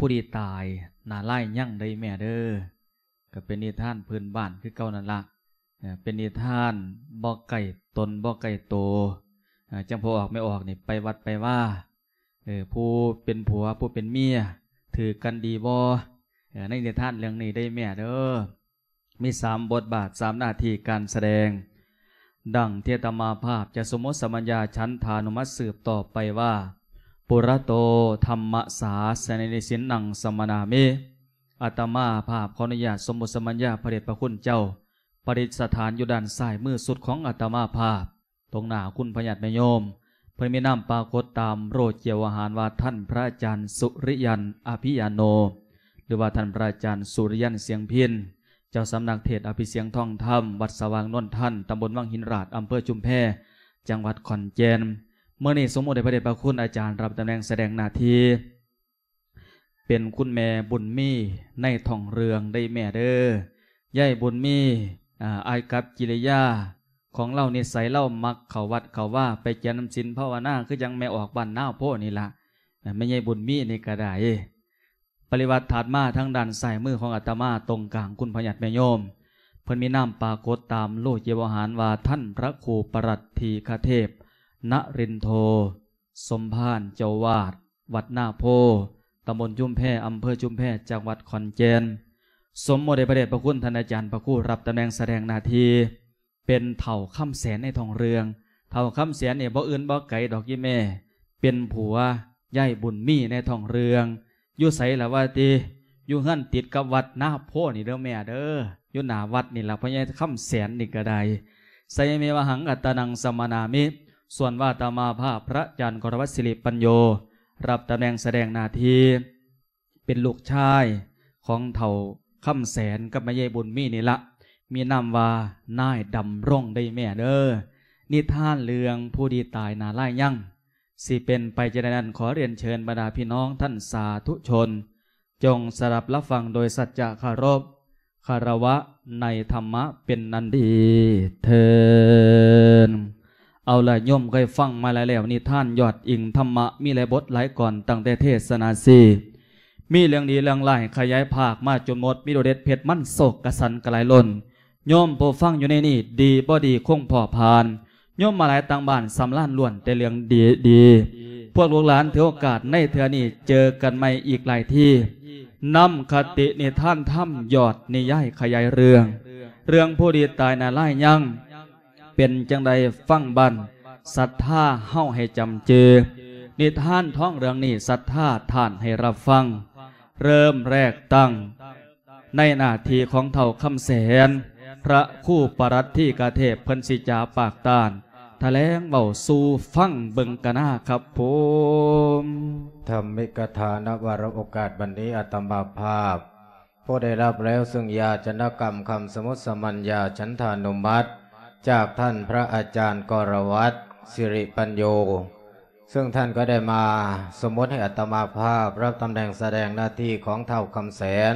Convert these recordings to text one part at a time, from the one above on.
ຜູ້ທີ່ຕາຍໜ້າລາຍຍັງເດ້ແມ່ເດີ. ກໍເປັນນິທານພື້ນບ້ານຄືເກົ່ານັ້ນລະ. ເອີ ເປັນນິທານບໍ່ໃກ້ຕົນບໍ່ໃກ້ໂຕ. ເອີ ຈັ່ງພໍ່ອອກແມ່ອອກນີ້ໄປວັດໄປວາ. ເອີ ຜູ້ເປັນຜົວຜູ້ເປັນເມຍຖືກກັນດີບໍ່? ເອີ ໃນນິທານເລື່ອງນີ້ເດ້ແມ່ເດີ. ມີສາມບົດບາດ ສາມໜ້າທີ່ການສະແດງ ດັ່ງທີ່ອາດຕະມາພາບຈະສົມມຸດສະມັນຍາ ສັນທານຸມັດ ສືບຕໍ່ໄປວ່າ ປຸຣະໂຕ ທຳມະສາສະເນນິສິນນັງ ສະມະນາມິ. ອາດຕະມາພາບຂໍອະນຸຍາດສົມມຸດສະມັນຍາພະເດດພະຄຸນເຈົ້າ ປະດິດສະຖານຢູ່ດ້ານຊ້າຍມືສຸດຂອງອາດຕະມາພາບ. ຕົງໜ້າຄຸນພະຍາດແມ່ໂຍມ ເພິ່ນມີນາມປາກົດຕາມໂລກີວະຫານວ່າ ທ່ານພະອາຈານສຸລິຍັນ ອະພິຍາໂນ ຫຼືວ່າທ່ານພະອາຈານສຸລິຍັນ ສຽງພິນ ເຈົ້າສຳນັກເທດອະພິສຽງທອງທຳ ວັດສະຫວ່າງນວນທັນ ຕຳບົນວັງຫີນລາດ ອຳເພີຊຸມແພ ຈັງຫວັດຂອນແກ່ນ. ມື້ນີ້ສົມມຸດໃຫ້ພະເດດພະຄຸນອາຈານຮັບຕຳແໜ່ງສະແດງໜ້າທີ່ ເປັນຄຸນແມ່ບຸນມີໃນທ້ອງເລື່ອງເດ້ແມ່ເດີ. ຍາຍບຸນມີ ອາ ອາກັບກິລິຍາຂອງລາວ ນິໄສລາວມັກເຂົ້າວັດເຂົ້າວາ ໄປຈຳສິນພາວະນາ ຄືຈັ່ງແມ່ອອກບ້ານນາໂພນີ້ລະ. ແມ່ຍາຍບຸນມີນີ້ກໍໄດ້. ປະລິວັດຖັດມາທາງດ້ານຊ້າຍມືຂອງອາດຕະມາ ຕົງກາງຄຸນພະຍາດແມ່ໂຍມ ເພິ່ນມີນາມປາກົດຕາມໂລກີວະຫານວ່າ ທ່ານພະຄູປະລັດທີຄະເທບ ນະລິນໂທ ສົມພານ ເຈົ້າອາວາດ ວັດນາໂພ ຕຳບົນຊຸມແພ ອຳເພີຊຸມແພ ຈັງຫວັດຂອນແກ່ນ. ສົມມຸດໃຫ້ພະເດດພະຄຸນທ່ານອາຈານພະຄູ ຮັບຕຳແໜ່ງສະແດງໜ້າທີ່ ເປັນເຖົ້າຄຳແສນໃນທ້ອງເລື່ອງ. ເຖົ້າຄຳແສນນີ້ບໍ່ອື່ນບໍ່ໄກດອກອີ່ແມ່ ເປັນຜົວຍາຍບຸນມີໃນທ້ອງເລື່ອງ. ຢູ່ໃສລະວ່າຕິ? ຢູ່ເຮືອນຕິດກັບວັດນາໂພນີ້ເດີແມ່ເດີ. ຢູ່ໜ້າວັດນີ້ລະ ພໍ່ໃຫຍ່ຄຳແສນນີ້ກໍໄດ້. ສະຍະເມວະຫັງ ອັດຕານັງ ສະມະນາມິ. ສ່ວນວ່າອາດຕະມາພາບ ພະອາຈານ ກໍລະວັດ ສິລິປັນໂຍ ຮັບຕຳແໜ່ງສະແດງໜ້າທີ່ ເປັນລູກຊາຍຂອງເຖົ້າຄຳແສນກັບແມ່ຍາຍບຸນມີນີ້ລະ ມີນາມວ່ານາຍດຳລົງເດ້ແມ່ເດີ. ນິທານເລື່ອງຜູ້ທີ່ຕາຍໜ້າລາຍຍັງ ຊິເປັນໄປຈັ່ງໃດນັ້ນ ຂໍຮຽນເຊີນບັນດາພີ່ນ້ອງທ່ານສາທຸຊົນ ຈົ່ງສະດັບຮັບຟັງໂດຍສັດຈະເຄົາລົບ ຄາລະວະໃນທຳມະເປັນອັນດີເທີ້ນ. ເອົາລະ ໂຍມເຄີຍຟັງມາແລ້ວ ນິທານຍອດອີງທຳມະ ມີຫຼາຍບົດຫຼາຍກອນ ຕັ້ງແຕ່ເທດສະໜາສີ່ ມີເລື່ອງດີເລື່ອງຫຼາຍ ຂະຫຍາຍພາກມາຈົນໝົດ ມີໂດດເດັດເຜັດມັນ ໂສກກະສັນກະຫຼາຍລົ້ນ. ໂຍມຜູ້ຟັງຢູ່ໃນນີ້ ດີບໍ່ດີຄົງພໍຜ່ານ. ໂຍມມາຫຼາຍຕ່າງບ້ານສຳລານ ລ້ວນແຕ່ເລື່ອງດີໆ. ພວກລູກຫຼານຖືໂອກາດໃນເທື່ອນີ້ ເຈີກັນໃໝ່ອີກຫຼາຍທີ ນຳຄະຕິນິທານທຳ ຍອດນິຍາຍຂະຫຍາຍເລື່ອງ ເລື່ອງຜູ້ທີ່ຕາຍໜ້າລາຍຍັງ ເປັນຈັ່ງໃດຟັງບັ້ນ ສັດທາເຮົາໃຫ້ຈຳຈື່. ນິທານທ້ອງເລື່ອງນີ້ ສັດທາທ່ານໃຫ້ຮັບຟັງ. ເລີ່ມແລກຕັ້ງ ໃນໜ້າທີ່ຂອງທ້າວຄຳແສນ ພະຄູປະລັດທີຄະເທບ ເພິ່ນຊິຈາປາກຕ້ານ ຖະແຫຼງເວົ້າສູ່ຟັງເບິ່ງກະນາຄັບຜົມ. ທຳມິກະຖານະວາລະໂອກາດບັດນີ້ ອາດຕະມາພາບ ຜູ້ໄດ້ຮັບແລ້ວຊຶ່ງຢາຈະນະກຳຄຳສົມມຸດສະມັນຍາ ສັນທານຸມັດ ຈາກທ່ານພະອາຈານ ກໍລະວັດ ສິລິປັນໂຍ ຊຶ່ງທ່ານກໍໄດ້ມາສົມມຸດໃຫ້ອາດຕະມາພາບ ຮັບຕຳແໜ່ງສະແດງໜ້າທີ່ຂອງທ້າວຄຳແສນ.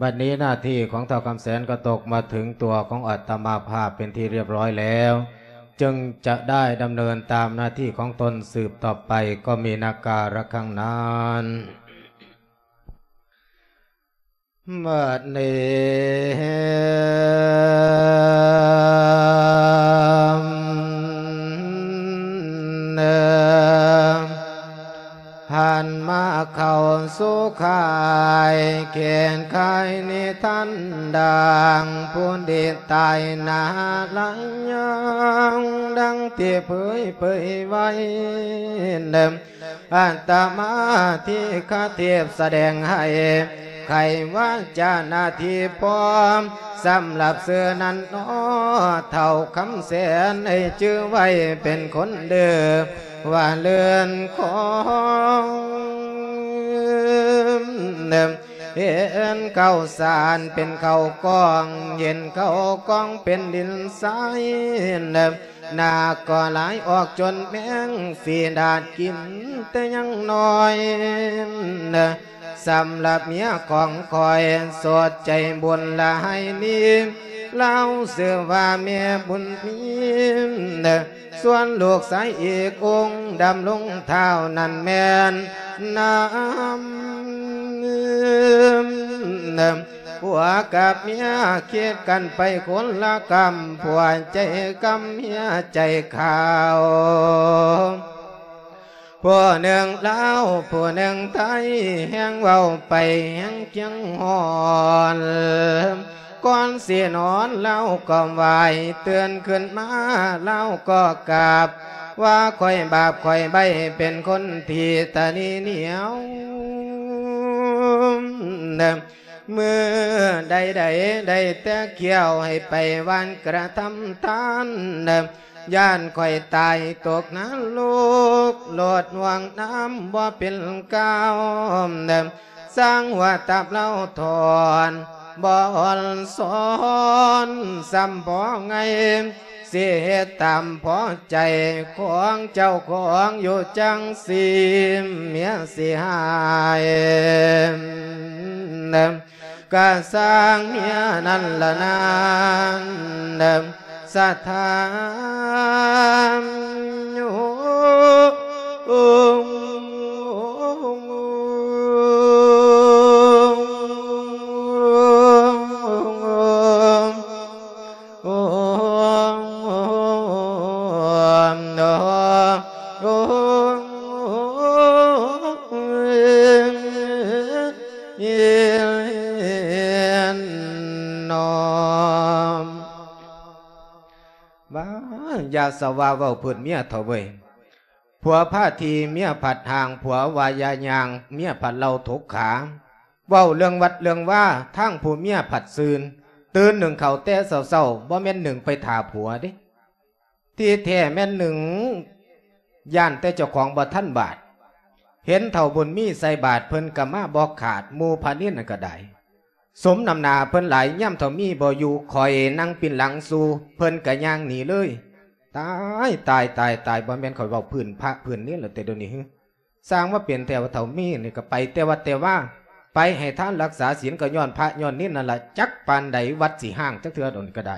ບັດນີ້ໜ້າທີ່ຂອງທ້າວຄຳແສນກໍຕົກມາເຖິງຕົວຂອງອາດຕະມາພາບເປັນທີ່ຮຽບຮ້ອຍແລ້ວ ຈຶ່ງຈະໄດ້ດຳເນີນຕາມໜ້າທີ່ຂອງຕົນສືບຕໍ່ໄປ ກໍມີນາກາລະຄັງນັ້ນ. ບັດນີ້ ຫັນມາເຂົ້າສູ່ຄ້າຍ ແຂນຂາຍນິທານດັ່ງ ຜູ້ທີ່ຕາຍໜ້າລາຍຍັງ ດັ່ງທີ່ເຜີຍເຜີຍໄວ້ ອາດຕະມາທີຄະເທບສະແດງໃຫ້ ໄຂວາຈາໜ້າທີ່ພ້ອມ ສຳລັບຊື່ນັ້ນເນາະ ທ້າວຄຳແສນໃຫ້ຈື່ໄວ້ເປັນຄົນເດີ ວ່າເລື່ອນຂອງ ເຫັນເຂົ້າສານເປັນເຂົ້າກ້ອງ ເຫັນເຂົ້າກ້ອງເປັນດິນຊາຍ ນາກໍຫຼາຍອອກຈົນແມງຝີດາດກິນແຕ່ຍັງນ້ອຍ. ສຳລັບເມຍຂອງຂ້ອຍ ສົດໃຈບຸນຫຼາຍນີ້ ລາວຊື່ວ່າແມ່ບຸນມີ. ສ່ວນລູກຊາຍອີກອົງ ດຳລົງທ້າວນັ້ນແມ່ນນາ ຜົວກັບເມຍຄິດກັນໄປຄົນລະກຳ ຜົວໃຈກຳເມຍໃຈຂາວ ຜູ້ໜຶ່ງລາວຜູ້ໜຶ່ງໄທ ແຮງເວົ້າໄປແຮງຄຽງຮ້ອນ ກ່ອນຊິນອນລາວກໍໄຫວ້ ຕື່ນຂຶ້ນມາລາວກໍກາບ ວ່າຂ້ອຍບາບຂ້ອຍໄບ້ ເປັນຄົນທີ່ຕະໜີໜຽວ ມື້ໃດໆ ໄດ້ແຕ່ຄ້ຽວໃຫ້ໄປຫວ່ານກະທຳທານ ຢ້ານຂ້ອຍຕາຍຕົກນະລົກ ໂລດຫ່ວງນ້ຳບໍ່ເປັນກ້າວ ສ້າງຫົວຕັບລາວຖອນ ບໍ່ອ່ອນຊ້ອນ ຊ້ຳພໍໄງ ຊິເຮັດຕາມພໍໃຈຂອງເຈົ້າຂອງຢູ່ຈັ່ງຊີ້ ເມຍຊິຫາຍ ກະຊ່າງເມຍນັ້ນລະນາງ ສະຖານ ວ່າ ຢ່າສະວ່າເວົ້າພື້ນເມຍເຖົ້າເວີຍ ຜົວພາທີ່ ເມຍຜັດຫ່າງ ຜົວວ່າຢ່າຍ່າງ ເມຍຜັດເລົ່າຖົກຂາ ເວົ້າເລື່ອງວັດເລື່ອງວາ ທາງຜູ້ເມຍຜັດຊືນ ຕື່ນໜຶ້ງເຂົ້າແຕ່ເຊົ້າໆ ບໍ່ແມ່ນໜຶ້ງໄປຖ້າຜົວເດ້ ທີ່ແທ້ແມ່ນໜຶ້ງຢ້ານແຕ່ເຈົ້າຂອງບໍ່ທັນບາດ ເຫັນເຖົ້າບຸນມີໃສ່ບາດ ເພິ່ນກະມາບໍ່ຂາດ ໝູ່ພະນິນນັ້ນກະໄດ້ ສົມນ້ຳໜ້າເພິ່ນຫຼາຍ ຍາມເຖົ້າມີບໍ່ຢູ່ ຂ້ອຍນັ່ງປິ່ນຫຼັງສູ່ ເພິ່ນກະຍ່າງໜີເລີຍ ຕາຍ ຕາຍ ຕາຍ ຕາຍ ບໍ່ແມ່ນຂ້ອຍເວົ້າພື້ນພະພື້ນເນນແລ້ວແຕ່ດຽວນີ້ ຊາງວ່າເປັນແທ້ວ່າເຖົ້າມີນີ້ ກະໄປແຕ່ວັດແຕ່ວາ ໄປໃຫ້ທານລັກສາສິນ ກະຍ້ອນພະຍ້ອນເນນນັ້ນລະ ຈັກປານໃດວັດຊິຮ້າງຈັກເທື່ອດອກນີ້ກະໄດ້.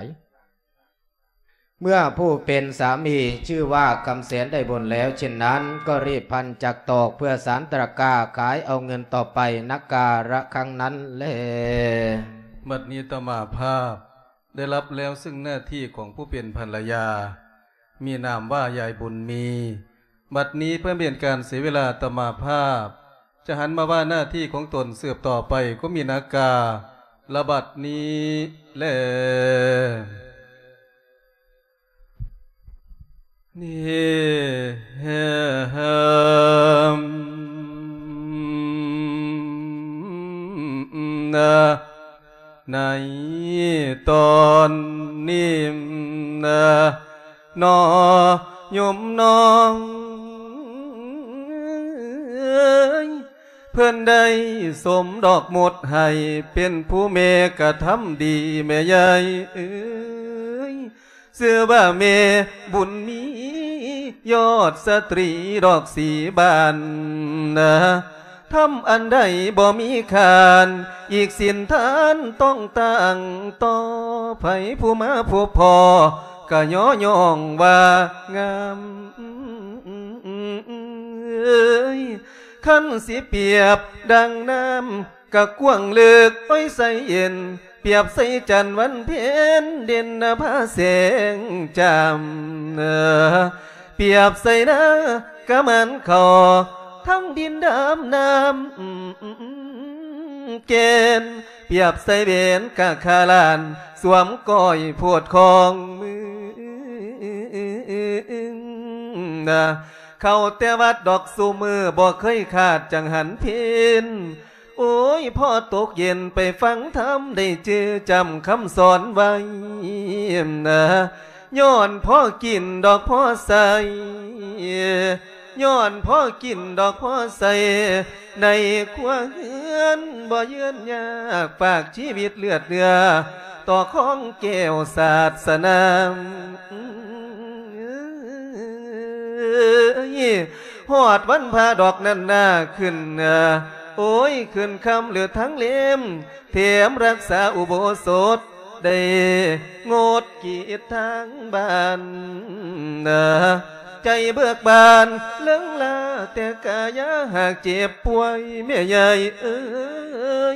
ເມື່ອຜູ້ເປັນສາມີຊື່ວ່າຄຳແສນໄດ້ບຸນແລ້ວເຊັ່ນນັ້ນ ກໍຣີບພັນຈັກຕອກເພື່ອສານຕະກາຂາຍເອົາເງິນຕໍ່ໄປນະກາລະຄັ້ງນັ້ນແລ. ບັດນີ້ຕະມາພາບໄດ້ຮັບແລ້ວເຊິ່ງໜ້າທີ່ຂອງຜູ້ເປັນພັນລະຍາ ມີນາມວ່າຍາຍບຸນມີ. ບັດນີ້ເພື່ອບໍ່ເປັນການເສຍເວລາ ຕະມາພາບຈະຫັນມາວ່າໜ້າທີ່ຂອງຕົນສືບຕໍ່ໄປ ກໍມີນາກາລະບັດນີ້ແລ. ນີ້ ໃນຕອນນີ້ນະ ໜໍ່ໂຍມນ້ອງເອີຍ ເພິ່ນໄດ້ສົມດອກມົດໃຫ້ ເປັນຜູ້ແມ່ກະທຳດີແມ່ຍາຍເອີຍ. ຊື່ວ່າແມ່ບຸນມີ ຍອດສະຕຣີດອກສີບານນະ ທຳອັນໃດບໍ່ມີຄານ ອີກສິນທານຕ້ອງຕັ້ງຕໍ່ ໃຜຜູ້ມາພົບພໍ້ ກະຍໍຍ້ອງວ່າງາມເອີຍ. ຄັນຊິປຽບດັ່ງນ້ຳ ກະກວ້າງເລິກ ໂອ້ຍ ໃສເຢັນ ປຽບໃສ່ຈັນວັນເພັນ ເດັ່ນນະພາແສງຈ້ຳ ປຽບໃສ່ນາກະໝານເຂົ້າ ທັງດິນດຳນ້ຳແກ່ນ ປຽບໃສ່ເວັນກະຄາລານ ສວມກ້ອຍໂພດຂອງມຶງ ເຂົ້າແຕ່ວັດດອກຊຸມື້ ບໍ່ເຄີຍຂາດຈັງຫັນເພັນ. ໂອ້ຍ ພໍຕົກເຢັນໄປຟັງທຳ ໄດ້ຈື່ຈຳຄຳສອນໄວ້ນະ ຍ້ອນພໍກິນດອກພໍໃຊ້ ຍ້ອນພໍກິນດອກພໍໃຊ້ ໃນຄົວເຮືອນບໍ່ເຍືອນຍາກ ຝາກຊີວິດເລືອດເນື້ອ ຕໍ່ຂອງແກ້ວສາດສະໜາມ. ຮອດວັນພະດອກນັ້ນນາຂຶ້ນ ໂອ້ຍ ຂຶ້ນຄ່ຳເລີດທາງເລັມ ແຖມຮັກສາອຸໂບສົດ ໄດ້ງົດກິດທາງບ້ານ ໃຈເບີກບານເລິງລາ ແຕ່ກາຍາຫາກເຈັບປ່ວຍ ແມ່ຍາຍເອີຍ.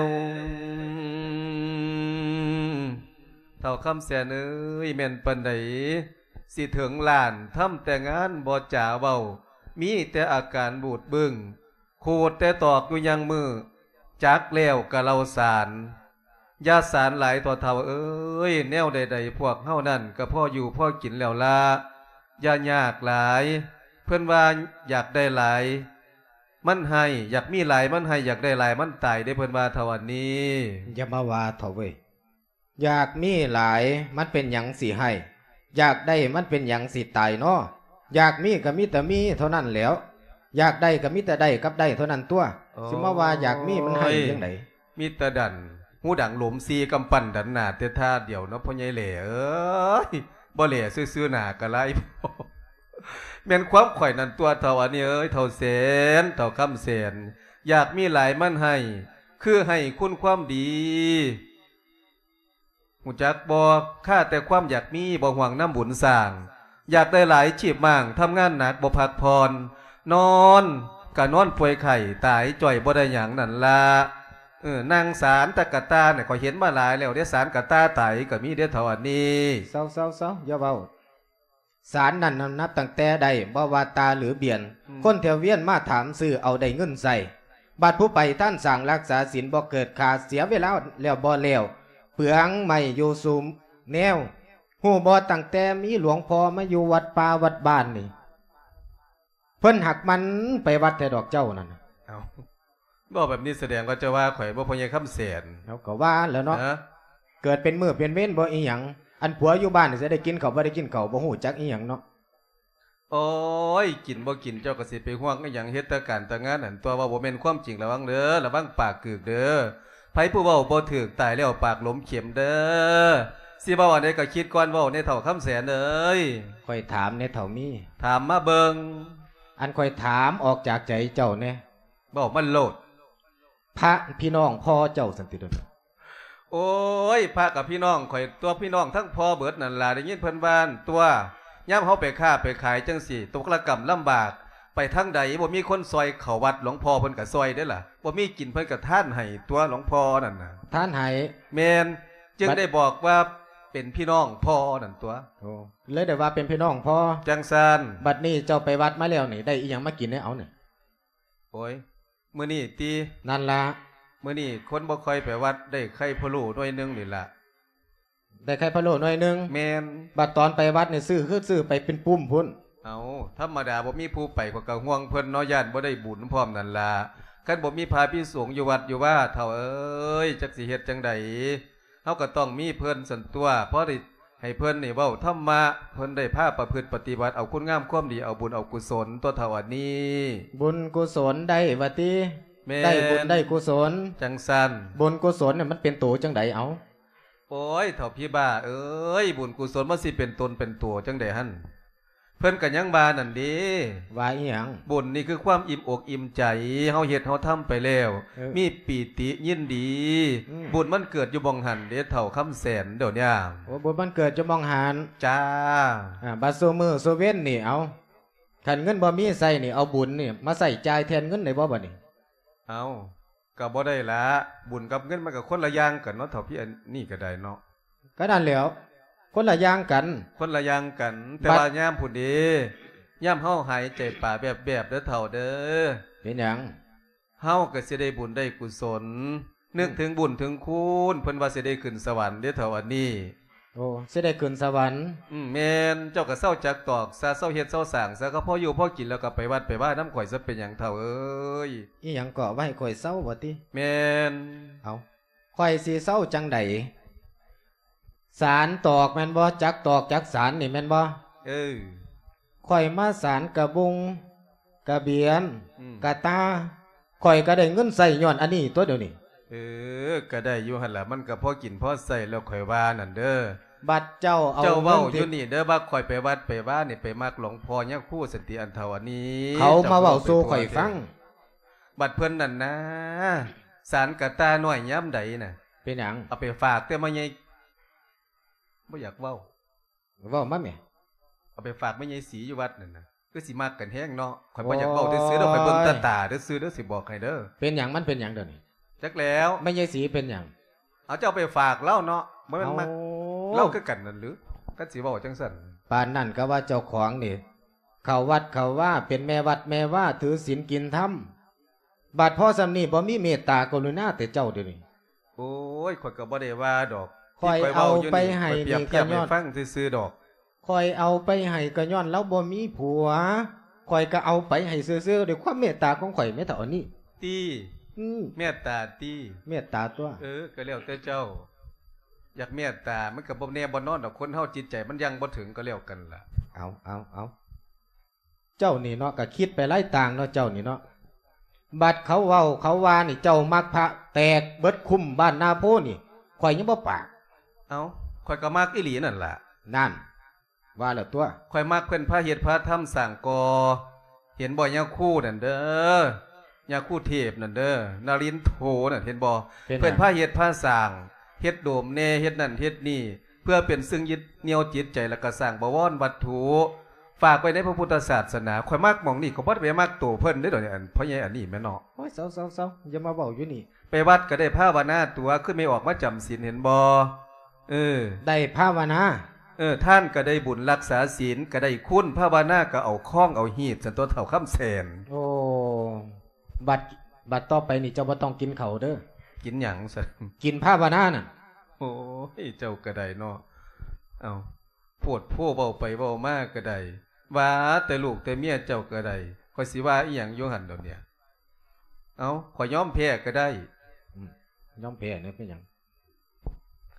ວ. ເຖົ້າຄຳແສນເອີຍ ແມ່ນປານໃດ ຊິເຖິງລ້ານ ທຳແຕ່ງານບໍ່ຈາເວົ້າ ມີແຕ່ອາການບູດບຶ້ງ ຂູດແຕ່ຕອກຢູ່ຍັງມື້ ຈັກແລ້ວກະເລົ່າສານ. ຢ່າສານຫຼາຍເຖາະເຖົ້າເອີຍ ແນວໃດໆ ພວກເຮົານັ້ນກະພໍຢູ່ພໍກິນແລ້ວລະ ຢ່າຍາກຫຼາຍ. ເພິ່ນວ່າຢາກໄດ້ຫຼາຍມັນໄຫ້ ຢາກມີຫຼາຍມັນໄຫ້ ຢາກໄດ້ຫຼາຍມັນຕາຍເດ້ ເພິ່ນວ່າເຖົ້າອັນນີ້. ຢ່າມາວ່າເຖົ້າເວີຍ ຢາກມີຫຼາຍມັນເປັນຫຍັງຊິໄຫ້ ຢາກໄດ້ມັນເປັນຫຍັງຊິຕາຍນໍ. ຢາກມີກະມີແຕ່ມີເທົ່ານັ້ນແຫຼ້ວ ຢາກໄດ້ກະມີແຕ່ໄດ້ກັບໄດ້ເທົ່ານັ້ນຕົວະ. ໂອ້ຍ ຊິມາວ່າຢາກມີມັນໄຫ້ຈັ່ງໃດ? ມີແຕ່ດັນ ຫູດັງຫຼົມສີ່ກຳປັ້ນດັນໜ້າແຕ່ທ່າດຽວເນາະ ພໍ່ໃຫຍ່ແຫຼ້ເອີຍ ບໍ່ແຫຼ້ຊື່ໆ ໜ້າກະລາຍ. ແມ່ນຄວາມຂ້ອຍນັ້ນຕົວະເຖົ້າອັນນີ້ເອີຍ ເຖົ້າແສນ ເຖົ້າຄຳແສນ ຢາກມີຫຼາຍມັນໄຫ້ ຄືໄຫ້ຄຸນຄວາມດີ. ຮູ້ຈັກບໍ່ ຂ້າແຕ່ຄວາມຢາກມີ ບໍ່ຫວັງນຳບຸນສ້າງ ຢາກໄດ້ຫຼາຍ ຈີບມ້າງ ທຳງານໜັກ ບໍ່ພັກຜ່ອນ ນອນກະນອນປ່ວຍໄຂ້ ຕາຍຈ້ອຍບໍ່ໄດ້ຫຍັງນັ້ນລະ. ເອີ ນັ່ງສານຕະກະຕ່ານ ຂ້ອຍເຫັນມາຫຼາຍແລ້ວເດ້ ສານກະຕ່າຕາຍກະມີເດ້ເຖົ້າອັນນີ້. ເຊົາໆໆ ຢ່າເວົ້າ. ສານນັ້ນນະ ນັບຕັ້ງແຕ່ໄດ້ ບໍ່ວ່າຕ່າຫຼືບຽນ ອືມ ຄົນແຖວວຽນມາຖາມຊື້ເອົາໄດ້ເງິນໃຊ້. ບາດຜູ້ໄປທານສ້າງລັກສາສິນ ບໍ່ເກີດຄ່າ ເສຍເວລາແລ້ວບໍ່ແລ້ວ ເປືອງໄມ້ຢູ່ສູ່ແນວ. ຮູ້ບໍ່ ຕັ້ງແຕ່ມີຫຼວງພໍ່ມາຢູ່ວັດປ່າວັດບ້ານນີ້ ເພິ່ນຫາກໝັ່ນໄປວັດແທ້ດອກເຈົ້ານັ້ນ. ເອົ້າ ເວົ້າແບບນີ້ສະແດງວ່າຈະວ່າຂ້ອຍບໍ່ ພໍ່ໃຫຍ່ຄຳແສນ? ເຮົາກໍວ່າແລ້ວເນາະ ເອີ ເກີດເປັນມື້ເປັນເວນບໍ່ອີ່ຫຍັງ ອັນຜົວຢູ່ບ້ານຊິໄດ້ກິນເຂົ້າບໍ່ໄດ້ກິນເຂົ້າ ບໍ່ຮູ້ຈັກອີ່ຫຍັງເນາະ. ໂອ້ຍ ກິນບໍ່ກິນເຈົ້າກໍຊິໄປຫ່ວງອີ່ຫຍັງ ເຮັດແຕ່ການແຕ່ງານຫັ້ນຕົວະ. ເວົ້າບໍ່ແມ່ນຄວາມຈິງ ລະວັງເດີ ລະວັງປາກກືກເດີ. ໃຜຜູ້ເວົ້າບໍ່ຖືກ ຕາຍແລ້ວປາກຫຼົມເຂັມເດີ. ຊິເວົ້າອັນໃດກໍຄິດກ່ອນເວົ້າແດ່ເຖົ້າຄຳແສນເອີຍ. ຂ້ອຍຖາມແດ່ເຖົ້າມີ. ຖາມມາເບິ່ງ. ອັນຂ້ອຍຖາມອອກຈາກໃຈເຈົ້າແດ່. ເວົ້າມາໂລດ. ພະພີ່ນ້ອງພໍ່ເຈົ້າຊັ້ນຕິດຽວນີ້? ໂອ້ຍ ພະກະພີ່ນ້ອງຂ້ອຍຕົວະ ພີ່ນ້ອງທັງພໍ່ເບິດນັ້ນລະ. ໄດ້ຍິນເພິ່ນວ່າຕົວະ ຍາມເຮົາໄປຄ້າໄປຂາຍຈັ່ງຊີ້ ຕົກລະກຳລຳບາກ ໄປທາງໃດບໍ່ມີຄົນຊ່ອຍເຂົ້າວັດ ຫຼວງພໍ່ເພິ່ນກະຊ່ອຍເດ້ລະ. ບໍ່ມີກິນເພິ່ນກະທານໃຫ້ຕົວະ ຫຼວງພໍ່ນັ້ນນະ. ທານໃຫ້? ແມ່ນ. ຈຶ່ງໄດ້ບອກວ່າເປັນພີ່ນ້ອງພໍ່ນັ້ນຕົວະ. ໂອ້ ເລີຍໄດ້ວ່າເປັນພີ່ນ້ອງພໍ່. ຈັ່ງຊັ້ນ. ບັດນີ້ເຈົ້າໄປວັດມາແລ້ວນີ້ ໄດ້ອີ່ຫຍັງມາກິນແດ່ເອົານີ້? ໂອ້ຍ ມື້ນີ້ຕິ? ນັ້ນລະ. ມື້ນີ້ຄົນບໍ່ຄ່ອຍໄປວັດ ໄດ້ໄຂ່ພະໂລ້ໜ່ວຍໜຶ່ງນີ້ລະ. ໄດ້ໄຂ່ພະໂລ້ໜ່ວຍໜຶ່ງ? ແມ່ນ. ບັດຕອນໄປວັດນີ້ ຊື້ຄືຊື້ໄປເປັນປຸ້ມພຸ້ນ. ເອົ້າ ທຳມະດາ ບໍ່ມີຜູ້ໄປ ຂ້ອຍກໍຫ່ວງເພິ່ນເນາະ ຢ້ານບໍ່ໄດ້ບຸນພ້ອມນັ້ນລະ. ຄັນບໍ່ມີພະພິສົງຢູ່ວັດຢູ່ວາ ເຖົ້າເອີຍ ຈັກຊິເຮັດຈັ່ງໃດ? ເຮົາກໍຕ້ອງມີເພິ່ນຊັ້ນຕົວະ ພໍໄດ້ ໃຫ້ເພິ່ນນີ້ເວົ້າທຳມະ ເພິ່ນໄດ້ພາປະພຶດປະຕິບັດ ເອົາຄຸນງາມຄວາມດີ ເອົາບຸນເອົາກຸສົນຕົວະເຖົ້າອັນນີ້. ບຸນກຸສົນໄດ້ວ່າຕິ? ແມ່ນ. ໄດ້ບຸນໄດ້ກຸສົນ. ຈັ່ງຊັ້ນ. ບຸນກຸສົນນີ້ມັນເປັນໂຕຈັ່ງໃດເອົາ? ໂອ້ຍ ເຖົ້າຜີບ້າເອີຍ ບຸນກຸສົນມັນຊິເປັນຕົນເປັນຕົວຈັ່ງໃດຫັ້ນ? ເພິ່ນກໍຍັງວ່ານັ້ນເດ້. ວ່າອີ່ຫຍັງ? ບຸນນີ້ຄືຄວາມອີ່ມອົກອີ່ມໃຈ ເຮົາເຮັດເຮົາທຳໄປແລ້ວ ເອີ ມີປີຕິຍິນດີ. ອືມ ບຸນມັນເກີດຢູ່ໝ່ອງຫັ້ນເດ້ ເຖົ້າຄຳແສນ ດຽວນີ້. ໂອ້ ບຸນມັນເກີດຢູ່ໝ່ອງຫັ້ນ. ຈ້າ. ອ່າ ບັດຊຸມື້ຊຸເວັນນີ້ ເອົາ ຄັນເງິນບໍ່ມີໃຊ້ນີ້ ເອົາບຸນນີ້ມາໃຊ້ຈ່າຍແທນເງິນໄດ້ບໍ່ບັດນີ້? ເອົາ ກໍບໍ່ໄດ້ລະ ບຸນກັບເງິນມັນກໍຄົນລະຢ່າງກັນເນາະ ເຖົ້າພີ່ ອັນນີ້ກໍໄດ້ເນາະ. ກໍນັ້ນແຫຼ້ວ ຄົນລະຢ່າງກັນ. ຄົນລະຢ່າງກັນ ແຕ່ວ່າຍາມພຸ້ນເດ້ ຍາມເຮົາຫາຍໃຈປາແວບໆ ເດີເຖົ້າເດີ. ເປັນຫຍັງ? ເຮົາກໍຊິໄດ້ບຸນໄດ້ກຸສົນ ນຶກເຖິງບຸນເຖິງຄຸນ ເພິ່ນວ່າຊິໄດ້ຂຶ້ນສະຫວັນເດ້ເຖົ້າອັນນີ້. ໂອ້ ຊິໄດ້ຂຶ້ນສະຫວັນ? ອືມ ແມ່ນ. ເຈົ້າກໍເຊົາຈັກຕອກຊະ ເຊົາເຮັດເຊົາສ້າງຊະ ກໍພໍຢູ່ພໍກິນ ແລ້ວກໍໄປວັດໄປວານຳຂ້ອຍຊະ ເປັນຫຍັງເຖົ້າເອີຍ? ອີຫຍັງເກາະ ວ່າໃຫ້ຂ້ອຍເຊົາບໍ່ຕິ? ແມ່ນ. ເອົາ ຂ້ອຍຊິເຊົາຈັ່ງໃດ? ສານຕອກແມ່ນບໍ່? ຈັກຕອກຈັກສານນີ້ແມ່ນບໍ່? ເອີ ຂ້ອຍມາສານກະບຸງ ກະບຽນ ອືມ ກະຕ່າ ຂ້ອຍກໍໄດ້ເງິນໃຊ້ຍ້ອນອັນນີ້ຕົວະດຽວນີ້. ເອີ ກໍໄດ້ຢູ່ຫັ້ນລະ ມັນກໍພໍກິນພໍໃຊ້ແລ້ວ ຂ້ອຍວ່ານັ້ນເດີ. ບັດເຈົ້າເອົາ ເຈົ້າເວົ້າຢູ່ນີ້ເດີ ວ່າຂ້ອຍໄປວັດໄປວານີ້ ໄປມັກຫຼວງພໍ່ຍາຄູສັນຕິ ອັນເຖົ້າອັນນີ້ ເຂົາມາເວົ້າສູ່ຂ້ອຍຟັງ. ບັດເພິ່ນນັ້ນນາ ສານກະຕ່ານ້ອຍຍາມໃດນະ ເປັນຫຍັງ? ເອົາໄປຝາກແຕ່ມາໃຫຍ່ ບໍ່ຢາກເວົ້າ. ເວົ້າມາແໝ່. ເອົາໄປຝາກແມ່ໃຫຍ່ສີຢູ່ວັດນັ້ນນະ ຄືຊິມັກກັນແຮງເນາະ. ຂ້ອຍບໍ່ຢາກເວົ້າ ໂອ້ຍ ຊື່ໆເດີ ຂ້ອຍເບິ່ງແຕ່ຕາຊື່ໆເດີ ຊິບອກໃຫ້ເດີ. ເປັນຫຍັງ? ມັນເປັນຫຍັງດຽວນີ້? ຈັກແລ້ວ. ແມ່ໃຫຍ່ສີເປັນຫຍັງ? ເອົາ ເຈົ້າໄປຝາກລາວເນາະ ບໍ່ແມ່ນມັກ ເອົ້າ ລາວຄືກັນນັ້ນຫຼື? ຄັນຊິເວົ້າຈັ່ງຊັ້ນ ປານນັ້ນກໍວ່າເຈົ້າຂອງນີ້ ເຂົ້າວັດເຂົ້າວາ ເປັນແມ່ວັດແມ່ວາ ຖືສິນກິນທຳ ບັດພໍສ່ຳນີ້ບໍ່ມີເມດຕາກະລຸນາແຕ່ເຈົ້າດຽວນີ້. ໂອ້ຍ ຂ້ອຍກໍບໍ່ໄດ້ວ່າດອກ ຂ້ອຍເອົາໄປໃຫ້ນີ້ກໍຍ້ອນ ຟັງຊື່ໆດອກ ຂ້ອຍເອົາໄປໃຫ້ກໍຍ້ອນລາວບໍ່ມີຜົວ ຂ້ອຍກໍເອົາໄປໃຫ້ຊື່ໆ ດ້ວຍຄວາມເມດຕາຂອງຂ້ອຍແມ່ເຖົ້າອັນນີ້. ຕິ? ອືມ ເມດຕາຕິ? ເມດຕາຕົວະ. ເອີ ກໍແລ້ວແຕ່ເຈົ້າ ຢາກເມດຕາ ມັນກໍບໍ່ແນ່ບໍ່ນອນດອກ ຄົນເຮົາຈິດໃຈມັນຍັງບໍ່ເຖິງ ກໍແລ້ວກັນລະ. ເອົາ ເອົາ ເອົາ ເຈົ້ານີ້ເນາະ ກໍຄິດໄປຫຼາຍຕ່າງເນາະ ເຈົ້ານີ້ເນາະ. ບັດເຂົາເວົ້າເຂົາວ່ານີ້ ເຈົ້າມັກພະແຕກເບິດຄຸ້ມບ້ານນາໂພນີ້ ຂ້ອຍຍັງບໍ່ປາກ. ເອົ້າ ຂ້ອຍກໍມັກອີ່ຫຼີນັ້ນລະ. ນັ້ນ ວ່າແລ້ວຕົວະ. ຂ້ອຍມັກເພິ່ນພາເຮັດພາທຳສ້າງກໍ່ ເຫັນບໍ່ ຍາຄູນັ້ນເດີ ຍາຄູເທບນັ້ນເດີ ນາລິນໂທນັ້ນ ເຫັນບໍ່? ເປັນຫຍັງ? ເພິ່ນພາເຮັດພາສ້າງ ເຮັດໂດມແດ່ ເຮັດນັ້ນເຮັດນີ້ ເພື່ອເປັນເຊິ່ງຍຶດໜ່ຽວຈິດໃຈ ແລ້ວກໍສ້າງບະວອນວັດຖຸ ຝາກໄວ້ໃນພະພຸດທະສາສະໜາ. ຂ້ອຍມັກໝ່ອງນີ້ ຂ້ອຍບໍ່ໄດ້ໄປມັກໂຕເພິ່ນເດ້ດອກ ອັນພໍ່ໃຫຍ່ອັນນີ້ແມ່ນເນາະ. ໂອ້ຍ ເຊົາໆໆ ຢ່າມາເວົ້າຢູ່ນີ້. ໄປວັດກໍໄດ້ພາວະນາຕົວະ ຄືແມ່ອອກມາຈຳສິນ ເຫັນບໍ່? ເອີ ໄດ້ພາວະນາ. ເອີ ທານກໍໄດ້ບຸນ ລັກສາສິນກໍໄດ້ຄຸນ ພາວະນາກໍເອົາຄອງເອົາຮີດ ຊັ້ນຕົວະເຖົ້າຄຳແສນ. ໂອ້ ບັດ ບັດຕໍ່ໄປນີ້ເຈົ້າບໍ່ຕ້ອງກິນເຂົ້າເດີ. ກິນຫຍັງຊັ້ນ? ກິນພາວະນານັ້ນ. ໂອ້ຍ ເຈົ້າກໍໄດ້ເນາະ. ເອົ້າ ໂພດໂພເວົ້າໄປເວົ້າມາກໍໄດ້ ວ່າແຕ່ລູກແຕ່ເມຍເຈົ້າກໍໄດ້ ຂ້ອຍຊິວ່າອີ່ຫຍັງຢູ່ຫັ້ນດອກເນຍ. ເອົ້າ ຂ້ອຍຍອມແພ້ກໍໄດ້. ອືມ ຍອມແພ້ເນາະ ເປັນຫຍັງ?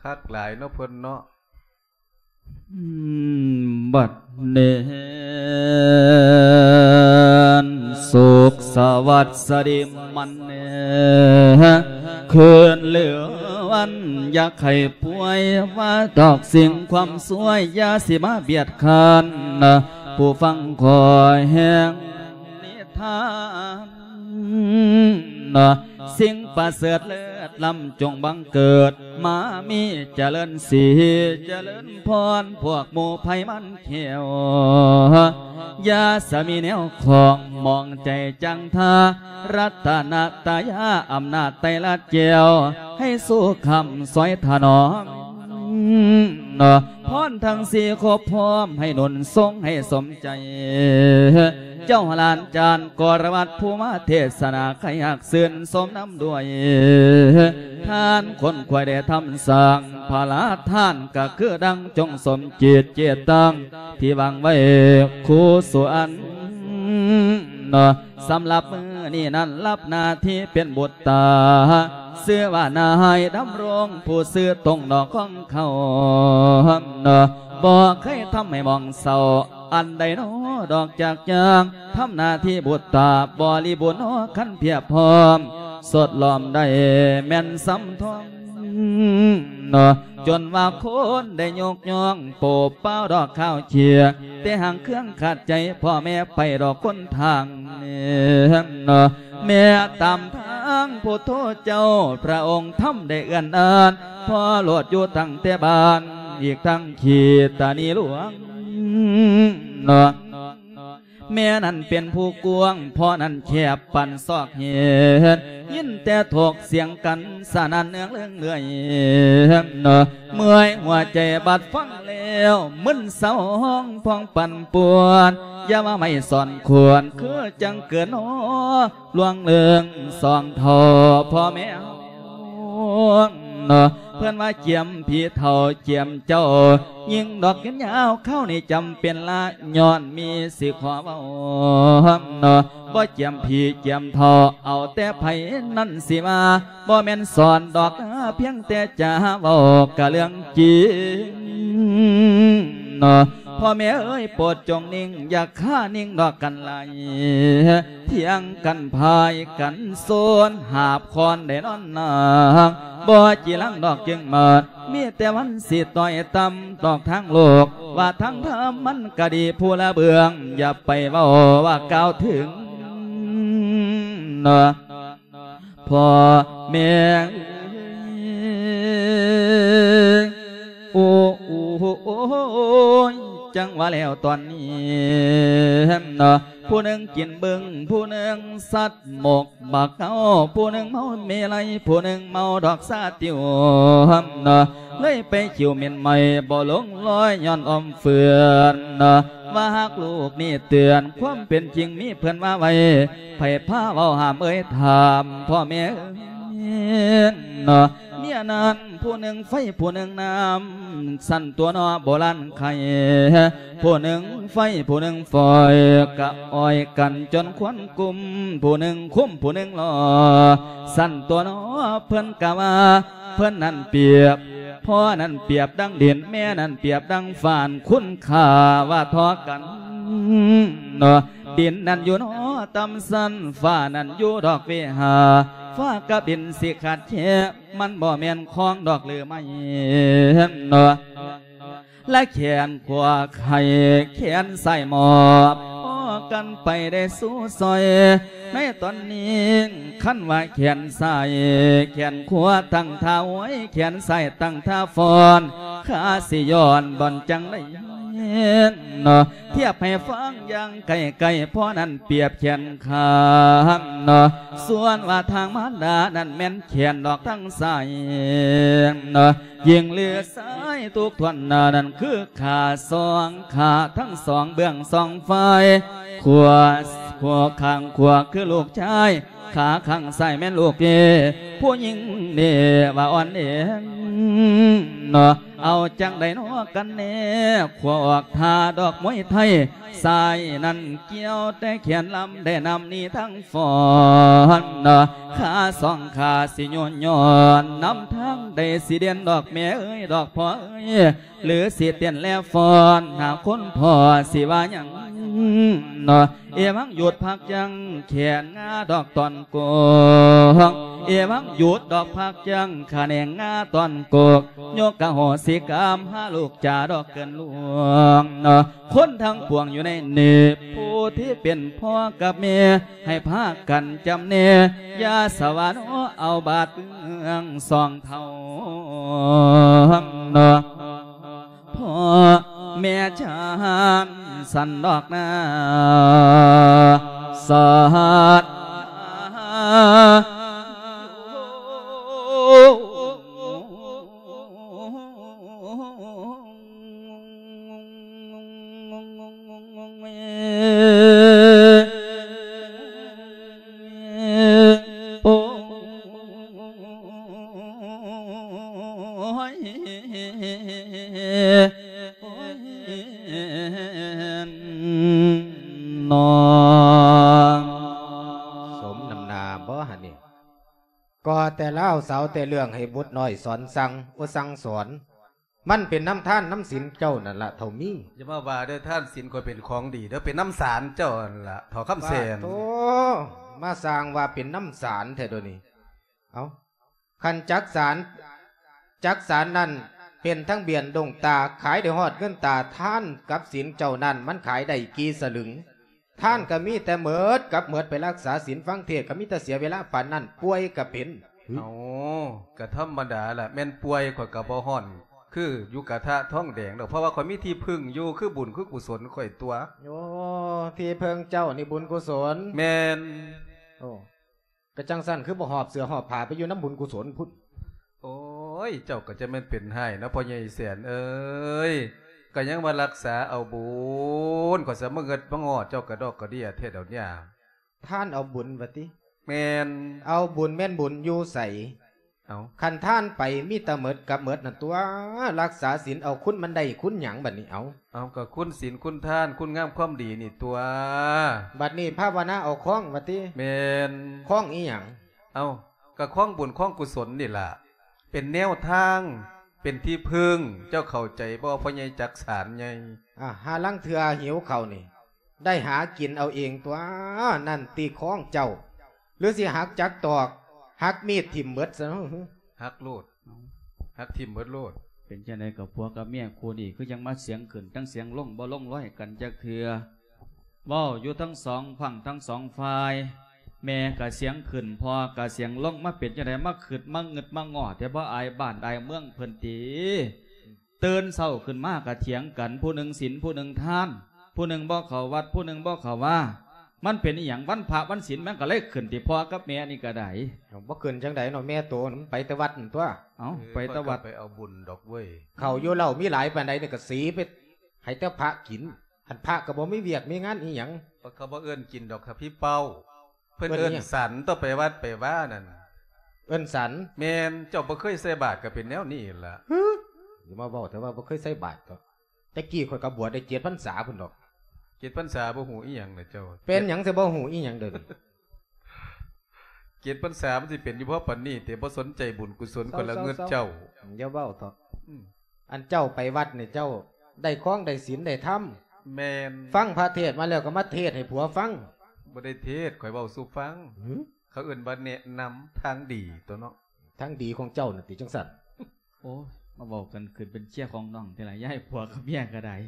ຄັກຫຼາຍເນາະເພິ່ນເນາະ. ອືມ ບັດແນນ ສຸກສະຫວັດສະດິມມັນແນ ຄືນຫຼືວັນ ຢ່າໃຫ້ປ່ວຍ ວ່າດອກສິ່ງຄວາມຊວຍ ຢ່າຊິມາບຽດຄານ ຜູ້ຟັງຄອຍແຮງນິທານ ເນາະ ສິ່ງປະເສີດເລີດລ້ຳຈົ່ງບັງເກີດ ມາມີຈະເລີນສີຈະເລີນພອນ ພວກໝູ່ໄພມັນແຂ້ວ ຢ່າສະມີແນວຂອງ ມອງໃຈຈັງທາ ລັດຕະນະຕະຍາ ອຳນາດໄຕລັດແກ້ວ ໃຫ້ສູ່ຄ້ຳຊ່ອຍຖະໜອມ ເນາະ ພອນທັງສີ່ຄົບພ້ອມ ໃຫ້ໜູນສົ່ງໃຫ້ສົມໃຈ ເຈົ້າຫຼານຈານກໍລະວັດ ຜູ້ມາເທດສະໜາ ໃຫ້ຮັກຊື່ນຊົມນຳດ້ວຍ ທ່ານຄົນຂວາຍໄດ້ທຳສ້າງ ພະລາທານກໍຄືດັ່ງ ຈົ່ງສົມຈິດເຈດຕັ້ງ ທີ່ວາງໄວ້ຄູ່ສູ່ອັນ ເນາະ ສຳລັບມື້ນີ້ນັ້ນ ຮັບໜ້າທີ່ເປັນບຸດຕາ ຊື່ວ່ານາຍດຳລົງ ຜູ້ຊື່ຕົງນອກຂອງເຂົາ ເນາະ ບໍ່ເຄີຍທຳໃຫ້ໝອງເສົ້າ ອັນໃດໜໍດອກຈາກຢ່າງ ທຳໜ້າທີ່ບຸດຕາ ບໍລິບູນໜໍ ຄັນພຽບພ້ອມ ສົດລ້ອມໄດ້ແມ່ນສຳທອງ ເນາະ ຈົນວ່າຄົນໄດ້ຍົກຍ້ອງ ໂປບປ່າວດອກຂາວເຂຍ ແຕ່ຫາງເຄືອງຂັດໃຈ ພໍ່ແມ່ໄປດອກຫົນທາງ ເນາະ ແມ່ຕາມທາງພຸດໂທເຈົ້າ ພະອົງທຳໄດ້ເອື້ອນອານ ພໍ່ໂລດຢູ່ຕັ້ງແຕ່ບ້ານ ອີກທັງຂີດຕານີຫຼວງ ເນາະ ແມ່ນັ້ນເປັນຜູ້ກວ້າງ ພໍ່ນັ້ນແຄບປານຊອກເຫດ ຍິນແຕ່ຖອກສຽງກັນ ສະໜັ່ນເໜືອງເລື່ອງເລື່ອຍ ເນາະ ເມື່ອຍຫົວໃຈບັດຟັງແລ້ວ ມຶນເສົ້າຮ້ອງພອງປັ່ນປ່ວນ ຢ່າວ່າໄມ້ສອນຂວນ ຄືຈັ່ງເກີນໜໍ ລວງເລື່ອງສອງເທົ່າພໍ່ແມ່ເຮົາ ເນາະ ເພິ່ນວ່າຈຽມຜີເຖົ້າຈຽມເຈົ້າ ຍິງດອກຍືນຍາວ ຄາວນີ້ຈຳເປັນລະ ຍ້ອນມີຊິຂໍເວົ້າເນາະ ບໍ່ຈຽມຜີຈຽມເຖົ້າ ເອົາແຕ່ໃຜນັ້ນຊິວ່າ ບໍ່ແມ່ນສອນດອກ ພຽງແຕ່ຈະເວົ້າກະເລື່ອງຈິງເນາະ ພໍ່ແມ່ເອີຍ ໂປດຈົ່ງນິ່ງ ຢ່າຄານິ່ງດອກກັນຫຼາຍ ຖຽງກັນພາຍກັນໂຊນ ຫາບຄ້ອນໄດ້ນອນນາງ ບໍ່ຈີລັງດອກຈຶ່ງມາດ ມີແຕ່ວັນຊິຕ້ອຍຕ່ຳດອກທາງໂລກ ວ່າທາງທຳມັນກະດີຜູ້ລະເບື້ອງ ຢ່າໄປເວົ້າວ່າກ່າວເຖິງເນາະ ພໍ່ແມ່ເອີຍ ໂອ້ ໂອ້ ໂອ້ ໂອ້ຍ ຈັ່ງວ່າແລ້ວຕອນນີ້ເນາະ ຜູ້ໜຶ່ງກິນບຶ້ງ ຜູ້ໜຶ່ງສັດໝົກບັກເກົາ ຜູ້ໜຶ່ງເມົາເມໄລ ຜູ້ໜຶ່ງເມົາດອກຊາຕິວເນາະ ເລີຍໄປຂິວເໝັນໄໝ້ ບໍ່ຫຼົງລອຍຍ້ອນອ້ອມເຟືອນເນາະ ວ່າຫາກລູກນີ້ເຕືອນ ຄວາມເປັນຈິງມີເພິ່ນວ່າໄວ້ ໃຜພາເວົ້າຫ້າມເອີຍຖາມພໍ່ແມ່ເນາະ ເມຍນັ້ນຜູ້ໜຶ່ງໄຟຜູ້ໜຶ່ງນ້ຳ ຊັ້ນຕົວເນາະໂບລານໄຄ ຜູ້ໜຶ່ງໄຟຜູ້ໜຶ່ງຟອຍ ກະອອຍກັນຈົນຄວັນກຸມ ຜູ້ໜຶ່ງຄຸມຜູ້ໜຶ່ງລໍ ຊັ້ນຕົວເນາະເພິ່ນກະວ່າ ເພິ່ນນັ້ນປຽບ ພໍ່ນັ້ນປຽບດັ່ງດິນ ແມ່ນັ້ນປຽບດັ່ງຟ້າ ຄຸນຄ່າວ່າທໍ່ກັນເນາະ ດິນນັ້ນຢູ່ເນາະຕ່ຳຊັ້ນ ຟ້ານັ້ນຢູ່ດອກເວຫາ ຟ້າກັບດິນຊິຂາດແຄ ມັນບໍ່ແມ່ນຂອງດອກຫຼືໄມ້ເນາະ ລະແຂນຂວາໄຂ ແຂນຊ້າຍມອບ ພໍກັນໄປໄດ້ສູ່ຊ່ອຍ ໃນຕອນນີ້ ຄັນວ່າແຂນຊ້າຍ ແຂນຂວາຕັ້ງທ່າອວຍ ແຂນຊ້າຍຕັ້ງທ່າຟ້ອນ ຂ້າຊິຍ້ອນບ່ອນຈັ່ງໃດເນາະ ທຽບໃຫ້ຟັງຢ່າງໃກ້ໆ ພໍ່ນັ້ນປຽບແຂນຂາເນາະ ສ່ວນວ່າທາງມານດານັ້ນແມ່ນແຂນດອກທາງຊ້າຍເນາະ ຍິງຫຼືຊາຍທຸກທ່ອນໜ້ານັ້ນຄືຂາສອງຂາ ທັງສອງເບື້ອງສອງຝ່າຍ ຂວາ ຂວາຂ້າງຂວາຄືລູກຊາຍ ຂາຂ້າງຊ້າຍແມ່ນລູກເອ ຜູ້ຍິງເນວ່າອ່ອນເອເນາະ ເອົາຈັ່ງໃດເນາະກັນແນ່ ຂວາອອກທ່າດອກມວຍໄທ ຊ້າຍນັ້ນກ່ຽວແຕ່ແຂນລຳ ໄດ້ນຳໜີທາງ ຟ້ອນເນາະ ຂາສອງຂາຊິໂຍນຍ້ອນ ນຳທາງໃດຊິເດັ່ນດອກແມ່ເອີຍ ດອກພໍ່ເອີຍ ຫຼືຊິເຕັ້ນແລຟ້ອນ ຫາຄົນພໍ່ຊິວ່າຫຍັງເນາະ ເອວັງຢຸດພັກຢັ້ງ ແຂນງາດອກຕອນກົກ ເອວັງຢຸດດອກພັກຢັ້ງ ຂະແໜງງາຕອນກົກ ຍົກອະໂຫສິກຳ ຫາລູກຈາດອກເກີນລ່ວງເນາະ ຄົນທັງປວງຢູ່ໃນນີ້ ຜູ້ທີ່ເປັນພໍ່ກັບແມ່ ໃຫ້ພາກັນຈຳແນ ຢ່າສະຫວັນເອົາບາດເມືອງສອງເທົ່າເນາະ ພໍ່ແມ່ຊານສັນດອກນາ ສາທຸ. ສົມນ້ຳໜ້າບໍ່ຫັ້ນນີ້? ກໍ່ແຕ່ລາວສາວແຕ່ເລື່ອງໃຫ້ບຸດນ້ອຍສອນສັ່ງ ໂອ ສັ່ງສອນ ມັນເປັນນຳທານນຳສິນເຈົ້ານັ້ນລະເຖົ້າມີ. ຢ່າມາວ່າເດີ ທານສິນຂ້ອຍເປັນຂອງດີເດີ ເປັນນຳສານເຈົ້າຫັ້ນລະເຖົ້າຄຳແສນ. ປາດໂທ ມາສ້າງວ່າເປັນນຳສານແທ້ດຽວນີ້. ເອົ້າ ຄັນຈັກສານ ຈັກສານນັ້ນເປັນທັງບຽນດົງຕາ ຂາຍໄດ້ຮອດເງິນຕາ ທານກັບສິນເຈົ້ານັ້ນ ມັນຂາຍໄດ້ກີ່ສະລຶງ? ທານກໍມີແຕ່ໝົດກັບໝົດ ໄປຮັກສາສິນຟັງເທດກໍມີແຕ່ເສຍເວລາປານນັ້ນ ປ່ວຍກໍເປັນ. ເອົ້າ ກໍທຳມະດາລະ ແມ່ນປ່ວຍຂ້ອຍກໍບໍ່ຮ້ອນຄືຢູ່ກະທະທອງແດງດອກ ເພາະວ່າຂ້ອຍມີທີ່ເພິ່ງຢູ່ ຄືບຸນຄືກຸສົນຂ້ອຍຕົວະ. ໂອ້ ທີ່ເພິ່ງເຈົ້ານີ້ບຸນກຸສົນ? ແມ່ນ. ໂອ້ ກະຈັ່ງຊັ້ນຄືບໍ່ຫອບເສື້ອຫອບຜ້າໄປຢູ່ນຳບຸນກຸສົນພຸ້ນ? ໂອ້ຍ ເຈົ້າກໍຈະແມ່ນເປັນຮ້າຍເນາະ ພໍ່ໃຫຍ່ແສນເອີຍ ກໍຍັງວ່າຮັກສາເອົາບຸນ ຂ້ອຍສະມາເງິດມາງໍ້ເຈົ້າກະດອກກະເດຍແທ້ດຽວນີ້. ທ່ານເອົາບຸນວ່າຕິ? ແມ່ນ. ເອົາບຸນແມ່ນບຸນຢູ່ໃສ? ເອົາ ຄັນທານໄປມີແຕ່ໝົດກັບໝົດນັ້ນຕົວະ ລັກສາສິນເອົາຄຸນມັນໄດ້ຄຸນຫຍັງບັດນີ້ ເອົາ ເອົາ ກໍຄຸນສິນຄຸນທານ ຄຸນງາມຄວາມດີນີ້ຕົວະ ບັດນີ້ພາວະນາເອົາຄອງວ່າຕິ ແມ່ນ ຄອງອີ່ຫຍັງ ເອົາ ກໍຄອງບຸນຄອງກຸສົນນີ້ລະ ເປັນແນວທາງ ເປັນທີ່ເພິ່ງ ເຈົ້າເຂົ້າໃຈບໍ່ ພໍ່ໃຫຍ່ຈັກສານໃຫຍ່ ອ່າ ຫາລາງເທື່ອຫິວເຂົ້ານີ້ ໄດ້ຫາກິນເອົາເອງຕົວະ ນັ້ນຕິຄອງເຈົ້າ ຫຼືຊິຫັກຈັກຕອກ ຫັກມີດຖິ້ມເບິດຊະເນາະ ຫັກໂລດ ຫັກຖິ້ມເບິດໂລດ ເປັນຈັ່ງໃດກໍຜົວກັບເມຍຄູ່ນີ້ ຄືຍັງມາສຽງຂຶ້ນທັງສຽງລົງ ບໍ່ລົງລອຍກັນຈັກເທື່ອ ເວົ້າຢູ່ທັງສອງຝັ່ງທັງສອງຝ່າຍ ແມ່ກໍສຽງຂຶ້ນ ພໍ່ກໍສຽງລົງ ມາເປັນຈັ່ງໃດ ມາຄຶດມາງຶດມາງໍ້ແທ້ ບໍ່ອາຍບ້ານອາຍເມືອງເພິ່ນຕິ? ຕື່ນເຊົ້າຂຶ້ນມາກໍຖຽງກັນ ຜູ້ໜຶ່ງສິນ ຜູ້ໜຶ່ງທານ ຜູ້ໜຶ່ງບໍ່ເຂົ້າວັດ ຜູ້ໜຶ່ງບໍ່ເຂົ້າວາ ມັນເປັນອີ່ຫຍັງ? ວັນພະວັນສິນມັນກໍເລີຍຂຶ້ນຕິ ພໍ່ກັບແມ່ນີ້ກໍໄດ້ ເອົາ ບໍ່ຂຶ້ນຈັ່ງໃດເນາະ ແມ່ໂຕມັນໄປແຕ່ວັດນັ້ນຕົວະ ເອົ້າ ເອີ ໄປແຕ່ວັດ ຂ້ອຍກໍໄປເອົາບຸນດອກເວີຍ ເຂົ້າຢູ່ເຫຼົ້າມີຫຼາຍປານໃດນີ້ກໍສີໄປໃຫ້ແຕ່ພະກິນ ອັນພະກໍບໍ່ມີວຽກມີງານອີ່ຫຍັງ ເຂົາບໍ່ເອີ້ນກິນດອກ ຖ້າພີ່ເປົ້າ ເພິ່ນເອີ້ນສັນ ຕ້ອງໄປວັດໄປວານັ້ນ ເອີ້ນສັນ ແມ່ນ ເຈົ້າບໍ່ເຄີຍໃສ່ບາດກໍເປັນແນວນີ້ລະ ຫື ຢ່າມາເວົ້າແຕ່ວ່າບໍ່ເຄີຍໃສ່ບາດເຖາະ ແຕ່ກີ້ຂ້ອຍກໍບວດໄດ້ເຈັດພັນສາພຸ້ນດອກ ເຈັດພັນສາບໍ່ຮູ້ອີ່ຫຍັງນະເຈົ້າ ເປັນຫຍັງຊິບໍ່ຮູ້ອີ່ຫຍັງເດີ ເຈັດພັນສາມັນຊິເປັນຢູ່ພໍປານນີ້ເຕະ ບໍ່ສົນໃຈບຸນກຸສົນ ເຊົາ ຄົນລະເງິດ ເຊົາ ເຈົ້າ ເຈົ້າ ຢ່າເວົ້າເຖາະ ອືມ ອັນເຈົ້າໄປວັດນີ້ ເຈົ້າໄດ້ຄອງໄດ້ສິນໄດ້ທຳ ແມ່ນ ຟັງພະເທດມາແລ້ວກໍມາເທດໃຫ້ຜົວຟັງ ບໍ່ໄດ້ເທດ ຂ້ອຍເວົ້າສູ່ຟັງ ຫື ເຂົາເອີ້ນວ່າແນະນຳທາງດີຕົວະເນາະ ທາງດີຂອງເຈົ້ານັ້ນຕິຈັ່ງຊັ້ນ ໂອ້ຍ ມາເວົ້າກັນຂຶ້ນເປັນເຊຍຂອງນ້ອງແທ້ລະ ຢ່າໃຫ້ຜົວກັບເມຍກໍໄດ້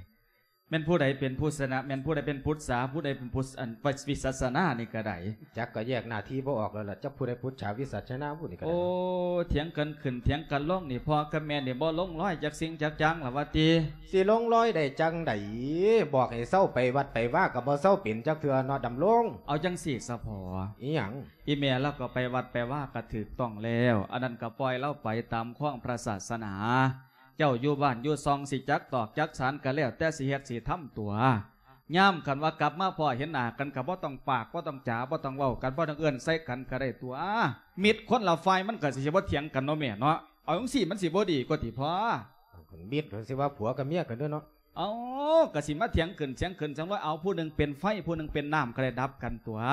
ແມ່ນຜູ້ໃດເປັນຜູ້ຊະນະ ແມ່ນຜູ້ໃດເປັນພຸດສາ ຜູ້ໃດເປັນຜູ້ ອັນ ວິສັດສະນານີ້ກໍໄດ້ ຈັກກໍແຍກໜ້າທີ່ບໍ່ອອກແລ້ວລະ ຈັກຜູ້ໃດພຸດສາ ວິສັດສະນາຜູ້ນີ້ກໍໄດ້ ໂອ້ ຖຽງກັນຂຶ້ນຖຽງກັນລົງນີ້ ພໍ່ກັບແມ່ນີ້ບໍ່ລົງລອຍຈັກສິ່ງຈັກຢ່າງລະວ່າຕິ ຊິລົງລອຍໄດ້ຈັ່ງໃດ ບອກໃຫ້ເຊົາໄປວັດໄປວາກໍບໍ່ເຊົາເປັນຈັກເທື່ອເນາະ ດຳລົງ ເອົາຈັ່ງຊີ້ສະພໍ່ ອີ່ຫຍັງ? ອີ່ແມ່ລາວກໍໄປວັດໄປວາກໍຖືກຕ້ອງແລ້ວ ອັນນັ້ນກໍປ່ອຍລາວໄປຕາມຂອງພະສາສະໜາ ເຈົ້າຢູ່ບ້ານຢູ່ຊ່ອງຊິຈັກຕອກຈັກສານກໍແລ້ວແຕ່ຊິເຮັດຊິທຳຕົວະ ຍາມຄັນວ່າກັບມາພໍ້ເຫັນໜ້າກັນກໍບໍ່ຕ້ອງປາກ ບໍ່ຕ້ອງຈາ ບໍ່ຕ້ອງເວົ້າກັນ ບໍ່ຕ້ອງເອີ້ນໃສ່ກັນກໍໄດ້ຕົວະ ມິດຄົນລະຝ່າຍມັນກໍຊິບໍ່ຖຽງກັນເນາະແມ່ເນາະ ເອົາຈັ່ງຊີ້ມັນຊິບໍ່ດີກວ່າຕິພໍ່? ເອົາ ຄັນມິດກໍຊິວ່າຜົວກັບເມຍກັນເດີເນາະ ເອົາ ກໍຊິມາຖຽງຂຶ້ນຖຽງຂຶ້ນ ຈັ່ງວ່າເອົາ ຜູ້ໜຶ່ງເປັນໄຟ ຜູ້ໜຶ່ງເປັນນ້ຳ ກໍໄດ້ດັບກັນຕົວະ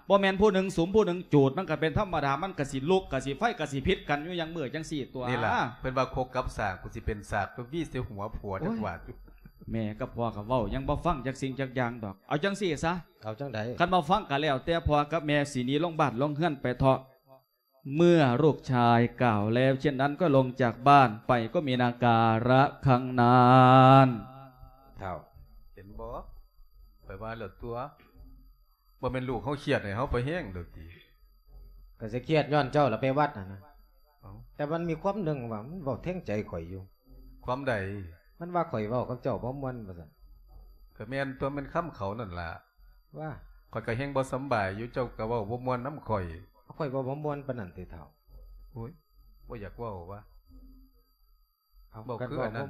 ບໍ່ແມ່ນຜູ້ໜຶ່ງສຸມຜູ້ໜຶ່ງຈູດ ມັນກໍເປັນທຳມະດາ ມັນກໍຊິລຸກກໍຊິໄຟກໍຊິຜິດກັນຢູ່ຢ່າງມື້ຈັ່ງຊີ້ຕົວະ ນີ້ລະ ເພິ່ນວ່າຄົກກັບສາກ ກູຊິເປັນສາກ ໂຕວີໃສ່ຫົວຜົວຈັກບາດ ໂອ້ຍ ແມ່ກັບພໍ່ກໍເວົ້າຍັງບໍ່ຟັງຈັກສິ່ງຈັກຢ່າງດອກ ເອົາຈັ່ງຊີ້ຊະ ເອົາຈັ່ງໃດ? ຄັນບໍ່ຟັງກໍແລ້ວແຕ່ພໍ່ກັບແມ່ ຊິໜີລົງບ້ານລົງເຮືອນໄປເຖາະ ເມື່ອລູກຊາຍກ່าวแล้วเช่นนั้นก็ลงจากบ้านไปก็มีนาการะครั้งนั้น ທ້າວ ເຫັນບໍ່? ຂ້ອຍວ່າແລ້ວຕົວະ ບໍ່ແມ່ນລູກເຮົາຄຽດໃຫ້ເຮົາໄປແຮງໂດດຕິ? ກໍຊິຄຽດຍ້ອນເຈົ້າລະໄປວັດຫັ້ນນະ ເອົ້າ ແຕ່ມັນມີຄວາມໜຶ່ງວ່າມັນເວົ້າແທງໃຈຂ້ອຍຢູ່ ຄວາມໃດ? ມັນວ່າຂ້ອຍເວົ້າກັບເຈົ້າບໍ່ມ່ວນວ່າຊັ້ນ ກໍແມ່ນຕົວະ ແມ່ນຄຳເຂົານັ້ນລະ ວ່າ ຂ້ອຍກໍແຮງບໍ່ສຳບາຍຢູ່ ເຈົ້າກໍເວົ້າບໍ່ມ່ວນນຳຂ້ອຍ ຂ້ອຍເວົ້າບໍ່ມ່ວນປານນັ້ນຕິທ້າວ? ໂອ້ຍ ບໍ່ຢາກເວົ້າຫວາ? ເອົາ ເວົ້າຄືອັນນັ້ນ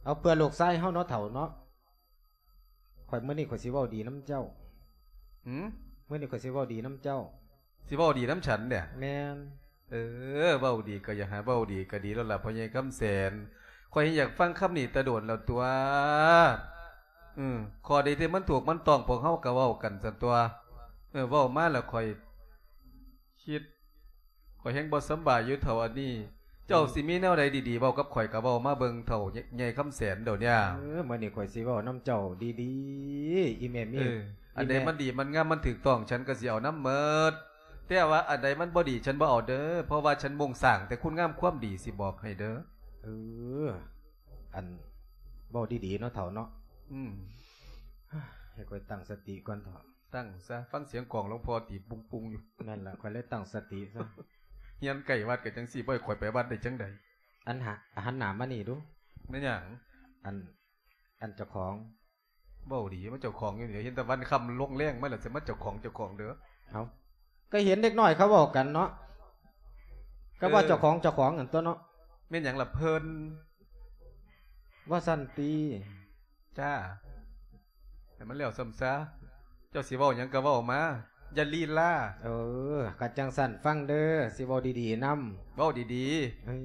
ເອົາ ເພື່ອລູກຊາຍເຮົາເນາະ ເຖົ້າເນາະ ຂ້ອຍ ມື້ນີ້ຂ້ອຍຊິເວົ້າດີນຳເຈົ້າ ຫື? ມື້ນີ້ຂ້ອຍຊິເວົ້າດີນຳເຈົ້າ ຊິເວົ້າດີນຳສັນເດ? ແມ່ນ ເອີ ເວົ້າດີກໍຢາກໃຫ້ເວົ້າດີກໍດີແລ້ວລະ ພໍ່ໃຫຍ່ຄຳແສນ ຂ້ອຍຢາກຟັງຄຳນີ້ແຕ່ດົນແລ້ວຕົວະ ເອີ ຂໍ້ໃດທີ່ມັນຖືກມັນຕ້ອງ ພວກເຮົາກໍເວົ້າກັນຊັ້ນຕົວະ ເອີ ເວົ້າມາແລ້ວຂ້ອຍຄິດ ຂ້ອຍແຮງບໍ່ສຳບາຍຢູ່ເຖົ້າອັນນີ້ ເຈົ້າ ອືມ ຊິມີແນວໃດດີໆ ເວົ້າກັບຂ້ອຍກໍເວົ້າມາເບິ່ງເຖົ້າໃຫຍ່ຄຳແສນດຽວນີ້ ເອີ ມື້ນີ້ຂ້ອຍຊິເວົ້ານຳເຈົ້າດີໆ ອີແມ່ມີ ເອີ ອັນໃດມັນດີມັນງາມມັນຖືກຕ້ອງ ສັນກໍຊິເອົານຳໝົດ ແຕ່ວ່າອັນໃດມັນບໍ່ດີ ສັນບໍ່ເອົາເດີ ເພາະວ່າສັນມຸ່ງສ້າງແຕ່ຄຸນງາມຄວາມດີ ຊິບອກໃຫ້ເດີ ເອີ ອັນ ເວົ້າດີໆ ເນາະເຖົ້າເນາະ ອືມ ໃຫ້ຂ້ອຍຕັ້ງສະຕິກ່ອນເຖາະ ຕັ້ງຊະ ຟັງສຽງກອງຫຼວງພໍ່ຕີປຸງໆຢູ່ ນັ້ນລະ ຂ້ອຍເລີຍຕັ້ງສະຕິຊະ ຮຽນໃກ້ວັດກໍຈັ່ງຊີ້ ບໍ່ໃຫ້ຂ້ອຍໄປວັດໄດ້ຈັ່ງໃດ ອັນຫາ ຫັນໜ້າມານີ້ດູ ແມ່ນຫຍັງ? ອັນ ອັນເຈົ້າຂອງ ເວົ້າດີ ມາເຈົ້າຂອງຢູ່ນີ້ ເຫັນແຕ່ວັນຄ່ຳລົງແລງມາແລ້ວ ຊິມາເຈົ້າຂອງ ເຈົ້າຂອງເດີ ເອົ້າ ກໍເຫັນເດັກນ້ອຍເຂົາເວົ້າກັນເນາະ ກໍວ່າ ເອີ ເຈົ້າຂອງ ເຈົ້າຂອງຫັ້ນຕົວະເນາະ ແມ່ນຫຍັງລະເພິ່ນ ວ່າຊັ້ນຕິ ຈ້າ ໃຫ້ມັນແລ້ວຊໍ້າຊາ ເຈົ້າຊິເວົ້າຫຍັງກໍເວົ້າມາ ຢ່າລີລາ. ເອີ ຄັນຈັ່ງຊັ້ນຟັງເດີ ຊິເວົ້າດີໆນຳ. ເວົ້າດີໆ. ເອີ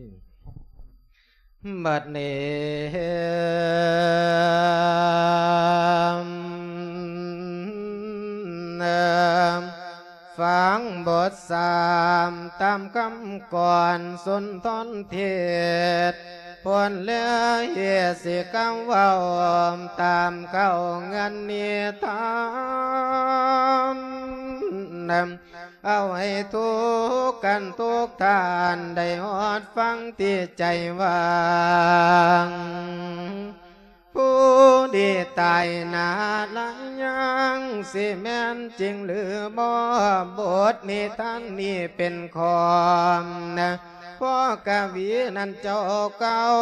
ບັດນີ້ ຟັງບົດສາມຕາມຄຳກ່ອນສຸນທອນເທດ ພົ້ນແລ້ວເຮດຊິກາເວົ້າຕາມເຂົ້າເງື່ອນນິທານ ເອົາໃຫ້ທຸກທ່ານທຸກທ່ານໄດ້ຮອດຟັງທີ່ໃຈຫວັງ. ຜູ້ທີ່ຕາຍໜ້າລະຍັງ ຊິແມ່ນຈິງຫຼືບໍ່? ບົດນິທານນີ້ເປັນຂອງພໍ່ກະວີນັ້ນເຈົ້າເກົ່າ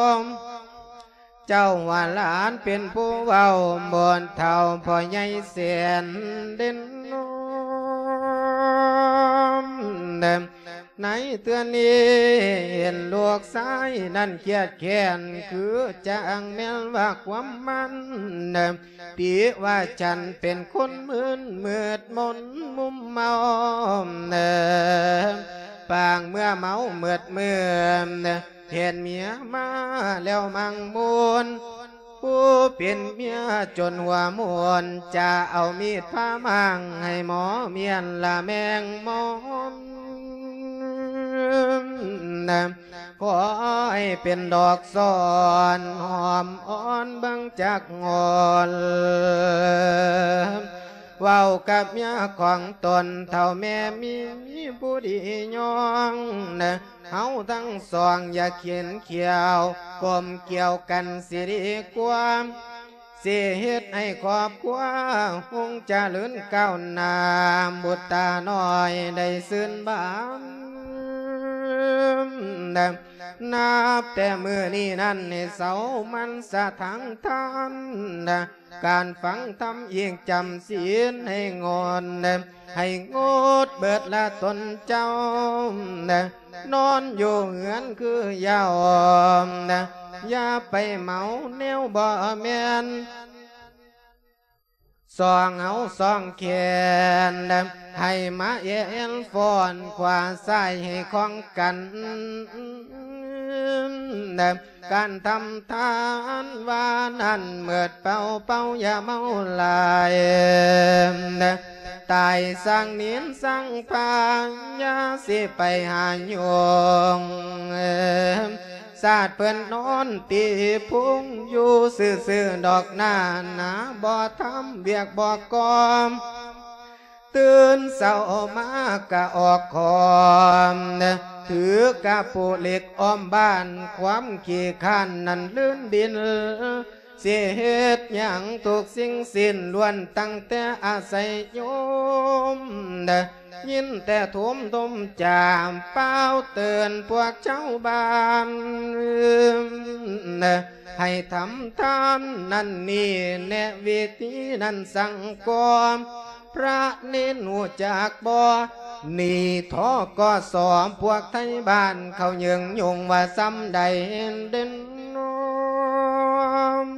ເຈົ້າວ່າຫຼານເປັນຜູ້ເວົ້າ ບົດເຖົ້າພໍ່ໃຫຍ່ແສນເດັ່ນນອມ. ໃນເທື່ອນີ້ເຫັນລູກຊາຍນັ້ນຄຽດແຄ້ນ ຄືຈັ່ງແມ່ນວ່າຄວາມມັນ ຕິວ່າສັນເປັນຄົນມຶນມືດມົນມຸມເມົາ ປາງເມື່ອເມົາມືດມືນ ເຫັນເມຍມາແລ້ວມັງມຸນ ຜູ້ເປັນເມຍຈົນຫົວໝູນ ຈະເອົາມີດຜ່າມ້າງໃຫ້ໝໍມ້ຽນລະແມງມອນ. ຂໍໃຫ້ເປັນດອກສອນຫອມອ່ອນເບິ່ງຈັກງອນ ເວົ້າກັບເມຍຂອງຕົນເຖົ້າແມ່ມີຜູ້ດີຍອງ ເຮົາທັງສອງຢ່າຂຽນຂຽວ ກົມກ່ຽວກັນຊິດີກວ່າ ຊິເຮັດໃຫ້ຄອບຄົວຮຸ່ງຈະເລີນກ້າວໜ້າ ບຸດຕານ້ອຍໄດ້ຊື່ນບານ. ນັບແຕ່ມື້ນີ້ນັ້ນໃຫ້ເຊົາໝັ່ນສະຖານທານ ການຟັງທຳອີກຈຳສິນໃຫ້ງົດ ໃຫ້ງົດເບິດລະຕົນເຈົ້າ ນອນຢູ່ເຮືອນຄືເຍົາ ຢ່າໄປເມົາແນວບໍ່ແມ່ນ ສອງເອົາສອງແຂນ ໃຫ້ມາແອນຟ້ອນຂວາຊ້າຍໃຫ້ຂ້ອງກັນ ການທຳທານວ່ານັ້ນເໝິດເປົ່າເປົ່າຢ່າເມົາຫຼາຍ ຕາຍສ້າງໜິນສ້າງພາ ຢ່າຊິໄປຫາຫຍຸ້ງ ຊາດເພິ່ນນອນຕີພຸງ ຢູ່ຊື່ໆດອກໜ້າໜາ ບໍ່ທຳວຽກບໍ່ກອມ ຕື່ນເຊົ້າມາກະອອກຂອມ ຖືກະປູເຫຼັກອ້ອມບ້ານ ຄວາມຂີ້ຄ້ານນັ້ນລື່ນດິນ ຊິເຮັດຫຍັງທຸກສິ່ງສິ້ນ ລ້ວນຕັ້ງແຕ່ອາໄສໂຍມ ຍິນແຕ່ໂທມໂທມຈາ ປ່າວເຕືອນພວກຊາວບ້ານ ໃຫ້ທຳທານນັ້ນນີ້ແນະ ວິທີນັ້ນສັງກອມ ພະເນນຮູ້ຈັກບໍ່? ໜີ ທກສ ພວກໄທບ້ານເຂົາເຍີງຍົງວ່າຊ່ຳໃດເດັ່ນນອມ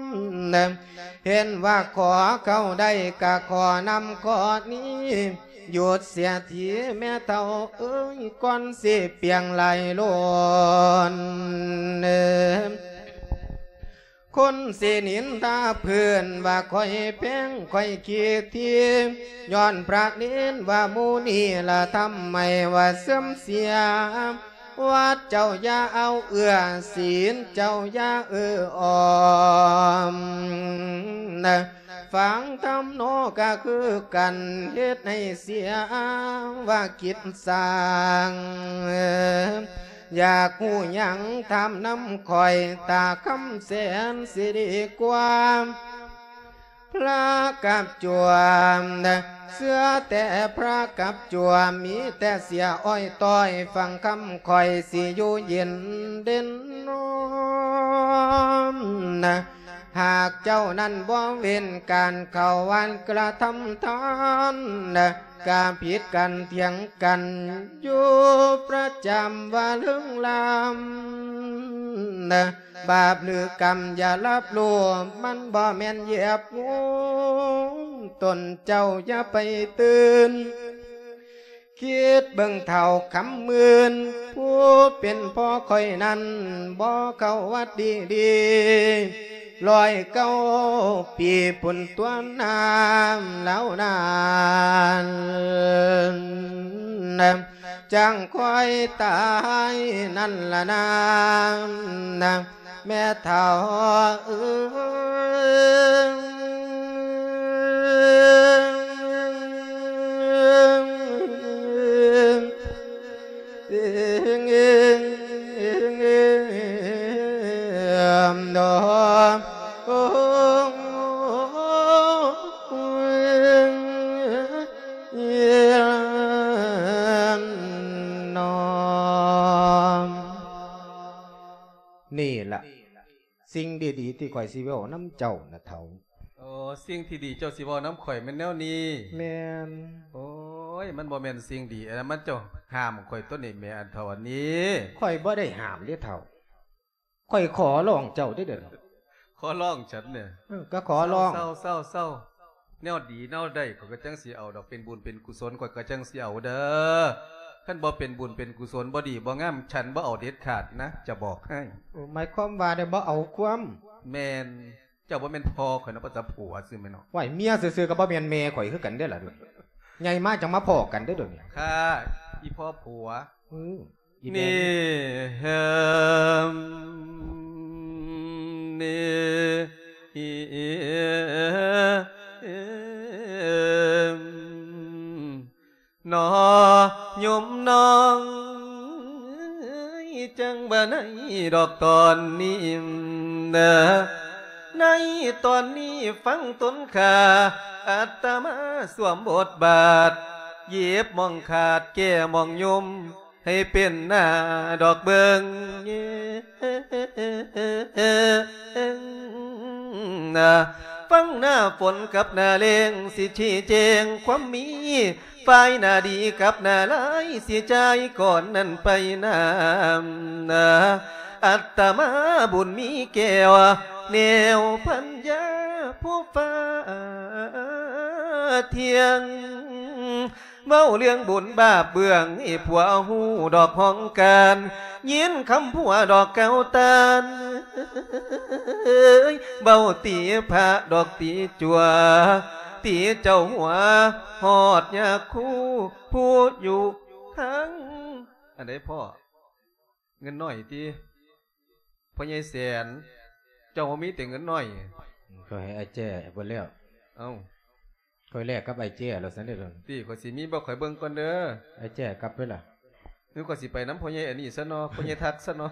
ເຫັນວ່າຂໍເຂົ້າໄດ້ກະຂໍນຳຂໍ້ນີ້ ຢຸດເສຍທີແມ່ເຖົ້າເອີຍ ກ່ອນຊິປ່ຽງຫຼາຍລົ້ນ. ຄົນຊິນິນທາເພິ່ນວ່າຂ້ອຍແພງ ຂ້ອຍຂີ້ຖີ່ ຍ້ອນພະເນນວ່າໝູ່ນີ້ລະທຳໃຫ້ວ່າເສື່ອມເສຍ ວັດເຈົ້າຢ່າເອົາເອື້ອ ສິນເຈົ້າຢ່າເອື້ອອ້ອມ ຟັງທຳໂນກະຄືກັນ ເຮັດໃຫ້ເສຍວ່າກິດສ້າງ ຢາກຮູ້ຫຍັງຖາມນຳຂ້ອຍ ຕາຄຳແສນຊິດີກວ່າ ພະກັບຈວມ ເຊື່ອແຕ່ພະກັບຈວມ ມີແຕ່ເສຍອ້ອຍຕ້ອຍ ຟັງຄຳຂ້ອຍຊິຢູ່ເຢັນເດັ່ນນອມ ຫາກເຈົ້ານັ້ນບໍ່ເວັ້ນການເຂົ້າວັດກະທຳທານ ກະຜິດກັນຖຽງກັນຢູ່ປະຈຳວ່າເລື່ອງລາມ ບາບຫຼືກຳຢ່າຮັບຮູ້ ມັນບໍ່ແມ່ນຢຽບງູ ຕົນເຈົ້າຢ່າໄປຕື່ນ ຄິດເບິ່ງເຖົ້າຄຳໝື່ນ ຜູ້ເປັນພໍ່ຂ້ອຍນັ້ນ ບໍ່ເຂົ້າວັດດີໆ ຮ້ອຍເກົ້າປີພຸ້ນຕົວະນາ ລາວນັ້ນ ຈັ່ງຄ່ອຍຕາຍນັ້ນລະນາ ແມ່ເຖົ້າເອີຍ. ນີ້ລະ ສິ່ງດີໆທີ່ຂ້ອຍຊິເວົ້ານຳເຈົ້ານະເຖົ້າ. ໂອ້ ສິ່ງທີ່ດີເຈົ້າຊິເວົ້ານຳຂ້ອຍແມ່ນແນວນີ້. ແມ່ນ. ໂອ້ຍ ມັນບໍ່ແມ່ນສິ່ງດີ ອັນນັ້ນມັນເຈົ້າຫ້າມຂ້ອຍຕົວະນີ້ແໝ່ ອັນເຖົ້າອັນນີ້. ຂ້ອຍບໍ່ໄດ້ຫ້າມເດ້ເຖົ້າ. ຂ້ອຍຂໍຮ້ອງເຈົ້າເດ້ເດີ. ຂໍຮ້ອງ? ເອີ ກໍຂໍຮ້ອງ. ເຊົາໆໆ. ແນວດີແນວໃດຂ້ອຍກໍຈັ່ງຊິເອົາດອກ ເປັນບຸນເປັນກຸສົນຂ້ອຍກໍຈັ່ງຊິເອົາເດີ. ຄັນບໍ່ເປັນບຸນເປັນກຸສົນ ບໍ່ດີບໍ່ງາມ ສັນບໍ່ເອົາເດັດຂາດນະ ຈະບອກໃຫ້. ໂອ້ ໝາຍຄວາມວ່າໄດ້ບໍ່ເອົາຄວາມ. ແມ່ນ. ເຈົ້າບໍ່ແມ່ນພໍ່ຂ້ອຍເນາະ ພາສາຜົວຊື່ແມ່ນເນາະ. ຫວາຍ ເມຍຊື່ໆກໍບໍ່ແມ່ນແມ່ຂ້ອຍຄືກັນເດ້ລະ. ໃຫຍ່ມາຈັ່ງມາພໍ້ກັນເດີ້ດຽວນີ້. ຂ້າ ອີ່ພໍ່ຜົວ. ອື ອີ່ແມ່. ນີ້ ເຮີມ ນີ້ ເອີມ ໜໍໂຍມນ້ອງ ຈັ່ງວ່າໃນດອກຕອນນີ້ນະ ໃນຕອນນີ້ຟັງຕົນຂ້າ ອາດຕະມາສວມບົດບາດ ຫຍິບມ່ອງຂາດແກ້ມ່ອງໂຍມ ໃຫ້ເປັນໜ້າດອກເບິ່ງ ນະ ຟັງໜ້າຝົນກັບໜ້າແລ້ງ ຊິຊີ້ແຈງຄວາມມີ ຝ່າຍໜ້າດີກັບໜ້າຮ້າຍ ຊິຈ່າຍກ່ອນນັ້ນໄປນຳ ນະ ອາດຕະມາບຸນມີແກ້ວ ແນວພັນຍາຜູ້ຟ້າທ່ຽງ ເວົ້າເລື່ອງບຸນບາບເບື້ອງ ໃຫ້ຜົວຮູ້ດອກຫ້ອງການ ຍິນຄຳຜົວດອກກ່າວຕ້ານ ເອີຍ ເວົ້າຕິພະດອກຕິຈົວ ຕິເຈົ້າຫົວ ຮອດຍາຄູຜູ້ຢູ່ທາງ ອັນໃດພໍ່? ເງິນນ້ອຍຕິ? ພໍ່ໃຫຍ່ແສນ ເຈົ້າບໍ່ມີແຕ່ເງິນນ້ອຍ? ຂ້ອຍໃຫ້ອ້າຍແຈ້ເບິດແລ້ວ. ເອົ້າ ຂ້ອຍແລກກັບອ້າຍແຈ້ແລ້ວຊັ້ນເດ້. ຕິ ຂ້ອຍຊິມີບໍ່? ຂ້ອຍເບິ່ງກ່ອນເດີ. ອ້າຍແຈ້ກັບໄປລະ? ຫຼືຂ້ອຍຊິໄປນຳພໍ່ໃຫຍ່ອັນນີ້ຊະເນາະ ພໍ່ໃຫຍ່ທັກຊະເນາະ.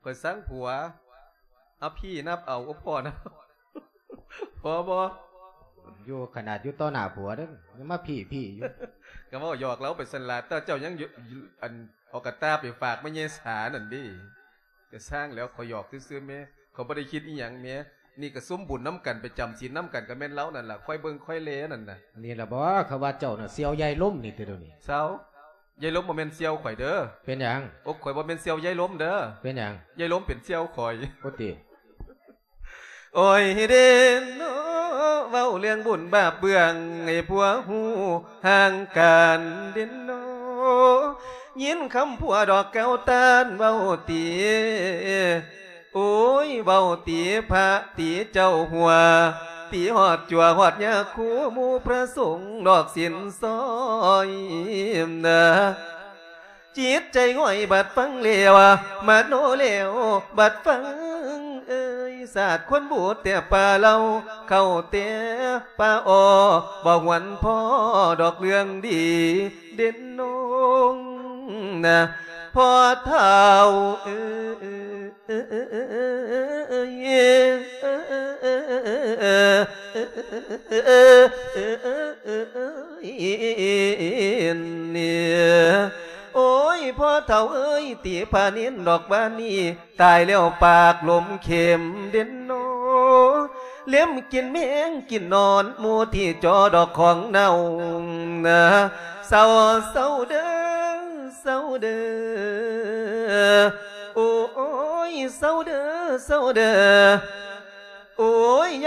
ຂ້ອຍສັງຜົວ. ເອົາ ພີ່ນັບເອົາ ໂອ້ ພໍ່ນັບ ພໍບໍ່? ຢູ່ ຂະໜາດຢູ່ຕໍ່ໜ້າຜົວເດ້ ຍັງມາພີ່ໆຢູ່. ກໍເວົ້າຫຍອກລາວໄປຊັ້ນລະ ແຕ່ເຈົ້າຍັງຢູ່ ອັນ ເອົາກະຕ່າໄປຝາກແມ່ຍາຍສານັ້ນເດ້ ກະຊ່າງແລ້ວ ຂ້ອຍຫຍອກຊື່ໆແມ່ ຂ້ອຍບໍ່ໄດ້ຄິດອີ່ຫຍັງແມ່. ນີ້ກະຊຸມບຸນນຳກັນ ໄປຈຳສິນນຳກັນ ກະແມ່ນລາວນັ້ນລະ ຄອຍເບິ່ງຄອຍແລນັ້ນນະ. ນີ້ລະບໍ ເຂົາວ່າເຈົ້ານະສ່ຽວຍາຍລົມນີ້ຕິດຽວນີ້. ເຊົາ ຍາຍລົມບໍ່ແມ່ນສ່ຽວຂ້ອຍເດີ. ເປັນຫຍັງ? ໂອ ຂ້ອຍບໍ່ແມ່ນສ່ຽວຍາຍລົມເດີ. ເປັນຫຍັງ? ຍາຍລົມເປັນສ່ຽວຂ້ອຍ. ໂອຕິ. ໂອ້ຍເດ້ເນາະ ເວົ້າເລື່ອງບຸນບາບເບື້ອງ ໃຫ້ຜົວຮູ້ຫ່າງການເດ້ເນາະ ຍິນຄຳຜົວດອກກ່າວຕ້ານເວົ້າຕິ ໂອ້ຍ ເວົ້າຕິພະຕິເຈົ້າຫົວ ຕິຮອດຈົວຮອດຍາຄູ ໝູ່ພະສົງດອກສິນຊອຍນະ. ຈິດໃຈຫງອຍບັດຟັງແລ້ວ ມະໂນແລ້ວບັດຟັງເອີຍ ສາດຄົນບູດແຕ່ປ່າເລົ່າ ເຂົ້າແຕ່ປ່າອໍ ບໍ່ຫວນພໍດອກເລື່ອງດີ ເດັ່ນນົງນະ ພໍ່ເຖົ້າເອີຍ. ໂອ້ຍ ພໍ່ເຖົ້າເອີຍ ຕິພະເນນດອກບານນີ້ ຕາຍແລ້ວປາກລົມເຂັມເດັ່ນນໍ ເລັມກິນແມງກິນໜອນ ໝູ່ທີ່ຈໍດອກຂອງເນົ່ານະ ເຊົາ ເຊົາເດີ ເຊົາເດີ ໂອ້ຍ ເຊົາເດີ ເຊົາເດີ ໂອ້ຍ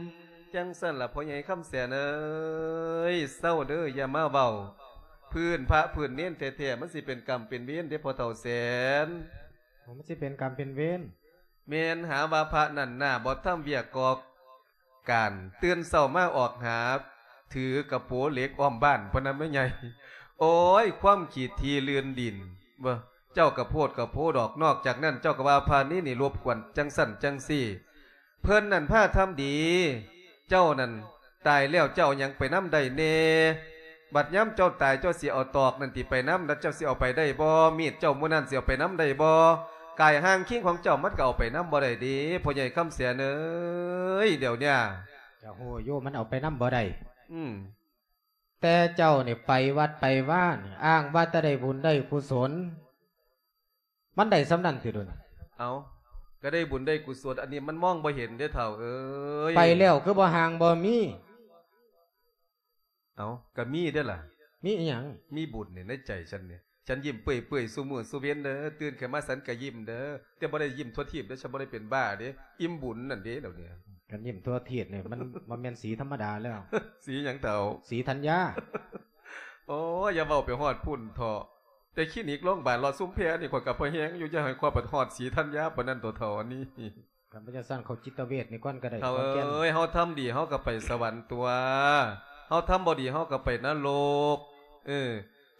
ຈັ່ງຊັ້ນລະພໍ່ໃຫຍ່ຄຳແສນເອີຍ ເຊົາເດີ ຢ່າມາເວົ້າພື້ນພະພື້ນເນນແທ້ໆ ມັນຊິເປັນກຳເປັນເວນເດ້ພໍ່ເຖົ້າແສນ. ໂອ້ ມັນຊິເປັນກຳເປັນເວນ. ແມ່ນ ຫາວ່າພະນັ້ນໜ້າບໍ່ທຳວຽກກໍການ ຕື່ນເຊົ້າມາອອກຫາ ຖືກະໂປເຫຼັກອ້ອມບ້ານພຸ້ນນະແມ່ໃຫຍ່. ໂອ້ຍ ຄວາມຂີ້ຖີ່ລື່ນດິນ ເບິ່ງ ເຈົ້າກະໂພດກະໂພດອກ. ນອກຈາກນັ້ນເຈົ້າກະວ່າພະນີນີ້ລົບກວນຈັ່ງຊັ້ນຈັ່ງຊີ້. ເພິ່ນນັ້ນພາທຳດີ ເຈົ້ານັ້ນຕາຍແລ້ວເຈົ້າເອົາຫຍັງໄປນຳໄດ້ແດ່? ບັດຍາມເຈົ້າຕາຍເຈົ້າຊິເອົາຕອກນັ້ນຕິໄປນຳ? ແລ້ວເຈົ້າຊິເອົາໄປໄດ້ບໍ່? ມີດເຈົ້າມື້ນັ້ນຊິເອົາໄປນຳໄດ້ບໍ່? ກາຍຮ່າງຄີງຂອງເຈົ້າມັນກະເອົາໄປນຳບໍ່ໄດ້ເດ້ ພໍ່ໃຫຍ່ຄຳແສນເອີຍ. ດຽວເນີ້ຍ ກະຮູ້ຢູ່ມັນເອົາໄປນຳບໍ່ໄດ້ ອືມ ແຕ່ເຈົ້ານີ້ໄປວັດໄປວານີ້ ອ້າງວ່າແຕ່ໄດ້ບຸນໄດ້ກຸສົນ ມັນໄດ້ສ່ຳນັ້ນຕິດວະນີ້? ເອົ້າ ກະໄດ້ບຸນໄດ້ກຸສົນ ອັນນີ້ມັນມອງບໍ່ເຫັນເດ້ເຖົ້າເອີຍ. ໄປແລ້ວຄືບໍ່ຮ່າງບໍ່ມີ? ເອົ້າ ກະມີເດ້ລະ. ມີອີ່ຫຍັງ? ມີບຸນນີ້ໃນໃຈສັນນີ້ ສັນຍິ້ມເປື່ອຍໆ ຊຸມື້ຊຸເວັນເດີ. ຕື່ນຂຶ້ນມາສັນກະຍິ້ມເດີ ແຕ່ບໍ່ໄດ້ຍິ້ມທົ່ວທີບເດີ ສັນບໍ່ໄດ້ເປັນບ້າເດ້ ອີ່ມບຸນນັ້ນເດ້ດຽວນີ້. ກະຍິ້ມທົ່ວທີບນີ້ ມັນບໍ່ແມ່ນສີທຳມະດາແລ້ວ. ສີຫຍັງເຖົ້າ? ສີທັນຍາ. ໂອ້ຍ ຢ່າເວົ້າໄປຮອດພຸ້ນເຖາະ. ແຕ່ຄລີນິກໂລງບານລອດຊຸມແພນີ້ ຂ້ອຍກະພໍແຮງຢູ່ ຢ່າໃຫ້ຂ້ອຍໄປຮອດສີທັນຍາປານນັ້ນໂຕເຖົ້າອັນນີ້. ຄັນບໍ່ຈັ່ງຊັ້ນເຂົ້າຈິດຕະເວດນີ້ກ່ອນກະໄດ້. ເຖົ້າເອີຍ ເຮົາທຳດີເຮົາກະໄປສະຫວັນຕົວະ ເຮົາທຳບໍ່ດີເຮົາກະໄປນະລົກ. ເອີ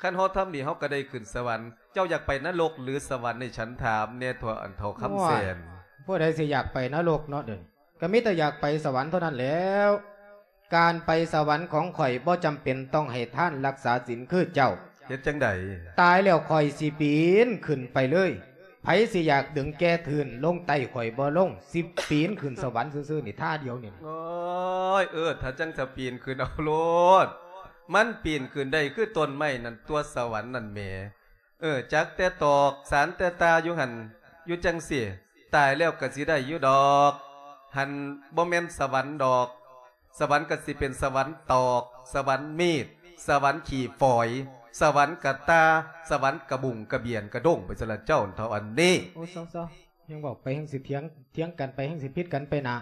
ຄັນເຮົາທຳດີເຮົາກະໄດ້ຂຶ້ນສະຫວັນ. ເຈົ້າຢາກໄປນະລົກຫຼືສະຫວັນໃຫ້ສັນຖາມແດ່ເຖາະ ອັນເຖົ້າຄຳແສນ. ໂອ້ຍ ຜູ້ໃດຊິຢາກໄປນະລົກເນາະ ເດີ ກະມີແຕ່ຢາກໄປສະຫວັນເທົ່ານັ້ນແລ້ວ. ການໄປສະຫວັນຂອງຂ້ອຍບໍ່ຈຳເປັນຕ້ອງໃຫ້ທານລັກສາສິນຄືເຈົ້າ. ເຮັດຈັ່ງໃດ? ຕາຍແລ້ວຂ້ອຍຊິປີນຂຶ້ນໄປເລີຍ. ໃຜຊິຢາກດຶງແກ່ທຶນລົງໃຕ້ຂ້ອຍບໍ່ລົງ ຊິປີນຂຶ້ນສະຫວັນຊື່ໆນີ້ ທ່າດຽວນີ້. ໂອ້ຍ ເອີ ຖ້າຈັ່ງສະປີນຂຶ້ນເອົາໂລດ ມັນປີນຂຶ້ນໄດ້ຄືຕົ້ນໄມ້ນັ້ນຕົວະ ສະຫວັນນັ້ນແໝ. ເອີ ຈັກແຕ່ຕອກສານແຕ່ຕາຢູ່ຫັ້ນ ຢູ່ຈັ່ງຊີ້ ຕາຍແລ້ວກະຊິໄດ້ຢູ່ດອກ. ຫັ້ນບໍ່ແມ່ນສະຫວັນດອກ ສະຫວັນກະຊິເປັນສະຫວັນຕອກ ສະຫວັນມີດ ສະຫວັນຂີ້ຝອຍ ສະຫວັນກະຕ່າ ສະຫວັນກະບຸ້ງກະບຽນກະດົ້ງໄປຊັ້ນລະເຈົ້າເຖົ້າອັນນີ້. ໂອ້ ເຊົາໆ ແຮ່ງເວົ້າໄປແຮ່ງຊິຖຽງ ຖຽງກັນໄປແຮ່ງຊິຜິດກັນໄປໜ້າ.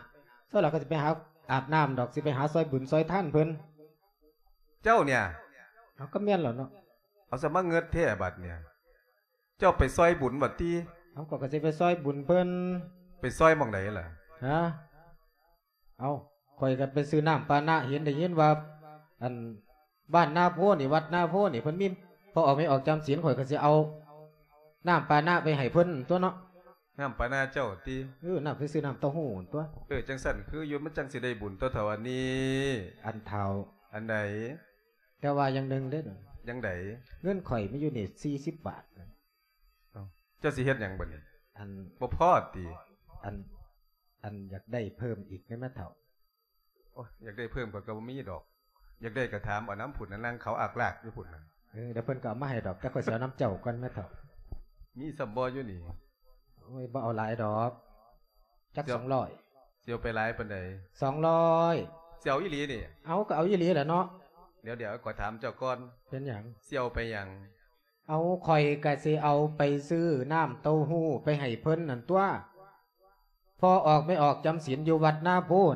ເຊົາລະກະຊິໄປຫາອາບນ້ຳດອກ ຊິໄປຫາຊ່ອຍບຸນຊ່ອຍທານເພິ່ນ. ເຈົ້າເນີ້ຍ ເອົາ ກະແມ່ນແລ້ວເນາະ. ເອົາ ສະມາເງິດແທ້ບາດເນີ້ຍ ເຈົ້າໄປຊ່ອຍບຸນຫວາຕິ? ເອົາ ຂ້ອຍກະຊິໄປຊ່ອຍບຸນເພິ່ນ. ໄປຊ່ອຍໝ່ອງໃດລະ? ຮະ? ເອົາ ຂ້ອຍກະໄປຊື້ນ້ຳປານະ ເຫັນໄດ້ຍິນວ່າ ອັນ ບ້ານນາໂພນີ້ ວັດນາໂພນີ້ ເພິ່ນມີພໍ່ອອກແມ່ອອກຈຳສິນ ຂ້ອຍກະຊິເອົານ້ຳປານະໄປໃຫ້ເພິ່ນຕົວະເນາະ. ນ້ຳປານະເຈົ້າຕິ? ເອີ ນ້ຳ ໄປຊື້ນ້ຳເຕົ້າຫູ້ຕົວະ. ເອີ ຈັ່ງຊັ້ນຄືຢູ່ ມັນຈັ່ງຊິໄດ້ບຸນຕົວະເຖົ້າອັນນີ້. ອັນເຖົ້າ ອັນໃດ? ແຕ່ວ່າຢ່າງໜຶ່ງເດ້. ຢ່າງໃດ? ເງິນຂ້ອຍມີຢູ່ນີ້ສີ່ສິບບາດ. ເອົ້າ ເຈົ້າຊິເຮັດຫຍັງບາດນີ້? ອັນ ບໍ່ພໍຕິ? ອັນ ອັນຢາກໄດ້ເພີ່ມອີກແດ່ແມ່ເຖົ້າ. ໂອ້ຍ ຢາກໄດ້ເພີ່ມຂ້ອຍກະບໍ່ມີດອກ. ຢາກໄດ້ກະຖາມເອົານຳພຸ້ນນະ ນັ່ງເຂົາອາກລາກຢູ່ພຸ້ນນະ. ເອີ ດຽວເພິ່ນກະເອົາມາໃຫ້ດອກ ແຕ່ຂ້ອຍຊິເອົານຳເຈົ້າກ່ອນແມ່ເຖົ້າ. ມີສ່ຳບໍ່ຢູ່ນີ້? ໂອ້ຍ ບໍ່ເອົາຫຼາຍດອກ. ຈັກ ສອງຮ້ອຍ. ຊິເອົາໄປຫຼາຍປານໃດ? ສອງຮ້ອຍ. ຊິເອົາອີ່ຫຼີນີ້? ເອົາ ກະເອົາອີ່ຫຼີແຫຼະເນາະ. ດຽວໆ ຂ້ອຍຖາມເຈົ້າກ່ອນ. ເປັນຫຍັງ? ຊິເອົາໄປຫຍັງ? ເອົາ ຂ້ອຍກະຊິເອົາໄປຊື້ນ້ຳເຕົ້າຫູ້ໄປໃຫ້ເພິ່ນຫັ້ນຕົວະ. ພໍ່ອອກແມ່ອອກຈຳສິນຢູ່ວັດນາໂພນ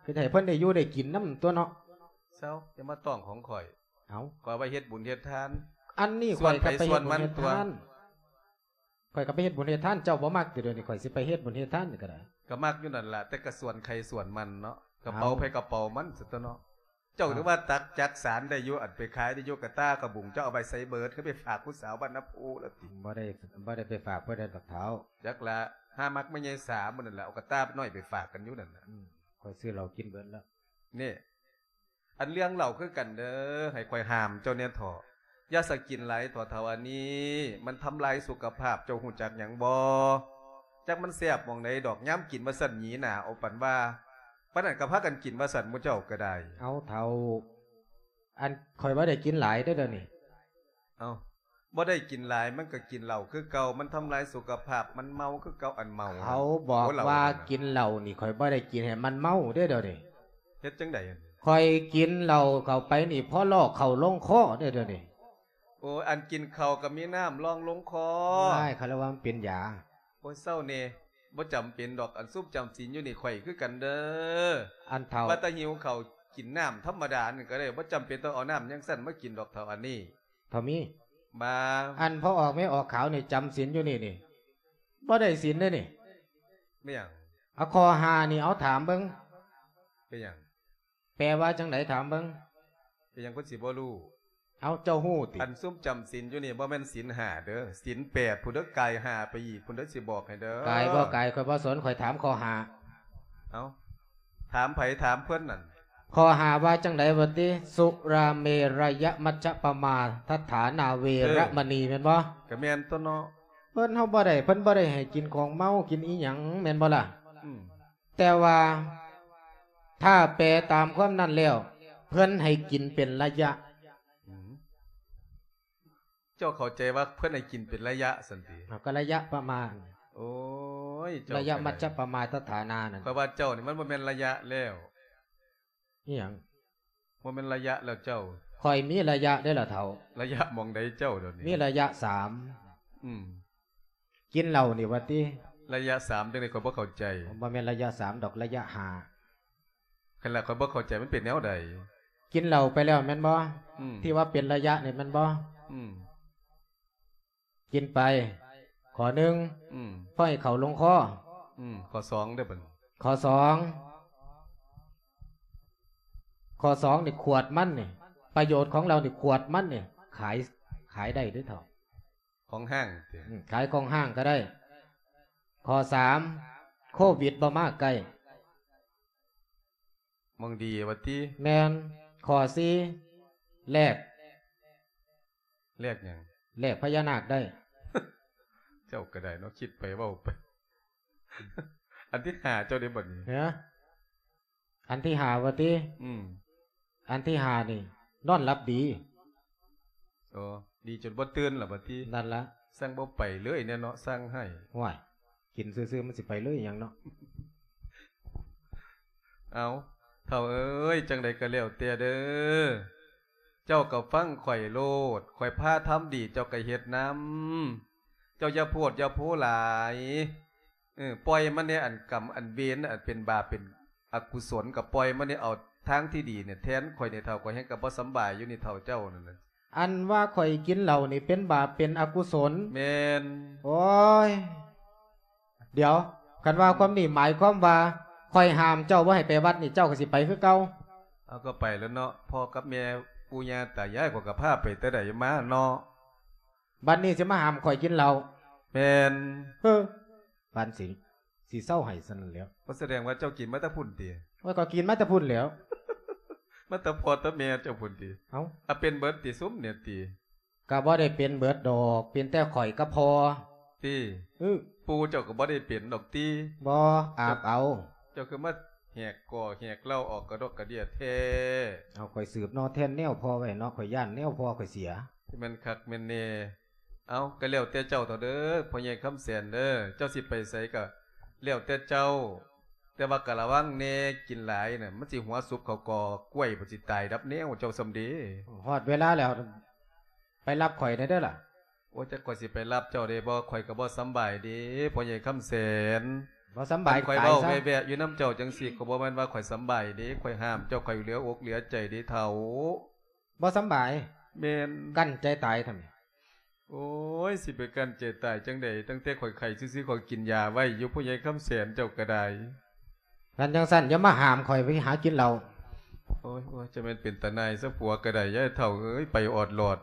ະ ກະໃຫ້ເພິ່ນໄດ້ຢູ່ໄດ້ກິນນຳຕົວະເນາະ. ເຊົາ ຢ່າມາຕ້ອງຂອງຂ້ອຍ. ເອົາ ຂ້ອຍໄວ້ເຮັດບຸນເຮັດທານ. ອັນນີ້ຂ້ອຍກະໄປເຮັດບຸນເຮັດທານ. ຂ້ອຍກະໄປເຮັດບຸນເຮັດທານ ເຈົ້າບໍ່ມັກຕິ ດຽວນີ້ຂ້ອຍຊິໄປເຮັດບຸນເຮັດທານນີ້ກະໄດ້. ກະມັກຢູ່ນັ້ນລະ ແຕ່ກະສ່ວນໃຜສ່ວນມັນເນາະ ກະເປົາໃຜກະເປົາມັນຊັ້ນຕົວະເນາະ. ເຈົ້າຖືວ່າຕັກຈັກສານໄດ້ຢູ່ ອັນໄປຂາຍໄດ້ຢູ່ກະຕ່າກະບຸ້ງ ເຈົ້າເອົາໄປໃສເບີດ ຄືໄປຝາກຜູ້ສາວບ້ານນາໂພລະຕິ? ບໍ່ໄດ້ ບໍ່ໄດ້ໄປຝາກຜູ້ໃດດອກເຖົ້າ. ຈັກລະ ຫາມັກແມ່ໃຫຍ່ສາມື້ນັ້ນລະ ເອົາກະຕ່ານ້ອຍໄປຝາກກັນຢູ່ນັ້ນນະ. ອືມ ຂ້ອຍຊື້ເຫຼົ້າກິນເບີດລະ. ນີ້ ອັນເລື່ອງເຫຼົ້າຄືກັນເດີ ໃຫ້ຂ້ອຍຫ້າມເຈົ້າແດ່ເຖາະ. ຢ່າສະກິນຫຼາຍເຖາະເຖົ້າອັນນີ້ ມັນທຳລາຍສຸຂະພາບ. ເຈົ້າຮູ້ຈັກຫຍັງບໍ່? ຈັກມັນແຊບໝ່ອງໃດດອກ ຍາມກິນວ່າຊັ້ນ ຫຢີໜ້າເອົາປານວ່າ ປານນັ້ນກະພາກັນກິນວ່າຊັ້ນ ໝູ່ເຈົ້າກະໄດ້. ເອົາເຖົ້າ ອັນຂ້ອຍບໍ່ໄດ້ກິນຫຼາຍເດີດຽວນີ້. ເອົ້າ ບໍ່ໄດ້ກິນຫຼາຍ ມັນກະກິນເຫຼົ້າຄືເກົ່າ ມັນທຳລາຍສຸຂະພາບ ມັນເມົາຄືເກົ່າ. ອັນເມົາ ເຂົາບອກວ່າກິນເຫຼົ້ານີ້ ຂ້ອຍບໍ່ໄດ້ກິນໃຫ້ມັນເມົາເດ້ດຽວນີ້. ເຮັດຈັ່ງໃດ? ຂ້ອຍກິນເຫຼົ້າເຂົ້າໄປນີ້ ພໍລໍເຂົ້າລົງຄໍເດ້ດຽວນີ້. ໂອ້ຍ ອັນກິນເຂົ້າກະມີນ້ຳລອງລົງຄໍ. ອ້າຍ ເຂົາລະວ່າມັນເປັນຢາ. ໂອ້ຍ ເຊົາແດ່ ບໍ່ຈຳເປັນດອກ ອັນຊຸມຈຳສິນຢູ່ນີ້ຂ້ອຍຄືກັນເດີ. ອັນເຖົ້າ ວ່າແຕ່ຫິວເຂົ້າກິນນ້ຳທຳມະດານັ້ນກະໄດ້ ບໍ່ຈຳເປັນຕ້ອງເອົານ້ຳຈັ່ງຊັ້ນມາກິນດອກເຖົ້າອັນນີ້. ເຖົ້າມີ ບາ ອັນພໍ່ອອກແມ່ອອກຂາວນີ້ ຈຳສິນຢູ່ນີ້ນີ້ ບໍ່ໄດ້ສິນເດ້ນີ້. ແມ່ນຫຍັງ? ເອົາ ຂໍ້ຫ້ານີ້ ເອົາຖາມເບິ່ງ. ເປັນຫຍັງ? ແປວ່າຈັ່ງໃດ? ຖາມເບິ່ງ. ເປັນຫຍັງເພິ່ນຊິບໍ່ຮູ້? ເອົ້າ ເຈົ້າຮູ້ຕິ? ອັນຊຸມຈຳສິນຢູ່ນີ້ບໍ່ແມ່ນສິນຫ້າເດີ ສິນແປດພຸ້ນເດີ ກາຍຫ້າໄປອີກພຸ້ນເດີ ຊິບອກໃຫ້ເດີ. ກາຍບໍ່ກາຍຂ້ອຍບໍ່ສົນ ຂ້ອຍຖາມຂໍ້ຫ້າ. ເອົ້າ ຖາມໃຜ? ຖາມເພິ່ນນັ້ນ. ຂໍ້ຫ້າວ່າຈັ່ງໃດວະຕິ? ສຸລາເມລະຍະມັດຈະປະມາທະຖານາເວລະມະນີ ເອີ ແມ່ນບໍ່? ກະແມ່ນຕົວະເນາະ. ເພິ່ນເຮົາບໍ່ໄດ້ ເພິ່ນບໍ່ໄດ້ໃຫ້ກິນຂອງເມົາ ກິນອີ່ຫຍັງ ແມ່ນບໍ່ລະ? ອືມ. ແຕ່ວ່າຖ້າແປຕາມຄວາມນັ້ນແລ້ວ ເພິ່ນໃຫ້ກິນເປັນໄລຍະ. ອືມ ເຈົ້າເຂົ້າໃຈວ່າເພິ່ນໃຫ້ກິນເປັນໄລຍະຊັ້ນຕິ? ເອົາ ກໍໄລຍະປະມານ. ໂອ້ຍ ເຈົ້າ ໄລຍະມັດຈະປະມາທະຖານານັ້ນ. ຂ້ອຍວ່າເຈົ້ານີ້ມັນບໍ່ແມ່ນໄລຍະແລ້ວ. ອີ່ຫຍັງ? ບໍ່ແມ່ນໄລຍະແລ້ວເຈົ້າ. ຂ້ອຍມີໄລຍະເດ້ລະເຖົ້າ. ໄລຍະໝ່ອງໃດເຈົ້າດຽວນີ້? ມີໄລຍະສາມ. ອືມ. ກິນເຫຼົ້ານີ້ວ່າຕິ? ໄລຍະສາມຈັ່ງໃດ ຂ້ອຍບໍ່ເຂົ້າໃຈ. ບໍ່ແມ່ນໄລຍະສາມດອກ ໄລຍະຫ້າ. ຄັນລະຂ້ອຍບໍ່ເຂົ້າໃຈ ມັນເປັນແນວໃດ? ກິນເຫຼົ້າໄປແລ້ວແມ່ນບໍ່? ອືມ. ທີ່ວ່າເປັນໄລຍະນີ້ແມ່ນບໍ່? ອືມ. ກິນໄປ ຂໍ້ໜຶ່ງ. ອືມ. ພໍໃຫ້ເຂົ້າລົງຄໍ. ອືມ. ຂໍ້ສອງເດີບັດ. ຂໍ້ສອງ ຂໍ້ສອງນີ້ ຂວດມັນນີ້ ປະໂຫຍດຂອງເຫຼົ້ານີ້ ຂວດມັນນີ້ ຂາຍ ຂາຍໄດ້ເດ້ເຖົ້າ. ຂອງຫ້າງຕິ? ອືມ ຂາຍຂອງຫ້າງກໍໄດ້. ຂໍ້ສາມ ໂຄວິດບໍ່ມາໃກ້. ໝ່ອງດີວ່າຕິ? ແມ່ນ. ຂໍ້ສີ່ ແລກ. ແລກຫຍັງ? ແລກພະຍານາກໄດ້. ເຈົ້າກໍໄດ້ເນາະ ຄິດໄປເວົ້າໄປ. ອັນທີຫ້າເຈົ້າເດ້ບັດນີ້? ຮະ? ອັນທີຫ້າວ່າຕິ? ອືມ. ອັນທີຫ້ານີ້ ນອນຫຼັບດີ. ໂອ້ ດີຈົນບໍ່ຕື່ນລະບັດນີ້. ນັ້ນລະ. ຊ່າງບໍ່ໄປເລີຍແນ່ເນາະ ຊ່າງໃຫ້. ໂອ້ຍ ກິນຊື່ໆ ມັນຊິໄປເລີຍຫຍັງເນາະ. ເອົາ ເຖົ້າເອີຍ ຈັ່ງໃດກໍແລ້ວແຕ່ເດີ ເຈົ້າກໍຟັງຂ້ອຍໂລດ ຂ້ອຍພາທຳດີ ເຈົ້າກໍເຮັດນຳ. ເຈົ້າຢ່າໂພດຢ່າໂພຫຼາຍ. ເອີ ປ່ອຍມັນແດ່ ອັນກຳອັນເວນ ອັນເປັນບາບເປັນອະກຸສົນ ກໍປ່ອຍມັນແດ່ ເອົາທາງທີ່ດີນີ້ແທນຂ້ອຍນີ້ເຖົ້າ. ຂ້ອຍແຮ່ງກໍບໍ່ສຳບາຍຢູ່ນີ້ເຖົ້າ ເຈົ້ານັ້ນນະ. ອັນວ່າຂ້ອຍກິນເຫຼົ້ານີ້ເປັນບາບເປັນອະກຸສົນ? ແມ່ນ. ໂອ້ຍ ດຽວ ຄັນວ່າຄວາມນີ້ໝາຍຄວາມວ່າຂ້ອຍຫ້າມເຈົ້າບໍ່ໃຫ້ໄປວັດນີ້ ເຈົ້າກໍຊິໄປຄືເກົ່າ? ເອົາ ກໍໄປແລ້ວເນາະ ພໍ່ກັບແມ່ ປູ່ຍ່າຕາຍາຍ ຂ້ອຍກໍພາໄປແຕ່ໃດມາເນາະ. ບັດນີ້ຊິມາຫ້າມຂ້ອຍກິນເຫຼົ້າ? ແມ່ນ. ເຮີ ປານສິ ຊິເຊົາໃຫ້ຊັ້ນແຫຼ້ວ. ບໍ່ ສະແດງວ່າເຈົ້າກິນມາແຕ່ພຸ້ນຕິ? ໂອ້ຍ ກໍກິນມາແຕ່ພຸ້ນແຫຼ້ວ. ມາແຕ່ພໍ່ແຕ່ແມ່ເຈົ້າພຸ້ນຕິ? ເອົ້າ ອາ ເປັນເບິດຕິ ຊຸມນີ້ຕິ? ກໍບໍ່ໄດ້ເປັນເບິດດອກ ເປັນແຕ່ຂ້ອຍກັບພໍ່. ຕິ? ອື ປູ່ເຈົ້າກໍບໍ່ໄດ້ເປັນດອກຕິ? ບໍ່ ອາບເອົາ. ເຈົ້າຄືມາແຫກກໍແຫກເລົ່າອອກກະດອກກະເດຍແທ້? ເອົາ ຂ້ອຍສືບເນາະ ແທນແນວພໍ່ໄວ້ເນາະ ຂ້ອຍຢ້ານແນວພໍ່ຂ້ອຍເສຍ. ແມ່ນຄັກແມ່ນແນ່. ເອົາ ກໍແລ້ວແຕ່ເຈົ້າເຖາະເດີ ພໍ່ໃຫຍ່ຄຳແສນເດີ ເຈົ້າຊິໄປໃສກໍແລ້ວແຕ່ເຈົ້າ ແຕ່ວ່າກໍລະວັງແນ່ ກິນຫຼາຍນະ ມັນຊິຫົວສຸບເຂົ້າກໍກ້ວຍ ມັນຊິຕາຍດັບແນວເຈົ້າຊ່ຳເດ. ຮອດເວລາແລ້ວ ໄປຮັບຂ້ອຍແດ່ເດີລະ. ໂອ້ຍ ຈັກຂ້ອຍຊິໄປຮັບເຈົ້າເດ້ບໍ່ ຂ້ອຍກໍບໍ່ສຳບາຍເດ້ ພໍ່ໃຫຍ່ຄຳແສນ. ບໍ່ສຳບາຍ ຂ້ອຍເວົ້າແວ່ໆຢູ່ນຳເຈົ້າຈັ່ງຊີ້ ກໍບໍ່ແມ່ນວ່າຂ້ອຍສຳບາຍເດ້ ຂ້ອຍຫ້າມເຈົ້າ ຂ້ອຍເຫຼືອອົກເຫຼືອໃຈເດ້ເຖົ້າ. ບໍ່ສຳບາຍ? ແມ່ນ. ກັ້ນໃຈຕາຍທຳໄມ? ໂອ້ຍ ຊິໄປກັ້ນໃຈຕາຍຈັ່ງໃດ ຕັ້ງແຕ່ຂ້ອຍໄຂ້ຊື່ໆ ຂ້ອຍກິນຢາໄວ້ຢູ່ ພໍ່ໃຫຍ່ຄຳແສນເຈົ້າກໍໄດ້. ຄັນຈັ່ງຊັ້ນຢ່າມາຫ້າມຂ້ອຍໄປຫາກິນເຫຼົ້າ. ໂອ້ຍ ໂອ້ຍ ຈະແມ່ນເປັນຕາໜ່າຍຊະ ຜົວກໍໄດ້ ຍາຍເຖົ້າເອີຍ ໄປອອດຫຼອດ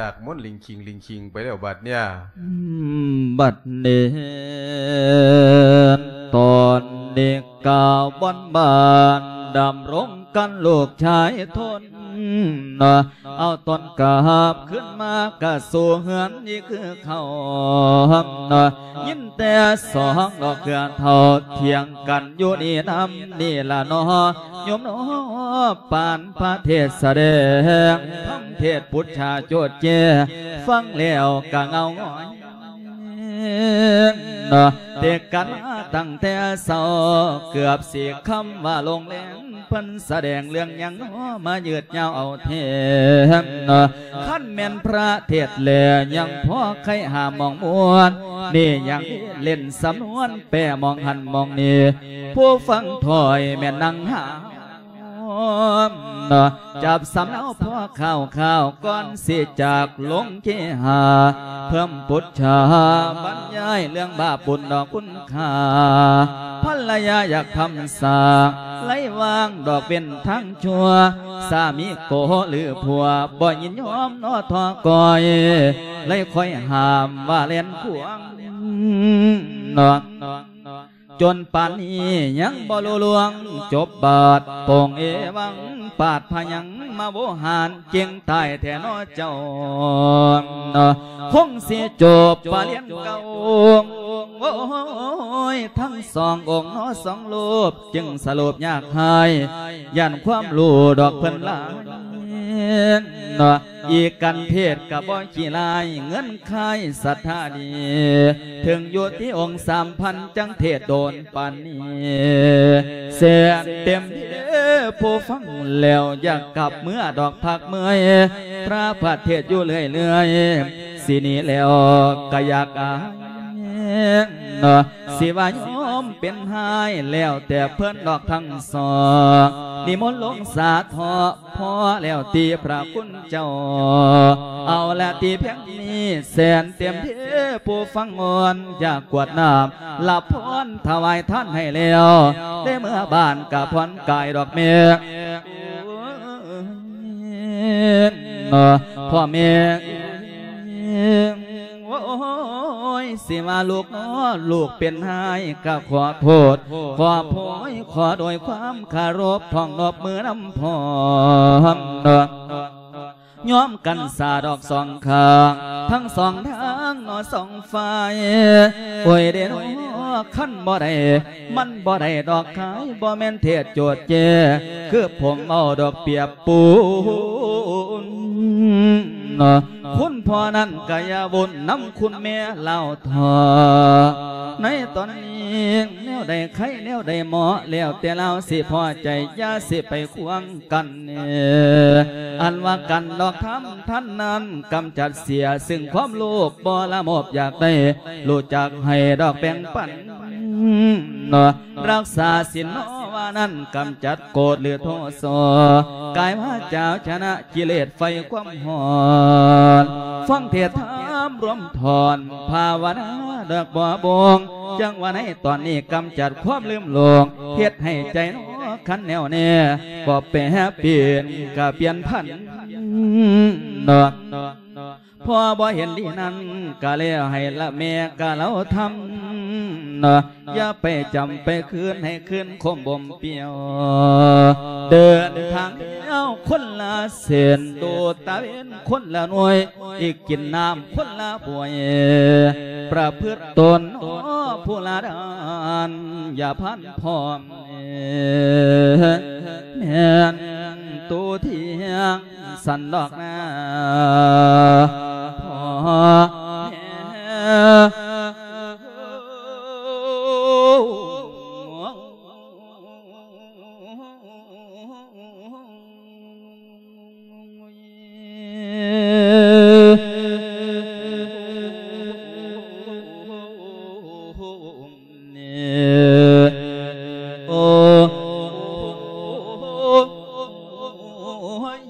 ດາກມົນລິງຄີງລິງຄີງໄປແລ້ວບາດເນີ້ຍ. ອືມ ບັດນີ້ ຕອນນີ້ກາວອນບ້ານ ດຳລົງກັນລູກຊາຍທົນ ເອົາຕອນກັບຄືນມາກະສູ່ເຮືອນນີ້ຄືເກົ່າ ຍິນແຕ່ສອງດອກເຄືອເຖົ້າ ຖຽງກັນຢູ່ນີ້ນຳນີ້ລະເນາະ ໂຍມເນາະ. ປານພະເທດສະແດງ ທຳເທດປຸດຊາໂຈດແຈ້ ຟັງແລ້ວກະເງົາງອຍ ເນາະ ເທດກັນມາຕັ້ງແຕ່ເຊົ້າ ເກືອບຊິຄ່ຳວ່າລົງແລງ ເພິ່ນສະແດງເລື່ອງຫຍັງເນາະ ມາຍືດຍາວເອົາແທ້ ເນາະ. ຄັນແມ່ນພະເທດແລຍັງພໍໄຄຫາໝ່ອງມ່ວນ ນີ້ຍັງເຫຼັ້ນສຳນວນແປໝ່ອງຫັ້ນໝ່ອງນີ້ ຜູ້ຟັງຖ້ອຍແມ່ນນາງຫາ ເນາະ ຈັບສຳເນົາພໍຂ່າວໆ ກ່ອນຊິຈາກລົງເຄຫາ ເພີ່ມປຸດຊາ ບັນຍາຍເລື່ອງບາບບຸນດອກຄຸນຄ່າ ພັນລະຍາຢາກທຳສ້າງ ໄລວາງດອກເວັ້ນທາງຊົ່ວ ສາມີໂກຫຼືຜົວ ບໍ່ຍິນຍອມນໍທໍ້ກ່ອຍ ໄລຄ່ອຍຫ້າມວ່າແລ່ນຂວາງນໍ ຈົນປານນີ້ຍັງບໍ່ຮູ້ລ່ວງຈົບບາດ ປົງເອວັງປາດພະຍັງມາໂວຫານ ເກັ່ງຕາຍແທ້ນໍເຈົ້າ ຄົງຊິຈົບປະລຽນເກົ່າ ໂອ້ຍ ທັງສອງອົງນໍສອງຮູບ ຈຶ່ງສະຫຼຸບຍາກຫາຍ ຢ້ານຄວາມຮູ້ດອກເພິ່ນຫຼາຍນໍ ອີກກັນເທດກະບໍ່ຂີ້ລາຍ ເງິນຄາຍສັດທາດີ ເຖິງຢູ່ທີ່ອົງສາມພັນ ຈັ່ງເທດໂດນປານນີ້ ແສນເຕັມເດຜູ້ຟັງແລ້ວ ຢາກກັບເມືອດອກພັກເມື່ອຍ ພະເທດຢູ່ເລື້ອຍໆ ຊິໜີແລ້ວກະຢາກອາຍ ຊິວ່າຍອມເປັນຮ້າຍ ແລ້ວແຕ່ເພິ່ນດອກທັງສອງ ນິມົນລົງສາເທາະ ພໍແລ້ວຕິພະຄຸນເຈົ້າ ເອົາລະຕິພຽງນີ້ ແສນເຕັມເດຜູ້ຟັງອ່ອນ ຢາກກວດນ້ຳ ຮັບພອນຖວາຍທານໃຫ້ແລ້ວ ໄດ້ເມືອບ້ານກະຜ່ອນກາຍດອກແມ່ ພໍ່ແມ່ ໂອ້ຍ ຊິວ່າລູກນໍ ລູກເປັນຮ້າຍກະຂໍໂທດ ຂໍໂພຍ ຂໍໂດຍຄວາມຄາລົບ ພ້ອງນົບມືນຳພ້ອມ ຍອມກັນສາດອກສອງຂ້າງ ທັງສອງທາງນໍສອງຝ່າຍ ໂອ້ຍເດນໍ ຄັນບໍ່ໄດ້ ມັນບໍ່ໄດ້ດອກຂາຍ ບໍ່ແມ່ນເທດໂຈດແຈ ຄືຜົມເວົ້າດອກປຽບປູນ ຄຸນພໍ່ນັ້ນກະຢ່າວຸ່ນນຳຄຸນແມ່ລາວເຖາະ ໃນຕອນນີ້ແນວໃດໄຄແນວໃດເໝາະ ແລ້ວແຕ່ລາວຊິພໍໃຈ ຢ່າຊິໄປຂວາງກັນ ອັນວ່າກັນດອກທຳ ທ່ານນັ້ນກຳຈັດເສຍ ຊຶ່ງຄວາມໂລບບໍ່ລະໂມບຢາກໄດ້ ຮູ້ຈັກໃຫ້ດອກແບ່ງປັນ ເນາະ ລັກສາສິນເນາະວ່ານັ້ນ ກຳຈັດໂກດຫຼືໂທສະ ກາຍວາຈາເອົາຊະນະກິເລດໄຟຄວາມຮ້ອນ ຟັງເທດທຳລວມຖອນ ພາວະນາດອກບໍ່ບົງ ຈັ່ງວ່າໃນຕອນນີ້ກຳຈັດຄວາມລືມຫຼົງ ເຮັດໃຫ້ໃຈເນາະຄັນແໜ້ວແນ່ ກໍແປປ່ຽນກະປ່ຽນພັນເນາະ ພໍ່ບໍ່ເຫັນດີນັ້ນກະແລ້ວໃຫ້ລະແມ່ກະເລົາທຳເນາະ ຢ່າໄປຈຳໄປຄືນ ໃຫ້ຄືນຄົມບົ່ມປ່ຽວ ເດີນທາງແລ້ວຄົນລະເສັ້ນ ດູດຕາເວັນຄົນລະໜ່ວຍ ອີກກິນນ້ຳຄົນລະບວຍ ປະພຶດຕົນເນາະຜູ້ລະດ້ານ ຢ່າພັນພ້ອມ ແມ່ນໂຕທ່ຽງ ສັນດອກນາ ພໍ່ແມ່ ໂອ້ຍ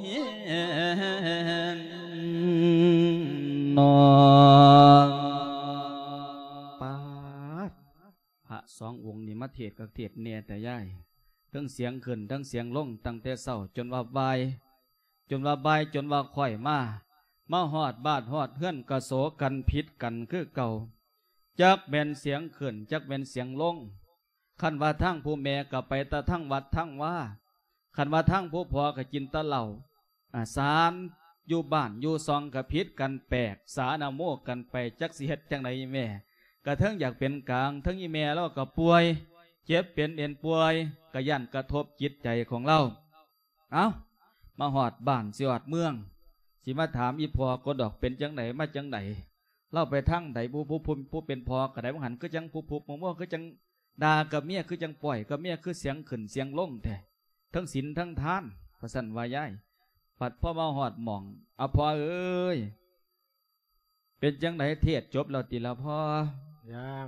ເນາະ ປາດ ພະສອງອົງນີ້ມາເທດຄັກເທດແນ່ແຕ່ຍາຍ ເຖິງສຽງຂຶ້ນ ເຖິງສຽງລົງ ຕັ້ງແຕ່ເຊົ້າຈົນວ່າບ່າຍ ຈົນວ່າບ່າຍ ຈົນວ່າຄ່ອຍມາ ມາຮອດບ້ານຮອດເຮືອນກະໂສກັນຜິດກັນຄືເກົ່າ ຈັກແມ່ນສຽງຂຶ້ນ ຈັກແມ່ນສຽງລົງ ຄັນວ່າທາງຜູ້ແມ່ກະໄປແຕ່ທາງວັດທາງວາ ຄັນວ່າທາງຜູ້ພໍ່ກະກິນແຕ່ເຫຼົ້າ ອາ ສານຢູ່ບ້ານຢູ່ຊ່ອງກະຜິດກັນແປກ ສານະໂມກັນໄປ ຈັກຊິເຮັດຈັ່ງໃດອີ່ແມ່ ກະເທິງຢາກເປັນກາງ ເທິງອີ່ແມ່ລາວກະປ່ວຍ ເຈັບເປັນເອັນປ່ວຍ ກະຢ້ານກະທົບຈິດໃຈຂອງລາວ ເອົ້າ ມາຮອດບ້ານຊິຮອດເມືອງ ຊິມາຖາມອີ່ພໍ່ກໍດອກ ເປັນຈັ່ງໃດມາຈັ່ງໃດ ລາວໄປທາງໃດ ຜູ້ ຜູ້ ຜູ້ ຜູ້ເປັນພໍ່ກະໄດ້ ວ່າຫັ້ນຄືຈັ່ງຜູ້ ຜູ້ ຜູ້ ຄືຈັ່ງດ່າກັບເມຍ ຄືຈັ່ງປ່ອຍກັບເມຍ ຄືສຽງຂຶ້ນສຽງລົງແທ້ ທັງສິນທັງທານ ວ່າຊັ້ນວ່າຍາຍ ບັດພໍມາຮອດໝ່ອງ ອາ ພໍ່ເອີຍ ເປັນຈັ່ງໃດ ເທດຈົບແລ້ວຕິລະພໍ່? ຍັງ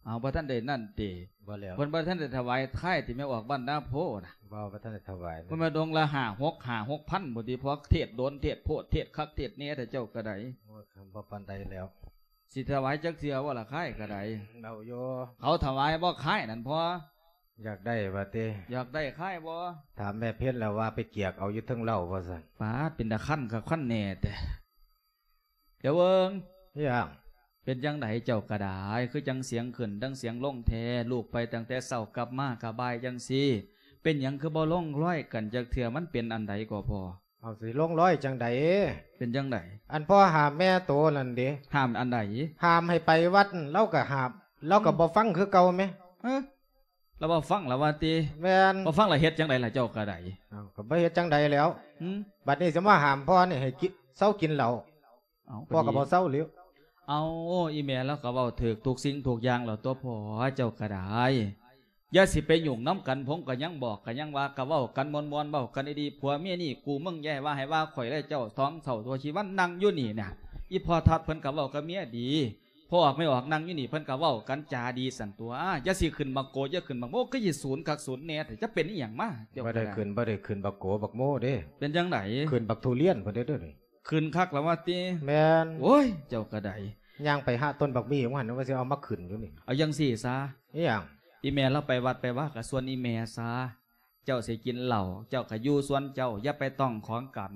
ເອົາ ບໍ່ທັນໄດ້ນັ້ນຕິ? ບໍ່ແລ້ວ ເພິ່ນບໍ່ທັນໄດ້ຖວາຍທາຍຕິ ແມ່ອອກບ້ານນາໂພນະ? ບໍ່ ບໍ່ທັນໄດ້ຖວາຍ ເພິ່ນມາດົງລະຫ້າຫົກ ຫ້າຫົກພັນພຸ້ນຕິ ພໍເທດໂດນ ເທດໂພດ ເທດຄັກເທດແນ່ແທ້ ເຈົ້າກະໄດ້ ໂອ້ຍ ບໍ່ປານໃດແລ້ວ ຊິຖວາຍຈັກເທື່ອບໍ່ລະຄາຍກະໄດ້? ເອົາຢູ່. ເຂົາຖວາຍບໍ່ຄາຍນັ້ນພໍ່? ຢາກໄດ້ວ່າຕິ? ຢາກໄດ້ຄາຍບໍ່? ຖາມແມ່ເພັນແລ້ວວ່າໄປກຽກເອົາຢູ່ເທິງເລົ້າວ່າຊັ້ນ. ປາດ ເປັນຕາຄັນຄັກຄັນແນ່ແທ້. ດຽວເບິ່ງ. ຫຍັງ? ເປັນຈັ່ງໃດເຈົ້າກະດາຍ ຄືຈັ່ງສຽງຂຶ້ນທັງສຽງລົງແທ້? ລູກໄປຕັ້ງແຕ່ເຊົ້າ ກັບມາກະບ່າຍຈັ່ງຊີ້ ເປັນຫຍັງຄືບໍ່ລົງລອຍກັນຈັກເທື່ອ? ມັນເປັນອັນໃດກໍພໍ່? ເອົາ ຊິລົງລອຍຈັ່ງໃດ? ເປັນຈັ່ງໃດ? ອັນພໍ່ຫ້າມແມ່ໂຕນັ້ນເດ. ຫ້າມອັນໃດ? ຫ້າມໃຫ້ໄປວັດ ລາວກະຫ້າມ ລາວກະ ອືມ ບໍ່ຟັງຄືເກົ່າແມ. ເອີ ລາວບໍ່ຟັງລະວ່າຕິ? ແມ່ນ. ບໍ່ຟັງລະເຮັດຈັ່ງໃດລະເຈົ້າກະໄດ້? ເອົາ ກະບໍ່ເຮັດຈັ່ງໃດແລ້ວ. ຫືມ? ບັດນີ້ຊິມາຫ້າມພໍ່ນີ້ໃຫ້ກິນ ເຊົາກິນເຫຼົ້າ. ເອົາ ພໍ່ກະບໍ່ເຊົາແລ້ວ. ເອົາ ອີ່ແມ່ລາວກະເວົ້າຖືກທຸກສິ່ງທຸກຢ່າງແລ້ວຕົວະພໍ່ ເຈົ້າກະໄດ້. ຢ່າຊິໄປຫຍຸ້ງນຳກັນ ຜົມກະຍັງບອກ ກະຍັງວ່າ ກະເວົ້າກັນມ່ວນໆ ເວົ້າກັນດີໆ ຜົວເມຍນີ້ກູເມືອງ ຢ່າໃຫ້ວ່າໃຫ້ວ່າຂ້ອຍແລະເຈົ້າ ສອງເຖົ້າຕົວຊີວັນນັ່ງຢູ່ນີ້ນະ. ອີ່ພໍ່ທັດເພິ່ນກະເວົ້າກັບເມຍດີ ພໍ່ອອກແມ່ອອກນັ່ງຢູ່ນີ້ ເພິ່ນກະເວົ້າກັນຈາດີຊັ້ນຕົວະ. ຢ່າຊິຂຶ້ນບັກໂກ ຢ່າຂຶ້ນບັກໂມ ຄືຊິສູນຄັກສູນແນ່ແທ້ ຈະເປັນອີ່ຫຍັງມາ? ເຈົ້າ ບໍ່ໄດ້ຂຶ້ນ ບໍ່ໄດ້ຂຶ້ນບັກໂກບັກໂມເດ້. ເປັນຈັ່ງໃດ? ຂຶ້ນບັກທຸລຽນພຸ້ນເດ້ ດຽວນີ້. ຂຶ້ນຄັກລະວ່າຕິ? ແມ່ນ. ໂອ້ຍ ເຈົ້າກະໄດ້. ຍ່າງໄປຫາຕົ້ນບັກໝີ່ຂອງຫັ້ນ ວ່າຊິເອົາມາຂຶ້ນຢູ່ນີ້. ເອົາຈັ່ງຊີ້ຊະ. ອີ່ຫຍັງ? ອີ່ແມ່ລາວໄປວັດໄປວາກະຊວນອີ່ແມ່ຊະ. ເຈົ້າຊິກິນເຫຼົ້າ ເຈົ້າກະຢູ່ສ່ວນເຈົ້າ ຢ່າໄປຕ້ອງຂອງກັນ.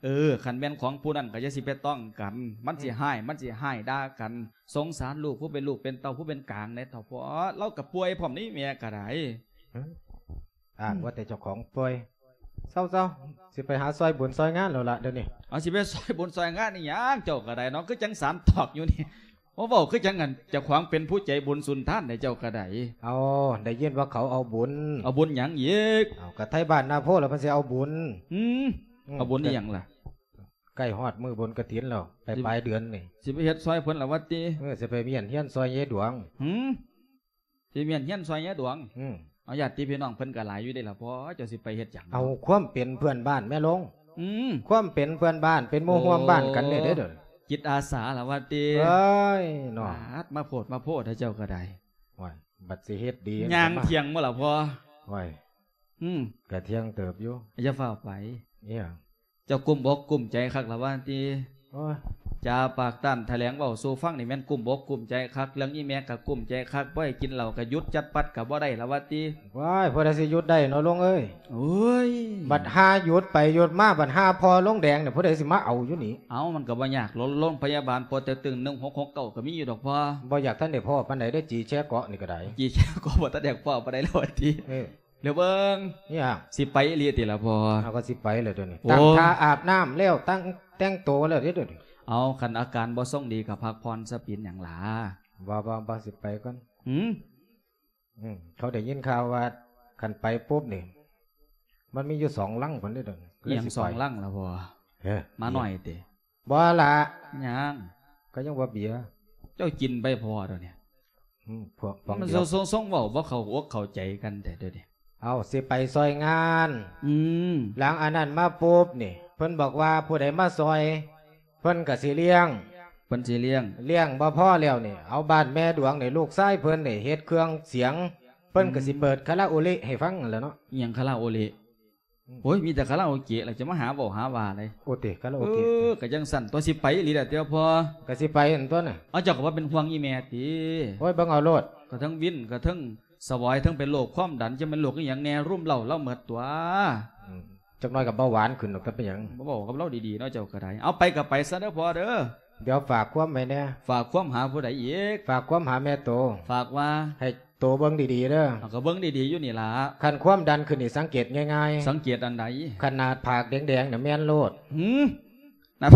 ເອີ ຄັນແມ່ນຂອງຜູ້ນັ້ນກະຢ່າຊິໄປຕ້ອງກັນ ມັນຊິ ອືມ ຮ້າຍ ມັນຊິຮ້າຍດ່າກັນ. ສົງສານລູກ ຜູ້ເປັນລູກເປັນເຕົ້າ ຜູ້ເປັນກາງແດ່ເຖົ້າພໍ່ ລາວກະປ່ວຍພ້ອມນີ້ ແມ່ກະໄດ້. ເອີ ອ້າງວ່າແຕ່ເຈົ້າຂອງປ່ວຍ. ເຊົາໆ ຊິໄປຫາຊ່ອຍບຸນຊ່ອຍງານແລ້ວລະດຽວນີ້. ເອົາ ຊິໄປຊ່ອຍບຸນຊ່ອຍງານອີ່ຫຍັງ ເຈົ້າກະໄດ້ເນາະ ຄືຈັ່ງສານຕອກຢູ່ນີ້. ໂອ້ ເວົ້າຄືຈັ່ງອັນເຈົ້າຂອງເປັນຜູ້ໃຈບຸນສຸນທານໃດ ເຈົ້າກະໄດ້. ເອົາ ໄດ້ຍິນວ່າເຂົາເອົາບຸນ. ເອົາບຸນຫຍັງອີກ? ເອົາ ກະໄທບ້ານນາໂພລະເພິ່ນຊິເອົາບຸນ. ອືມ ອືມ ເອົາບຸນອີ່ຫຍັງລະ? ໃກ້ຮອດມື້ບຸນກະຖິນແລ້ວ ໄປ ຊິ ປາຍເດືອນນີ້. ຊິໄປເຮັດຊ່ອຍເພິ່ນລະວ່າຕິ? ເອີ ຊິໄປມ້ຽນຮຽນຊ່ອຍຍາຍດວງ. ຫືມ? ຊິມ້ຽນຮຽນຊ່ອຍຍາຍດວງ? ອືມ. ເອົາ ຍາດຕິພີ່ນ້ອງເພິ່ນກະຫຼາຍຢູ່ເດ້ລະພໍ່ ເຈົ້າຊິໄປເຮັດຫຍັງ? ເອົາ ຄວາມເປັນເພື່ອນບ້ານແມ່ລົງ. ອືມ. ຄວາມເປັນເພື່ອນບ້ານ ເປັນໝູ່ຮ່ວມບ້ານກັນນີ້ເດ້. ໂອ້ ດຽວ ຈິດອາສາລະວ່າຕິ? ເອີຍເນາະ ປາດ ມາໂພດມາໂພດເຈົ້າກະໄດ້. ໂອ້ຍ ບັດຊິເຮັດດີ ຍ່າງທ່ຽງບໍ່ລະພໍ່? ໂອ້ຍ ອືມ ກະທ່ຽງເຕີບຢູ່. ຢ່າຟ້າວໄປ. ອີ່ຫຍັງ? ເຈົ້າກຸ້ມອົກກຸ້ມໃຈຄັກລະວ່າຕິ? ໂອ້ຍ ຈາປາກຕ້ານຖະແຫຼງເວົ້າສູ່ຟັງນີ້ແມ່ນກຸ້ມອົກກຸ້ມໃຈຄັກ ເລື່ອງອີ່ແມ່ກະກຸ້ມໃຈຄັກ ບໍ່ໃຫ້ກິນເຫຼົ້າກະຢຸດຈັດປັດກະບໍ່ໄດ້ລະວ່າຕິ? ວ້າຍ ຜູ້ໃດຊິຢຸດໄດ້ເນາະລຸງເອີຍ. ໂອ້ຍ ບັດຫາຢຸດໄປຢຸດມາ ບັດຫາພໍ່ລົງແດງນີ້ ຜູ້ໃດຊິມາເອົາຢູ່ນີ້? ເອົາ ມັນກະບໍ່ຍາກ ໂລ ໂລງພະຍາບານປົວເຕັກຕຶງ ໜຶ່ງຫົກຫົກເກົ້າ ກະມີຢູ່ດອກພໍ່. ບໍ່ຢາກທັນໄດ້ພໍ້ປານໃດເດີ ຈີແຊເກາະນີ້ກະໄດ້. ຈີແຊເກາະບໍ່ທັນໄດ້ພໍ້ປານໃດແລ້ວວ່າຕິ? ເອີ ດຽວເບິ່ງ. ຫຍັງ? ຊິໄປອີ່ຫຼີຕິລະພໍ່? ເຮົາກະຊິໄປແລ້ວດຽວນີ້. ໂອ້ ຕັ້ງທ່າອາບນ້ຳແລ້ວ ຕັ້ງແຕ່ງໂຕແລ້ວເດ້ດຽວນີ້. ເອົາ ຄັນອາການບໍ່ຊົງດີກະພັກຜ່ອນຊະ ເປັນຫຍັງລະ? ບໍ່ ບໍ່ ບໍ່ ຊິໄປກ່ອນ. ຫືມ? ອືມ ເຂົາໄດ້ຍິນຂ່າວວ່າຄັນໄປປຸບນີ້ ມັນມີຢູ່ສອງຫຼັງພຸ້ນເດ້ດຽວນີ້. ອີ່ຫຍັງສອງຫຼັງລະພໍ່? ເອີ ມາໜ້ອຍຕິ? ບໍ່ລະ. ຫຍັງ? ກະຍັງວ່າເບຍ. ເຈົ້າກິນໄປພໍດຽວນີ້. ອືມ ພວກ ພວກ ມັນ ດຽວ ຊົງ ຊົງເວົ້າບໍ່ເຂົ້າອົກເຂົ້າໃຈກັນແທ້ດຽວນີ້. ເອົາ ຊິໄປຊ່ອຍງານ. ອືມ ຫຼັງອັນນັ້ນມາປຸບນີ້ ເພິ່ນບອກວ່າຜູ້ໃດມາຊ່ອຍ ເພິ່ນກະຊິລ້ຽງ. ເພິ່ນຊິລ້ຽງ. ລ້ຽງບໍ່ພໍແລ້ວນີ້ ເອົາບ້ານແມ່ດວງນີ້ ລູກຊາຍເພິ່ນນີ້ເຮັດເຄື່ອງສຽງ ເພິ່ນກະຊິ ອືມ ເປີດຄາຣາໂອເລະໃຫ້ຟັງຫັ້ນແຫຼະເນາະ. ອີ່ຫຍັງຄາຣາໂອເລະ? ອືມ ໂອ້ຍ ມີແຕ່ຄາຣາໂອເກະ ແລ້ວຈະມາຫາເວົ້າຫາວ່າໃດ. ໂອເຕ ຄາຣາໂອເກະ. ເອີ ກະຈັ່ງຊັ້ນຕົວະ ຊິໄປອີ່ຫຼີແຫຼະຕິພໍ່? ກະຊິໄປຫັ້ນຕົວະນະ. ເອົາ ເຈົ້າກະບໍ່ເປັນຫ່ວງອີ່ແມ່ຕິ? ໂອ້ຍ ເບິ່ງເອົາໂລດ. ກະເທິງວິນ ກະເທິງສະຫວາຍ ເທິງເປັນໂລກຄວາມດັນ ຈະແມ່ນໂລກອີ່ຫຍັງແນ່ ລຸມເລົ້າລາວໝົດຕົວະ. ອືມ ຈັກໜ້ອຍກະເບົາຫວານຂຶ້ນດອກ ຈະເປັນຫຍັງ? ບໍ່ເວົ້າກັບລາວດີໆເນາະ ເຈົ້າກະໄດ້. ເອົາ ໄປກະໄປຊະເດີພໍ່ເດີ. ດຽວຝາກຄວາມໄວ້ແນ່. ຝາກຄວາມຫາຜູ້ໃດອີກ? ຝາກຄວາມຫາແມ່ໂຕ. ຝາກວ່າ? ໃຫ້ ໂຕເບິ່ງດີໆເດີ. ເອົາ ກະເບິ່ງດີໆຢູ່ນີ້ລະ. ຄັນຄວາມດັນຂຶ້ນນີ້ສັງເກດງ່າຍໆ. ສັງເກດອັນໃດ? ຄັນໜ້າຜາກແດງໆນະແມ່ນໂລດ. ຫືມ? ໜ້າ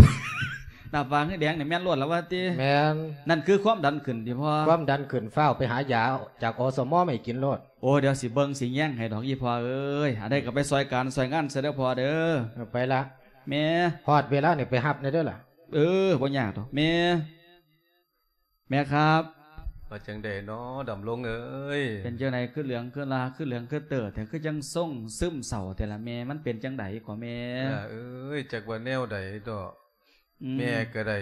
ໜ້າຜາກແດງໆນີ້ແມ່ນໂລດລະວ່າຕິ? ແມ່ນ. ນັ້ນຄືຄວາມດັນຂຶ້ນຕິພໍ່? ຄວາມດັນຂຶ້ນ ຟ້າວໄປຫາຢາຈາກ ອສມ ມາໃຫ້ກິນໂລດ. ໂອ້ ດຽວຊິເບິ່ງຊິແຍງໃຫ້ດອກ ອີ່ພໍ່ເອີຍ. ອັນໃດກະໄປຊ່ອຍການຊ່ອຍງານຊະເດີພໍ່ເດີ. ເອີ ໄປລະ. ແມ່. ຮອດເວລານີ້ໄປຮັບແດ່ເດີລະ. ເອີ ບໍ່ຍາກດອກແມ່. ແມ່ຄັບ. ວ່າຈັ່ງໃດນໍດຳລົງເອີຍ? ເປັນຈັ່ງໃດຄືເຫຼືອງຄືລາ ຄືເຫຼືອງຄືເຕີແທ້ ຄືຈັ່ງຊົງຊຶມເສົ້າແທ້ລະແມ່? ມັນເປັນຈັ່ງໃດກໍແມ່? ຫຼ້າເອີຍ ຈັກວ່າແນວໃດດອກ. ອືມ ແມ່ກະໄດ້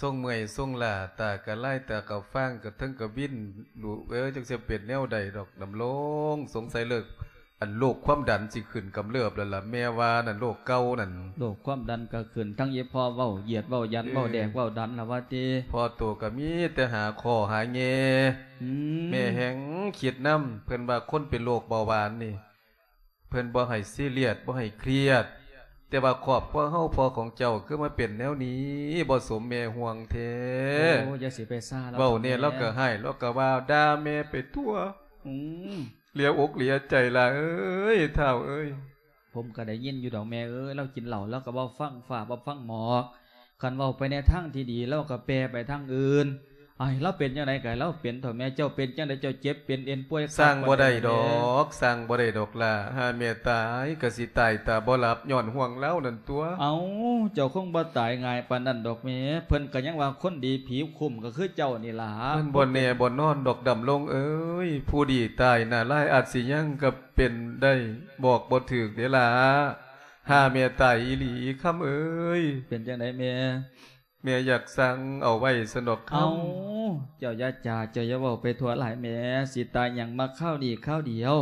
ຊົງເມື່ອຍຊົງລ້າ ຕາກະລາຍຕາກະຟາງ ກະເທິງກະວິນ ລູກເອີຍ ຈັກຊິເປັນແນວໃດດອກ ດຳລົງ. ສົງໄສເລີກ ອັນໂລກຄວາມດັນຊິຂຶ້ນກຳເລີບແລ້ວລະ ແມ່ວ່ານັ້ນ ໂລກເກົ່ານັ້ນ. ໂລກຄວາມດັນກໍຂຶ້ນ ທັງອີ່ພໍ່ເວົ້າຢຽດເວົ້າຢັນ ເອີ ເວົ້າແດກເວົ້າດັນລະວ່າຕິ. ພໍ່ໂຕກໍມີແຕ່ຫາຂໍ້ຫາແຍ່. ອືມ ແມ່ແຮ່ງຄິດນຳ ເພິ່ນວ່າຄົນເປັນໂລກເບົາຫວານນີ້ ເພິ່ນບໍ່ໃຫ້ຊີຣຽສ ບໍ່ໃຫ້ຄຽດ ແຕ່ວ່າຄອບຄົວເຮົາ ພໍ່ຂອງເຈົ້າຄືມາເປັນແນວນີ້ ບໍ່ສົມແມ່ຫ່ວງແທ້. ໂອ້ ຢ່າຊິໄປຊາລາວ ເວົ້າແດ່ ເຖົ້າແມ່ ລາວກໍຮ້າຍ ລາວກໍວ່າດ່າແມ່ໄປທົ່ວ. ອືມ ເສຍອົກເສຍໃຈຫຼາຍເອີຍ ທ້າວເອີຍ. ຜົມກໍໄດ້ຍິນຢູ່ດອກແມ່ເອີຍ ລາວກິນເຫຼົ້າ ລາວກໍເວົ້າຟັງຟ້າ ເວົ້າຟັງໝອກ. ຄັນເວົ້າໄປໃນທາງທີ່ດີ ລາວກໍແປໄປທາງອື່ນ. ອ້າຍ ລາວເປັນຈັ່ງໃດກໍໃຫ້ລາວເປັນເຖາະແມ່. ເຈົ້າເປັນຈັ່ງໃດ ເຈົ້າເຈັບເປັນເອັນປ່ວຍຄັກ ສັ່ງບໍ່ໄດ້ດອກ ບໍ່ແນ່ ສັ່ງບໍ່ໄດ້ດອກຫຼ້າ. ຫາແມ່ຕາຍກໍຊິຕາຍຕາບໍ່ຫຼັບ ຍ້ອນຫ່ວງລາວນັ້ນຕົວະ. ເອົ້າ ເຈົ້າຄົງບໍ່ຕາຍງ່າຍປານນັ້ນດອກແມ່. ເພິ່ນກໍຍັງວ່າຄົນດີຜີຄຸ້ມກໍຄືເຈົ້ານີ້ລະ. ມັນບໍ່ແນ່ບໍ່ນອນດອກ ດຳລົງເອີຍ. ຜູ້ດີຕາຍໜ້າລາຍອາດຊິຍັງກໍເປັນໄດ້ ບອກບໍ່ຖືກເດ້ລະ. ຫາແມ່ຕາຍອີ່ຫຼີ ຄຳເອີຍ. ເປັນຈັ່ງໃດແມ່? ແມ່ຢາກສັ່ງເອົາໄວ້ຊັ້ນດອກ ຄຳ. ເອົ້າ ເຈົ້າຢ່າຈາ ເຈົ້າຢ່າເວົ້າໄປທົ່ວຫຼາຍແມ່. ຊິຕາຍຫຍັງມາຄາວນີ້ຄາວດຽວ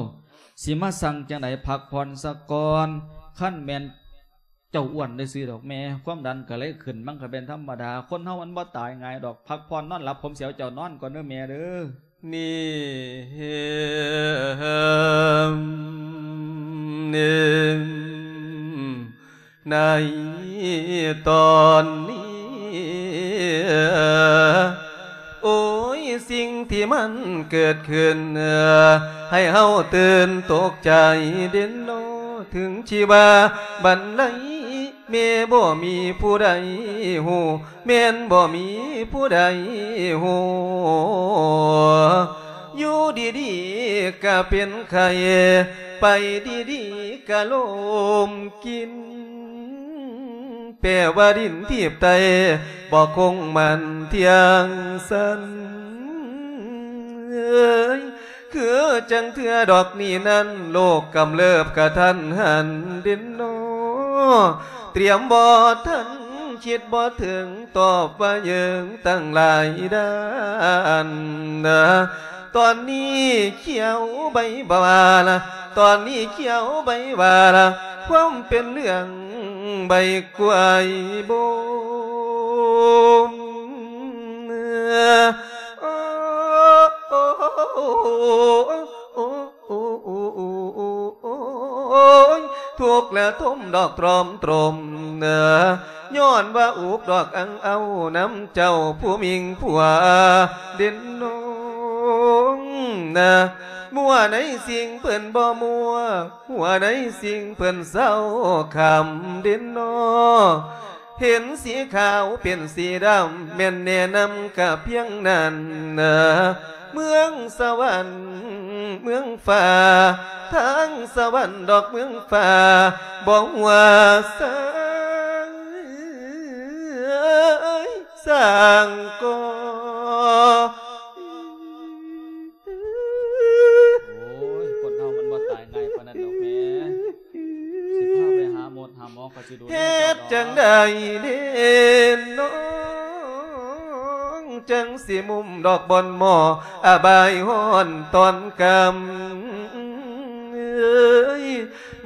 ຊິມາສັ່ງຈັ່ງໃດ ພັກຜ່ອນສາກ່ອນ. ຄັນແມ່ນເຈົ້າອ້ວນຊື່ໆດອກແມ່ ຄວາມດັນກໍເລີຍຂຶ້ນ ມັນກໍເປັນທຳມະດາ. ຄົນເຮົາມັນບໍ່ຕາຍງ່າຍດອກ. ພັກຜ່ອນນອນຫຼັບ ຜົມຊິເອົາເຈົ້ານອນກ່ອນເດີແມ່ເດີ. ນີ້ ໃນຕອນນີ້ ໂອ້ຍ ສິ່ງທີ່ມັນເກີດຂຶ້ນ ໃຫ້ເຮົາຕື່ນຕົກໃຈເດເນາະ. ເຖິງຊິວ່າບັນໄລ ແມ່ບໍ່ມີຜູ້ໃດຮູ້ ແມ່ນບໍ່ມີຜູ້ໃດຮູ້. ຢູ່ດີໆກະເປັນໄຂ້ ໄປດີໆກະລົ້ມກິນ. ແປວ່າດິນທີບໄຕ ບໍ່ຄົງໝັ້ນທ່ຽງສັນ. ເອີຍ ຄືຈັ່ງເທື່ອດອກນີ້ນັ້ນ ໂລກກຳເລີບກະທັນຫັນເດເນາະ. ຕຽມບໍ່ທັນ ຄິດບໍ່ເຖິງ ຕອບວ່າເຢິງຕັ້ງຫຼາຍດ້ານ. ຕອນນີ້ຂຽວໃບຫວ້າລະ ຕອນນີ້ຂຽວໃບຫວ້າລະ ຄວາມເປັນເລື່ອງໃບກ້ວຍບົມ. ໂອ້ຍ ທຸກລະທົມດອກຕຣອມຕຣົມ ຍ້ອນວ່າອຸກດອກອັງເອົານຳເຈົ້າຜູ້ມິ່ງຜົວເດເນາະ. ມົວໃນສິ່ງເພິ່ນບໍ່ມົວ ຫົວໃນສິ່ງເພິ່ນເສົ້າຄຳເດເນາະ. ເຫັນສີຂາວເປັນສີດຳ ແມ່ນແນະນຳກະພຽງນັ້ນ. ເມືອງສະຫວັນເມືອງຟ້າ ທາງສະຫວັນດອກເມືອງຟ້າ ບໍ່ວ່າຊາຍສ້າງກໍ. ໂອ້ຍ ຄົນເຮົາມັນບໍ່ຕາຍງ່າຍປານນັ້ນດອກແມ່. ຊິພາໄປຫາໝົດຫາໝໍ ເຂົາຊິດູແລເຈົ້າດອກ. ເຮັດຈັ່ງໃດເດນ້ອງ ຈັ່ງຊິມຸມດອກບ່ອນໝໍ ອາບາຍຮ້ອນຕອນຄ່ຳ. ເອີຍ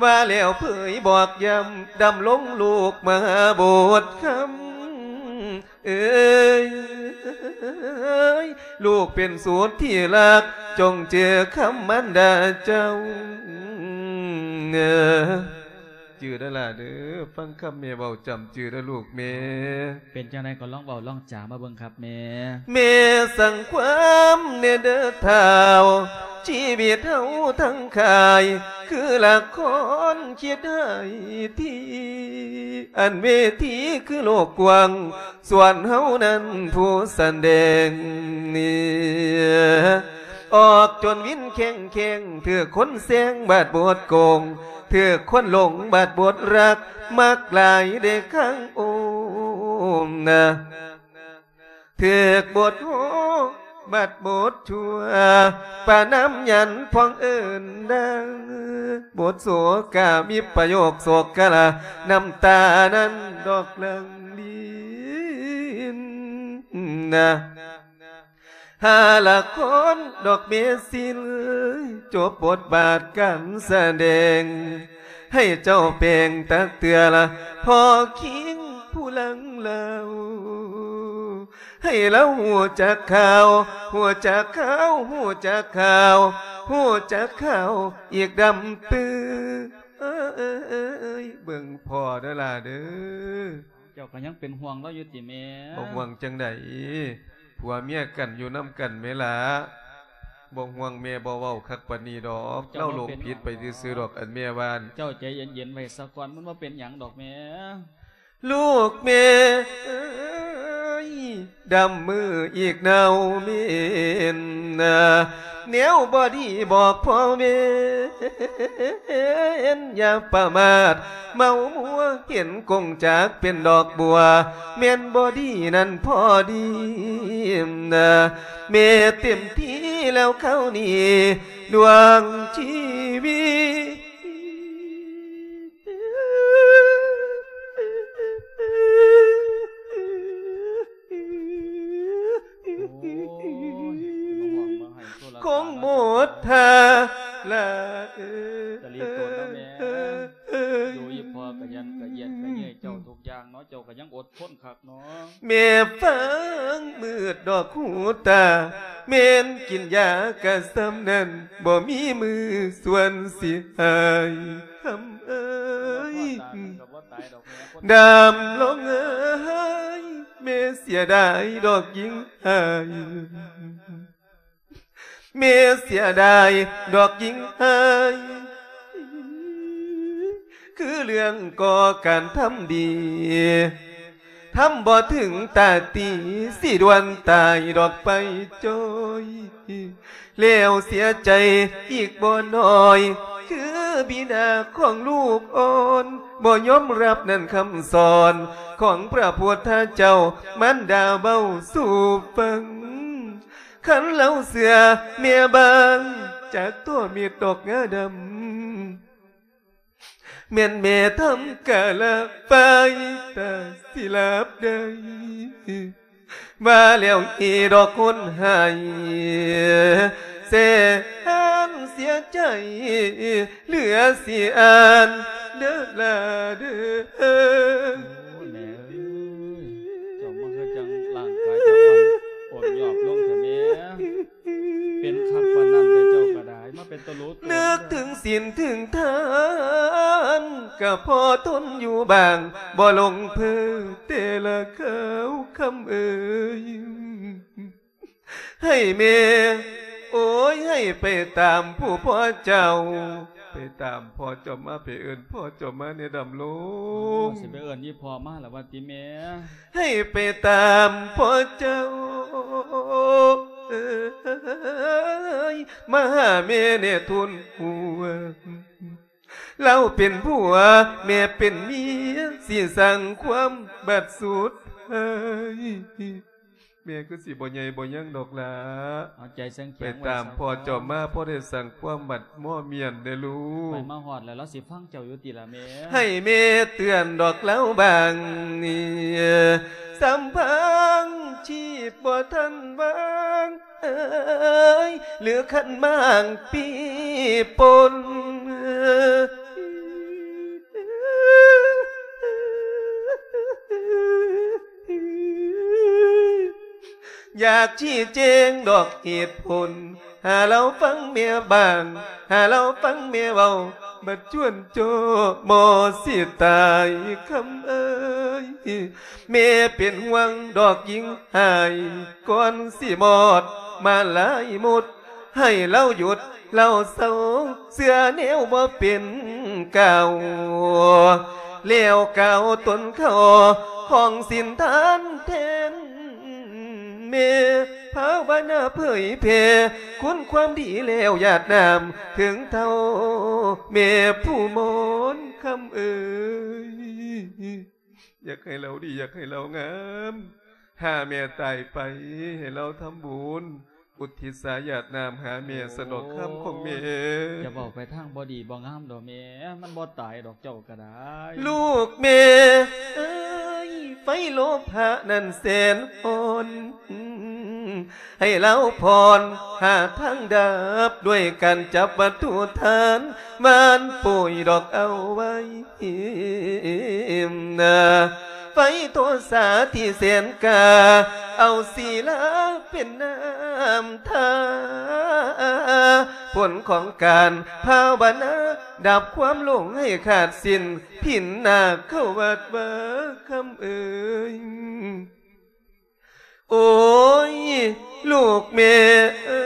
ວ່າແລ້ວເຜີຍບອກຢ້ຳ ດຳລົງລູກມະຫາບຸດຄຳ. ເອີຍ ລູກເປັນສູດທີ່ຮັກ ຈົ່ງຈື່ຄຳມານດາເຈົ້າ. ຈື່ເດີຫຼ້າເດີ ຟັງຄຳແມ່ເວົ້າ ຈຳຈື່ເດີລູກແມ່. ເປັນຈັ່ງໃດກໍລອງເວົ້າລອງຈາມາເບິ່ງຄັບແມ່. ແມ່ສັ່ງຄວາມແດ່ເດີທ້າວ ຊີວິດເຮົາທັງຄ້າຍ ຄືລະຄອນຄິດຮ້າຍທີ່ ອັນເວທີຄືໂລກກວ້າງ ສ່ວນເຮົານັ້ນຜູ້ສະແດງນີ້ ອອກຈົນວິນແຂ້ງແຂ້ງ ຖືກຄົນແຊງບາດບົດໂກງ ຖືກຄົນຫຼົງບາດບົດຮັກ ມັກຫຼາຍເດ້ຄັງໂອມນະ. ຖືກບົດໂຫບາດບົດຊົ່ວ ປະນາມຫຍັນພອງເອີ້ນດັງ ບົດໂສກາ ມີປະໂຫຍກໂສກະລາ ນ້ຳຕານັ້ນດອກຫຼັ່ງລິນນະ. ຫ້າລະຄອນດອກເມຊິນ ຈົບບົດບາດການສະແດງ ໃຫ້ເຈົ້າແປງຕັກເທື່ອລະ ພໍ່ຄິງຜູ້ລັງລາວ ໃຫ້ລາວຮູ້ຈັກຂ່າວ ຮູ້ຈັກຂ່າວ ຮູ້ຈັກຂ່າວ ຮູ້ຈັກຂ່າວອີກດຳປື. ເອີຍ ເບິ່ງພໍ່ເດີຫຼ້າເດີ. ເຈົ້າກໍຍັງເປັນຫ່ວງລາວຢູ່ຕິແມ່? ບໍ່ຫ່ວງຈັ່ງໃດ ຜົວເມຍກັນຢູ່ນຳກັນແມ່ລະ. ບໍ່ຫ່ວງ ແມ່ບໍ່ເວົ້າຄັກປານນີ້ດອກ ເຈົ້າ ລາວຫຼົງຜິດໄປຊື່ໆດອກ ອັນແມ່ວ່າ. ເຈົ້າໃຈເຢັນໆໄວ້ສາກ່ອນ ມັນບໍ່ເປັນຫຍັງດອກແມ່. ລູກແມ່ເອີຍ ດຳມືອີກເນົ່າເໝັນ ແນວບໍ່ດີບອກພໍ່ແມ່ ຢ່າປະໝາດເມົາມົວ ເຫັນກົງຈາກເປັນດອກບົວ ແມ່ນບໍ່ດີນັ້ນພໍດີ ແມ່ເຕັມທີ່ແລ້ວຄາວນີ້ ດວງຊີວິດ. ໂອ້ຍ ບໍ່ຫວັງມາໃຫ້ໂຊລະ ຄົງໝົດທ່າລະເອີ ຕະຫຼີໂຕນເນາະແມ່ ເອີ ຢູ່ອີ່ພໍ່ກະຢັນກະຢຽນກະເຍີ້ຍເຈົ້າທຸກຢ່າງເນາະ ເຈົ້າກະຍັງອົດທົນຄັກເນາະ. ແມ່ຟັງມືດດອກຫູຕາ ແມ່ນກິນຢາກະສ່ຳນັ້ນ ບໍ່ມີມື້ສ່ວນຊິຫາຍ ຄຳເອີຍ ດຳລົງເອີຍ ແມ່ເສຍດາຍດອກຍິງອ້າຍ ແມ່ເສຍດາຍດອກຍິງອ້າຍ ຄືເລື່ອງກໍ່ການທຳດີ ທຳບໍ່ເຖິງຕາຕີ ຊິດ່ວນຕາຍດອກໄປຈ່ອຍ ແລ້ວເສຍໃຈອີກບໍ່ໜ້ອຍ ຄືບິດາຂອງລູກອ່ອນ ບໍ່ຍອມຮັບນັ້ນຄຳສອນ ຂອງພະພຸດທະເຈົ້າ ມານດາເວົ້າສູ່ຟັງ ຄັນລາວເຊື່ອແມ່ບາງ ຈັກໂຕເມັດດອກງາດຳ ແມ່ນແມ່ທຳກາລະໄຟ ຕາສິລາບໄດ້ ວ່າແລ້ວອີດອກຄົນໃຫ້ ແສນເສຍໃຈ ເຫຼືອຊິອ່ານເດີລາເດີ. ໂອ້ຍ ແມ່ເອີຍ ເຈົ້າມາຄືຈັ່ງຮ່າງກາຍເຈົ້າອ່ອນ ໂອດຍອບລົງແທ້ແມ່. ເປັນຄັກປານນັ້ນແຕ່ເຈົ້າກໍໄດ້ ມາເປັນຕະຫຼູກ ນຶກເຖິງສິນເຖິງທານ ກໍພໍທົນຢູ່ບ້າງ ບໍ່ຫຼົງເພີແຕ່ລະຄາວ ຄຳເອີຍ ໃຫ້ແມ່ ໂອ້ຍ ໃຫ້ໄປຕາມຜູ້ພໍ່ເຈົ້າ ໄປຕາມພໍ່ເຈົ້າມາ ໄປເອີ້ນພໍ່ເຈົ້າມາແດ່ ດຳລົງ. ໂອ້ ຊິໄປເອີ້ນອີ່ພໍ່ມາລະວ່າຕິແມ່? ໃຫ້ໄປຕາມພໍ່ເຈົ້າເອີຍ ມາຫາແມ່ແດ່ທູນຫົວ ລາວເປັນຜົວ ແມ່ເປັນເມຍ ຊິສ້າງຄວາມບາດສຸດທ້າຍ. ແມ່ຄືຊິບໍ່ໃຫຍ່ບໍ່ຍັງດອກຫຼ້າ ເອົາໃຈແຂງໆ ໄປຕາມພໍ່ເຈົ້າມາ ພໍໄດ້ສ້າງຄວາມບາດມໍ່ມຽນແດ່ລູກ. ໄປມາຮອດແລ້ວ ລາວຊິຟັງເຈົ້າຢູ່ຕິລະແມ່? ໃຫ້ແມ່ເຕືອນດອກລາວບາງ ສຳພັງຊີບບໍ່ທັນວາງເອີຍ ຫຼືຄັນມາງປີປົນ ຢາກຊີ້ແຈງດອກເຫດຜົນ ຫາລາວຟັງແມ່ບ້າງ ຫາລາວຟັງແມ່ເວົ້າ ບັດຈວນຈໍ່ບໍ່ຊິຕາຍ ຄຳເອີຍ ແມ່ເປັນຫ່ວງດອກຍິງອ້າຍ ກ່ອນຊິມອດມາລາຍໝົດ ໃຫ້ລາວຢຸດ ລາວເຊົາ ເຊື່ອແນວບໍ່ເປັນກ່າວ ແລ້ວກ່າວຕົນເຂົ້າ ຂອງສິນທານແທນແມ່ ພາວະນາເຜີຍແຜ່ ຄຸນຄວາມດີແລ້ວຢາດນ້ຳ ເຖິງເທົ່າແມ່ຜູ້ມອນ ຄຳເອີຍ. ຢາກໃຫ້ລາວດີ ຢາກໃຫ້ລາວງາມ ຖ້າແມ່ຕາຍໄປ ໃຫ້ລາວທຳບຸນ ອຸທິດສາຢາດນ້ຳຫາແມ່ ໂອ້ ສະເນາະ ຄຳຂອງແມ່. ຢ່າເວົ້າໄປທາງບໍ່ດີບໍ່ງາມດອກແມ່ ມັນບໍ່ຕາຍດອກເຈົ້າກໍໄດ້. ລູກແມ່ເອີຍ ໄຟໂລພະນັ້ນແສນຮ້ອນ ໃຫ້ລາວຜ່ອນຫາທາງດັບ ດ້ວຍການຈັບວັດຖຸທານ ຫວ່ານປຸ໋ຍດອກເອົາໄວ້ ໄຟໂທສາທີ່ແສນກາ ເອົາສີລາເປັນນ້ຳທາ ຜົນຂອງການພາວະນາ ດັບຄວາມຫຼົງໃຫ້ຂາດສິ້ນ ພິນນາເຂົ້າວັດວາຄຳເອີຍ. ໂອ້ຍ ລູກແມ່ເອີ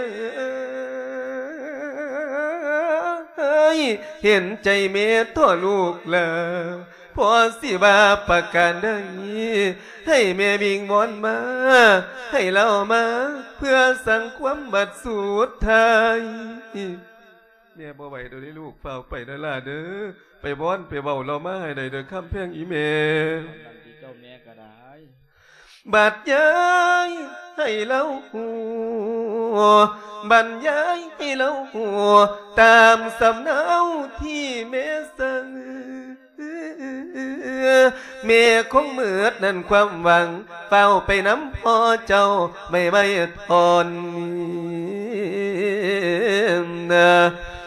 ຍ ເຫັນໃຈແມ່ທໍ່ລູກຫຼ້າ ພໍ່ຊິວ່າປະການໃດ ໃຫ້ແມ່ວິງວອນມາ ໃຫ້ລາວມາ ເພື່ອສັ່ງຄວາມບັດສຸດທ້າຍ. ແມ່ບໍ່ໄຫວແລ້ວເດ້ລູກ ຟ້າວໄປເດີຫຼ້າເດີ ໄປວອນໄປເວົ້າລາວມາໃຫ້ໄດ້ເດີ ຄຳແພງອີ່ແມ່. ນັ້ນຕິເຈົ້າແມ່ກໍໄດ້ ບັດຍາຍໃຫ້ລາວຮູ້ ບັດຍາຍໃຫ້ລາວຮູ້ ຕາມສຳເນົາທີ່ແມ່ສັ່ງ ແມ່ຄົງເໝິດນັ້ນຄວາມຫວັງ ຟ້າວໄປນຳພໍ່ເຈົ້າ ໄມ້ໄວທອນ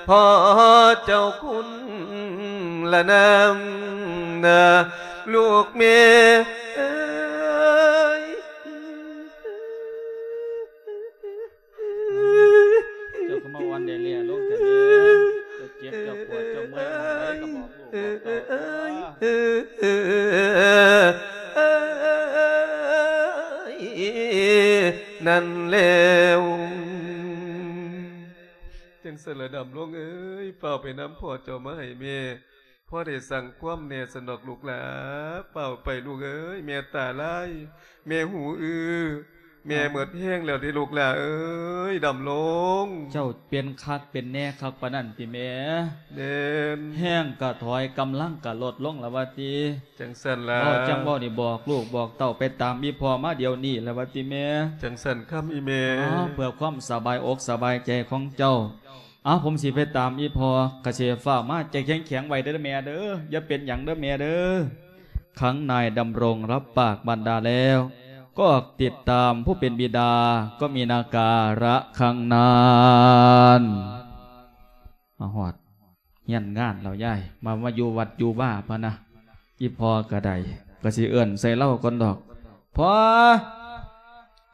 ພໍ່ເຈົ້າຄຸນລະນາມ ລູກແມ່ເອີຍ. ເຈົ້າກໍມາອ່ອນແດ່ແລ້ລົງແທ້ແມ່ ເຈົ້າເຈັບເຈົ້າປວດເຈົ້າເມື່ອຍອັນໃດກໍບອກລູກບອກເຕົ້າຕົວ ນັ້ນແລ້ວ. ຈັ່ງຊັ້ນລະດຳລົງເອີຍ ຟ້າວໄປນຳພໍ່ເຈົ້າມາໃຫ້ແມ່ ພໍໄດ້ສັ່ງຄວາມແດ່ຊັ້ນດອກລູກຫຼ້າ ຟ້າວໄປລູກເອີຍ ແມ່ຕາລາຍ ແມ່ຫູອື້ ແມ່ເໝິດແຮງແລ້ວເດ້ລູກຫຼ້າເອີຍ ດຳລົງ. ເຈົ້າເປັນຄັກເປັນແນ່ຄັກປານນັ້ນຕິແມ່? ແມ່ນ. ແຮງກະຖອຍ ກຳລັງກະລົດລົງລະວ່າຕິ? ຈັ່ງຊັ້ນລະ. ເວົ້າຈັ່ງເວົ້ານີ້ ບອກລູກບອກເຕົ້າໄປຕາມອີ່ພໍ່ມາດຽວນີ້ລະວ່າຕິແມ່? ຈັ່ງຊັ້ນຄຳອີ່ແມ່. ອ້າວ ເພື່ອຄວາມສະບາຍອົກສະບາຍໃຈຂອງເຈົ້າ ອ້າວ ຜົມຊິໄປຕາມອີ່ພໍ່ ກະຊິຟ້າວມາ ໃຈແຂງໆໄວ້ເດີແມ່ເດີ ຢ່າເປັນຫຍັງເດີແມ່ເດີ. ຂັງນາຍດຳລົງຮັບປາກບັນດາແລ້ວ ກໍອອກຕິດຕາມຜູ້ເປັນບິດາ ກໍມີນາກາລະຂັງນານ. ມາຮອດ ຮຽນງານແລ້ວຍາຍ ມາ ມາຢູ່ວັດຢູ່ວາພະນະ. ອີ່ພໍ່ກະໄດ້ ກະຊິເອີ້ນໃສ່ລາວກ່ອນດອກ. ພໍ່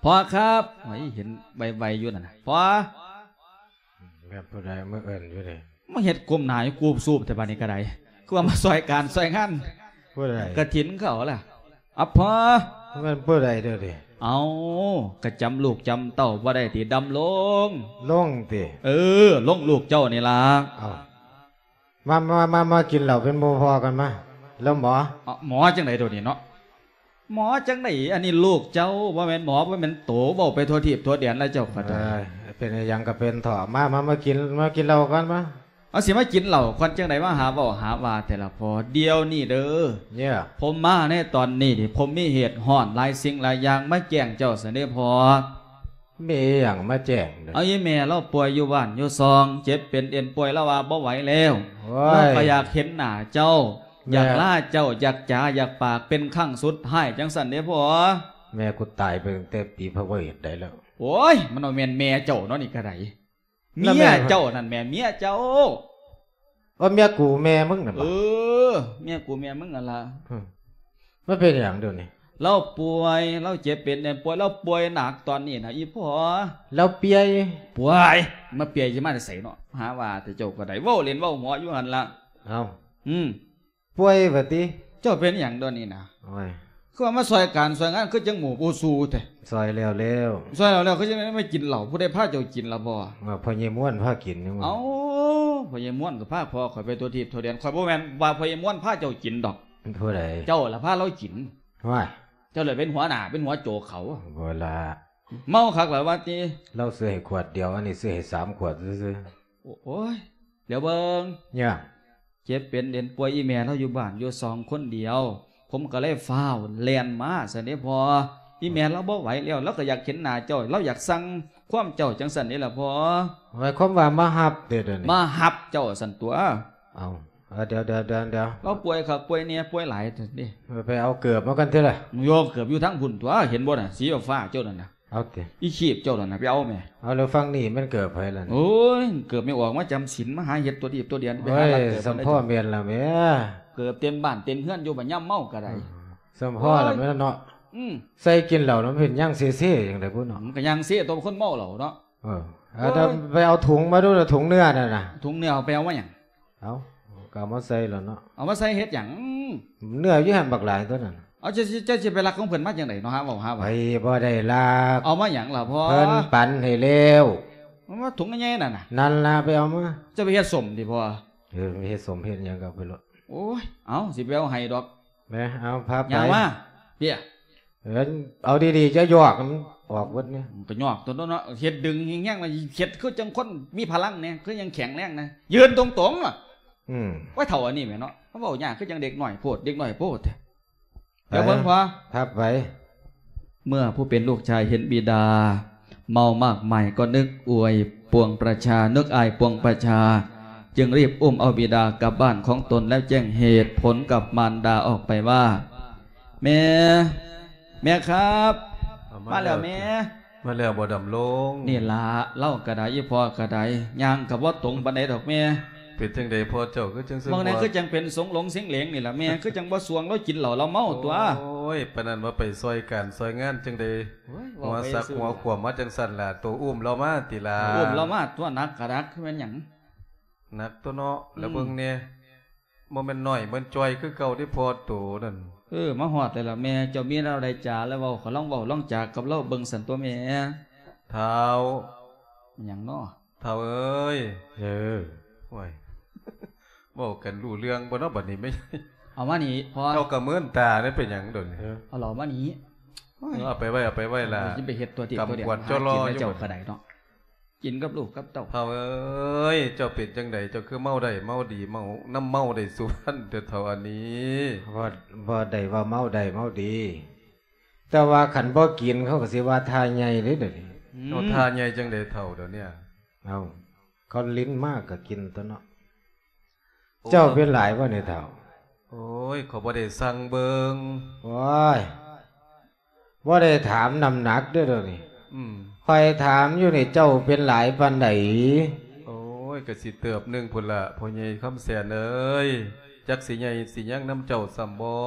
ພໍ່ຄັບ. ໂອ້ຍ ເຫັນໄວໆຢູ່ນັ້ນນະ ພໍ່. ແມ່ນຜູ້ໃດມາເອີ້ນຢູ່ນີ້? ມາເຮັດກົ້ມໜ້າຢູ່ກູບຊູບແທ້ບາດນີ້ກະໄດ້ ຄືວ່າມາຊ່ອຍການຊ່ອຍງານ ຜູ້ໃດ? ກະຖິນເຂົາລະ. ອາ ພໍ່. ແມ່ນຜູ້ໃດເດີນີ້? ເອົ້າ ກະຈຳລູກຈຳເຕົ້າບໍ່ໄດ້ຕິ ດຳລົງ? ລົງຕິ? ເອີ ລົງ ລູກເຈົ້ານີ້ລະ. ເອົ້າ ມາ ມາ ມາ ມາກິນເຫຼົ້າເປັນໝູ່ພໍ່ກັນມາ ແລ້ວໝໍ. ເອົ້າ ໝໍຈັ່ງໃດໂດດນີ້ເນາະ? ໝໍຈັ່ງໃດ? ອັນນີ້ລູກເຈົ້າ ບໍ່ແມ່ນໝໍ ບໍ່ແມ່ນໂຕ ເວົ້າໄປທົ່ວທີບທົ່ວແດນລະເຈົ້າກໍໄດ້. ເອີຍ ເປັນອີ່ຫຍັງກໍເປັນເຖາະ ມາ ມາ ມາກິນ ມາກິນເຫຼົ້າກັນມາ. ເອົາ ຊິມາກິນເຫຼົ້າກ່ອນຈັ່ງໃດ ມາຫາເວົ້າຫາວ່າແຕ່ລະພໍ່. ດຽວນີ້ເດີ ເຍ ຜົມມາໃນຕອນນີ້ນີ້ ຜົມມີເຫດຮ້ອນຫຼາຍສິ່ງຫຼາຍຢ່າງມາແຈ້ງເຈົ້າຊັ້ນເດ້ພໍ່. ມີຫຍັງມາແຈ້ງເດີ? ເອົາ ອີ່ແມ່ລາວປ່ວຍຢູ່ບ້ານຢູ່ຊ່ອງ ເຈັບເປັນເອັນປ່ວຍ ລາວວ່າບໍ່ໄຫວແລ້ວ. ໂອ້ຍ ລາວກໍຢາກເຫັນໜ້າເຈົ້າ ແມ່ ຢາກລາເຈົ້າ ຢາກຈາ ຢາກປາກເປັນຄັ້ງສຸດທ້າຍ ຈັ່ງຊັ້ນເດ້ພໍ່. ແມ່ກູຕາຍໄປຕັ້ງແຕ່ປີພະວະເຫດໃດແລ້ວ. ໂອ້ຍ ມັນບໍ່ແມ່ນແມ່ເຈົ້າເນາະ ນີ້ກະໄດ້. ແລ້ວແມ່ ເມຍເຈົ້ານັ້ນແໝ່ ເມຍເຈົ້າ. ວ່າເມຍກູແມ່ມຶງນັ້ນບໍ? ເອີ ເມຍກູແມ່ມຶງຫັ້ນລະ. ຫຶ ມັນເປັນຫຍັງດຽວນີ້? ລາວປ່ວຍ ລາວເຈັບເປັນແໜ້ນປ່ວຍ ລາວປ່ວຍໜັກຕອນນີ້ນະ ອີ່ພໍ່. ລາວປ່ວຍ? ປ່ວຍ ມາປ່ວຍຊິມາແຕ່ໃສເນາະ ຫາວ່າແຕ່ເຈົ້າກໍໄດ້ ເວົ້າຫຼິ້ນເວົ້າຫົວຢູ່ຫັ້ນລະ. ເອົ້າ ອືມ ປ່ວຍວ່າຕິ? ເຈົ້າເປັນຫຍັງດຽວນີ້ນະ? ໂອ້ຍ ຄືວ່າມາຊ່ອຍການຊ່ອຍງານ ຄືຈັ່ງໝູ່ບໍ່ສູ້ແທ້. ຊ່ອຍແລ້ວແລ້ວ. ຊ່ອຍແລ້ວແລ້ວ ຄືຈັ່ງໄດ້ມາກິນເຫຼົ້າ ຜູ້ໃດພາເຈົ້າກິນລະພໍ່? ວ່າພໍ່ໃຫຍ່ມ່ວນພາກິນ. ເອົ້າ ພໍ່ໃຫຍ່ມ່ວນກໍພາພໍ່ຂ້ອຍໄປທົ່ວທີບທົ່ວແດນ ຂ້ອຍບໍ່ແມ່ນວ່າພໍ່ໃຫຍ່ມ່ວນພາເຈົ້າກິນດອກ. ຜູ້ໃດ? ເຈົ້າລະພາລາວກິນ. ວ້າຍ ເຈົ້າລະເປັນຫົວໜ້າ ເປັນຫົວໂຈກເຂົາ. ບໍ່ລະ ເມົາຄັກລະວ່າຕິ? ລາວຊື້ໃຫ້ຂວດດຽວ ອັນນີ້ຊື້ໃຫ້ສາມຂວດຊື່ໆ. ໂອ້ຍ ດຽວເບິ່ງ ຫຍັງ? ເຈັບເປັນເປັນປ່ວຍ ອີ່ແມ່ລາວຢູ່ບ້ານຢູ່ຊ່ອງຄົນດຽວ ຜົມກໍເລີຍຟ້າວແລ່ນມາຊັ້ນເດ້ພໍ່. ອີ່ແມ່ລາວບໍ່ໄຫວແລ້ວ ລາວກໍຢາກເຫັນໜ້າເຈົ້າ ລາວຢາກສັ່ງຄວາມເຈົ້າຈັ່ງຊັ້ນເດ້ລະພໍ່. ໝາຍຄວາມວ່າມາຮັບເດ້ດຽວນີ້? ມາຮັບເຈົ້າຊັ້ນຕົວະ. ເອົ້າ ດຽວໆໆໆ ລາວປ່ວຍຄັກປ່ວຍແນ່ປ່ວຍຫຼາຍຊັ້ນເດ້. ໄປເອົາເກີບມາກັນເທື່ອລະ. ໂຍ ເກີບຢູ່ທາງພຸ້ນຕົວະ ເຫັນບໍ່ນະ ສີຟ້າເຈົ້ານັ້ນນະ. ເອົາຕິ ອີຊີບເຈົ້ານັ້ນນະ ໄປເອົາແມ້. ເອົາ ແລ້ວຝັ່ງນີ້ແມ່ນເກີບໃຜລະນີ້? ໂອ້ຍ ເກີບແມ່ອອກມາຈຳສິນ ມາຫາເຮັດຕົວດີບຕົວດຽນ ໄປຫາລັກເກີບ ເອີຍ ສຳພໍແມ່ນລະແມ້. ເກີບເຕັມບ້ານເຕັມເຮືອນຢູ່ ບັດຍາມເມົາກໍໄດ້. ເອີ ສຳພໍລະແມ່ນເນາະ. ອືມ ໃສ່ກິນເຫຼົ້ານຳເປັນຍ່າງເຊໆຈັ່ງໃດພຸ້ນເນາະ. ມັນກໍຍ່າງເຊຕົວຄົນເມົາເຫຼົ້າເນາະ. ເອີ ໂອ້ຍ ເອົາ ໄປເອົາຖົງມາດູ ຖົງເນື້ອນັ້ນນະ. ຖົງເນື້ອເອົາໄປເອົາມາຫຍັງ? ເອົາ ກໍເອົາມາໃສ່ແລ້ວເນາະ. ເອົາມາໃສ່ເຮັດຫຍັງ? ເນື້ອຢູ່ຫັ້ນບັກຫຼາຍຕົວນັ້ນ. ເອົາ ເຈົ້າ ເຈົ້າ ເຈົ້າຊິໄປລັກຂອງເພິ່ນມາຈັ່ງໃດເນາະ? ຫາເວົ້າ ຫາວ່າ ໄປບໍ່ໄດ້ລັກ. ເອົາມາຫຍັງລະພໍ່? ເພິ່ນປັນໃຫ້ແລ້ວ. ມັນມາຖົງໃຫຍ່ໆນັ້ນນະ. ນັ້ນລະ ໄປເອົາມາ. ເຈົ້າໄປເຮັດສົ້ມຕິພໍ່? ເອີ ໄປເຮັດສົ້ມເຮັດຫຍັງກໍເອົາໄປໂລດ. ໂອ້ຍ ເອົາ ຊິໄປເອົາໃຫ້ດອກ. ແມ່ ເອົາ ພາໄປ ຍ່າງມາ ເປ້ຍ. ເອີ ເອົາດີໆ ຈະຢອກ ມັນອອກເບິດນີ້. ມັນກໍຍອກຕົວເນາະ ເຮັດດຶງແຮງໆ ລະເຮັດຄືຈັ່ງຄົນມີພະລັງແດ່ ຄືຍັງແຂງແຮງນະ ຢືນຕົງໆ ລະ. ອືມ ໂອ້ຍ ເຖົ້າອັນນີ້ແໝ່ເນາະ ມາເວົ້າຍາກຄືຈັ່ງເດັກນ້ອຍໂພດ ເດັກນ້ອຍໂພດ. ດຽວເບິ່ງພໍ່ ໄປ ພາໄປ. ເມື່ອຜູ້ເປັນລູກຊາຍເຫັນບິດາເມົາມາກມາຍ ກໍນຶກອາຍປວງປະຊາ ນຶກອາຍປວງປະຊາ ຈຶ່ງຣີບອຸ້ມເອົາບິດາກັບບ້ານຂອງຕົນ ແລ້ວແຈ້ງເຫດຜົນກັບມານດາອອກໄປວ່າ ແມ່ ແມ່ຄັບ ເອົາ ມາ ມາແລ້ວແມ່. ມາແລ້ວບໍ່ ດຳລົງ? ນີ້ລະ ລາວກໍໄດ້ ອີ່ພໍ່ກໍໄດ້ ຍ່າງກໍບໍ່ຕົງປານໃດດອກແມ່. ເປັນຈັ່ງໃດພໍ່ເຈົ້າຄືຈັ່ງຊັ້ນ? ບາງແນວຄືຈັ່ງເປັນສົງຫຼົງເສັງເຫຼງນີ້ລະແມ່ ຄືຈັ່ງບໍ່ຊ່ວງ ລາວກິນເຫຼົ້າລາວເມົາຕົວະ. ໂອ້ຍ ປານນັ້ນວ່າໄປຊ່ອຍການຊ່ອຍງານຈັ່ງໃດ? ໂອ້ຍ ຫົວສັກຫົວຂວມມາຈັ່ງຊັ້ນລະ ໂຕອຸ້ມລາວມາຕິລະ. ອຸ້ມລາວມາຕົວະ ໜັກກໍໜັກ ຄືແມ່ນຫຍັງ? ໜັກຕົວະເນາະ. ອືມ ລະເບິ່ງແດ່ ບໍ່ແມ່ນໜ້ອຍ ບໍ່ແມ່ນຈ່ອຍຄືເກົ່າເດ້ພໍ່ໂຕນັ້ນ. ເອີ ມາຮອດແລ້ວລະແມ່ ເຈົ້າມີແນວໃດຈາລະເວົ້າ ກໍລອງເວົ້າລອງຈາກັບລາວເບິ່ງຊັ້ນຕົວະແມ່. ທ້າວ ຫຍັງເນາະ? ທ້າວເອີຍ. ເອີ ໂອ້ຍ ເວົ້າກັນຮູ້ເລື່ອງບໍ່ເນາະບັດນີ້ແມ່? ເອົາມານີ້ພໍ່. ເຈົ້າກໍເມີນຕາເດ້ ເປັນຫຍັງໂດນນີ້? ເອີ ເອົາເຫຼົ້າມານີ້. ໂອ້ຍ ເອົາໄປໄວ້ ເອົາໄປໄວ້ລະ. ຊິໄປເຮັດຕົວຕິຕົວແດນ ກຳກວດ ຫາກິນແລ້ວເຈົ້າກໍໄດ້ເນາະ. ກິນກັບລູກກັບເຕົ້າ. ທ້າວເອີຍ ເຈົ້າເປັນຈັ່ງໃດ? ເຈົ້າຄືເມົາໄດ້ເມົາດີ ເມົານຳເມົາໄດ້ສຸວັນແທ້ ທ້າວອັນນີ້. ບໍ່ ບໍ່ໄດ້ວ່າເມົາໄດ້ເມົາດີ ແຕ່ວ່າຄັນບໍ່ກິນ ເຂົາກໍຊິວ່າທ່າໃຫຍ່ເດ້ດຽວນີ້. ອືມ ເອົາ ທ່າໃຫຍ່ຈັ່ງໃດທ້າວດຽວນີ້? ເອົາ ເຂົາຫຼິ້ນມາກໍກິນຕົວະເນາະ. ໂອ້ ເຈົ້າເປັນຫຼາຍບໍ່ນີ້ທ້າວ? ໂອ້ຍ ຂ້ອຍບໍ່ໄດ້ຊັ່ງເບິ່ງ. ໂອ້ຍ ບໍ່ໄດ້ຖາມນ້ຳໜັກເດີ້ດຽວນີ້. ອືມ ຂ້ອຍຖາມຢູ່ນີ້ ເຈົ້າເປັນຫຼາຍປານໃດ? ໂອ້ຍ ກະຊິເຕີບໜຶ່ງພຸ້ນລະ ພໍ່ໃຫຍ່ຄຳແສນເອີຍ ຈັກຊິໃຫຍ່ຊິຍັງນຳເຈົ້າສ່ຳບໍ່?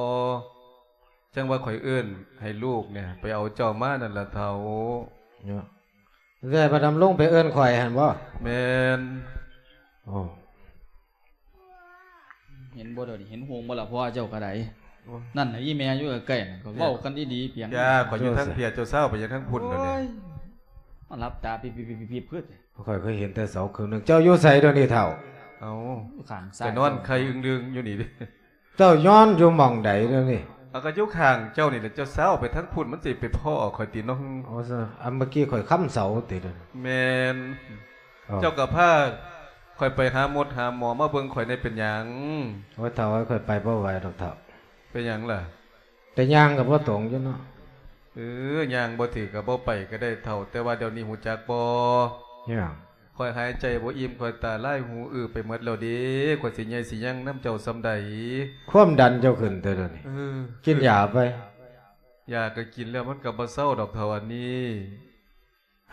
ຈັ່ງວ່າຂ້ອຍເອີ້ນໃຫ້ລູກນີ້ໄປເອົາເຈົ້າມານັ້ນລະທ້າວ. ເນາະ ແຕ່ພະດຳລົງໄປເອີ້ນຂ້ອຍຫັ້ນບໍ່? ແມ່ນ. ໂອ້ ເຫັນບໍ່ດຽວນີ້ ເຫັນໂຮງບໍ່ລະພໍ່ເຈົ້າກໍໄດ້. ໂອ້ຍ ນັ້ນນະ ອີ່ແມ່ຢູ່ໃກ້ໆ ນັ້ນກໍເວົ້າກັນດີໆ ປຽງ. ຢ່າ ຂ້ອຍຢູ່ທາງເພຍ ເຈົ້າຊາວໄປຫຍັງທາງພຸ້ນດຽວນີ້? ໂອ້ຍ ມາຫຼັບຕາປິບໆໆໆ ຄື ຂ້ອຍເຄີຍເຫັນແຕ່ເສົາເຄິ່ງໜຶ່ງ. ເຈົ້າຢູ່ໃສດຽວນີ້ທ້າວ? ເອົ້າ ຂ້າງຊ້າຍ ໄປນອນໄຂ່ອຶ່ງດຶງຢູ່ນີ້ເດ້. ເຈົ້ານອນຢູ່ໝ່ອງໃດດຽວນີ້? ເອົາ ກໍຢູ່ຂ້າງເຈົ້ານີ້ແຫຼະ ເຈົ້າຊາວໄປທາງພຸ້ນ ມັນຊິໄປພໍ້ຂ້ອຍຕິເນາະ. ໂອ້ ອັນເມື່ອກີ້ຂ້ອຍຄ້ຳເສົາຕິດຽວນີ້? ແມ່ນ. ເຈົ້າກໍພາຂ້ອຍໄປຫາໝົດຫາໝໍມາເບິ່ງຂ້ອຍແດ່ ເປັນຫຍັງ? ໂອ້ຍ ທ້າວເອີຍ ຂ້ອຍໄປບໍ່ໄຫວດອກທ້າວ. ເປັນຫຍັງລະ? ແຕ່ຍ່າງກໍບໍ່ຕົງຢູ່ເນາະ. ເອີ ຍ່າງບໍ່ຖືກກໍບໍ່ໄປກໍໄດ້ທ້າວ ແຕ່ວ່າດຽວນີ້ຮູ້ຈັກບໍ່? ຫຍັງ? ຂ້ອຍຫາຍໃຈບໍ່ອີ່ມ ຂ້ອຍຕາລາຍຫູອື້ໄປໝົດແລ້ວເດ້. ຂ້ອຍຊິໃຫຍ່ຊິຍັງນຳເຈົ້າສ່ຳໃດ? ຄວາມດັນເຈົ້າຂຶ້ນແຕ່ດຽວນີ້. ເອີ ກິນຢາໄປ. ຢາກໍກິນແລ້ວ ມັນກໍບໍ່ເຊົາດອກເທົ່າອັນນີ້.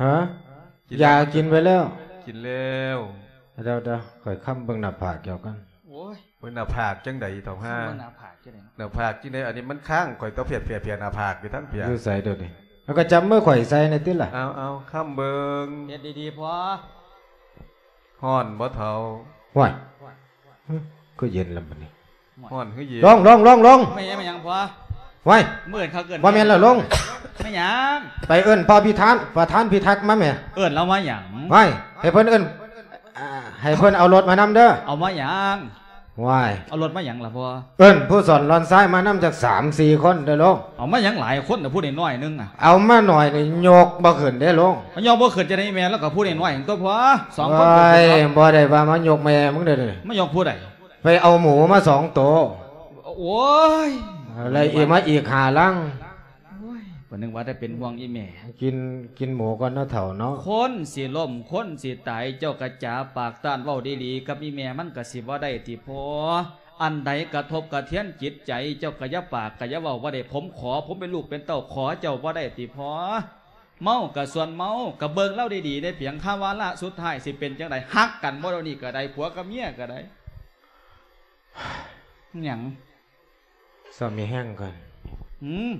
ຮະ? ຢາກິນໄປແລ້ວ? ກິນແລ້ວ. ດຽວໆ ຂ້ອຍຄ້ຳເບິ່ງໜ້າຜາກເຈົ້າກ່ອນ. ໂອ້ຍ ເບິ່ງໜ້າຜາກຈັ່ງໃດເຖົ້າຫ່າ? ເບິ່ງໜ້າຜາກຈັ່ງໃດ? ໜ້າຜາກຈັ່ງໃດ? ອັນນີ້ມັນຄ້າງ ຂ້ອຍຕ້ອງເພຍໆ ໜ້າຜາກຢູ່ທາງເພຍ. ຢູ່ໃສດຽວນີ້? ເອົາ ກໍຈັບມືຂ້ອຍໃສ່ແດ່ຕິລະ. ເອົາໆ ຄ້ຳເບິ່ງ. ເຮັດດີໆ ພໍ່. ຮ້ອນບໍ່ເຖົ້າ? ໂອ້ຍ ຄືເຢັນລະບັດນີ້. ຮ້ອນຄືເຢັນ? ລົງ ລົງ ລົງ ລົງ. ແມ່ນຫຍັງ ແມ່ນຫຍັງພໍ່? ໂອ້ຍ ມື້ອື່ນເຂົາເອີ້ນ ບໍ່ແມ່ນລະ ລົງ. ແມ່ນຫຍັງ? ໄປເອີ້ນພໍ່ພິທານ ປະທານພິທັກມາແມ່. ເອີ້ນລາວມາຫຍັງ? ໂອ້ຍ ໃຫ້ເພິ່ນເອີ້ນ ອ່າ ໃຫ້ເພິ່ນເອົາລົດມານຳເດີ. ເອົາມາຫຍັງ? ໂອ້ຍ ເອົາລົດມາຫຍັງລະພໍ່? ເອີ້ນຜູ້ສອນລອນຊາຍມານຳຈັກສາມສີ່ຄົນເດີ ລົງ. ເອົາມາຫຍັງຫຼາຍຄົນນະ ຜູ້ນ້ອຍໆໜຶ່ງນະ? ເອົາມາໜ້ອຍນີ້ຍົກບໍ່ຂຶ້ນເດ້ ລົງ. ມັນຍົກບໍ່ຂຶ້ນຈັ່ງໃດແມ່? ລາວກໍຜູ້ນ້ອຍໆຕົວພໍ່ ສອງຄົນ. ໂອ້ຍ ບໍ່ໄດ້ວ່າມາຍົກແມ່ມຶງເດີ. ມາຍົກຜູ້ໃດ? ໄປເອົາໝູມາສອງໂຕ. ໂອ້ຍ ແລ້ວອີກມາອີກຫ້າລັງ. ໂອ້ຍ ປະໜຶ່ງວ່າແຕ່ເປັນຫ່ວງອີ່ແມ່. ກິນ ກິນໝູກ່ອນເນາະເຖົ້າເນາະ. ຄົນຊິລົ້ມ ຄົນຊິຕາຍ ເຈົ້າກະຈາປາກຕ້ານເວົ້າດີໆກັບອີ່ແມ່ ມັນກະຊິບໍ່ໄດ້ຕິພໍ່? ອັນໃດກະທົບກະທຽນຈິດໃຈ ເຈົ້າກະຢ່າປາກ ກະຢ່າເວົ້າບໍ່ໄດ້. ຜົມຂໍ ຜົມເປັນລູກເປັນເຕົ້າ ຂໍເຈົ້າບໍ່ໄດ້ຕິພໍ່? ເມົາກະສ່ວນເມົາ ກະເບິ່ງລາວດີໆ ໄດ້ພຽງຄາວາລະສຸດທ້າຍ ຊິເປັນຈັ່ງໃດ? ຮັກກັນບໍ່ດຽວນີ້ກະໄດ້ ຜົວກັບເມຍກະໄດ້. ຫຍັງ? ຊໍ້າມີແຮງກ່ອນ. ຫືມ?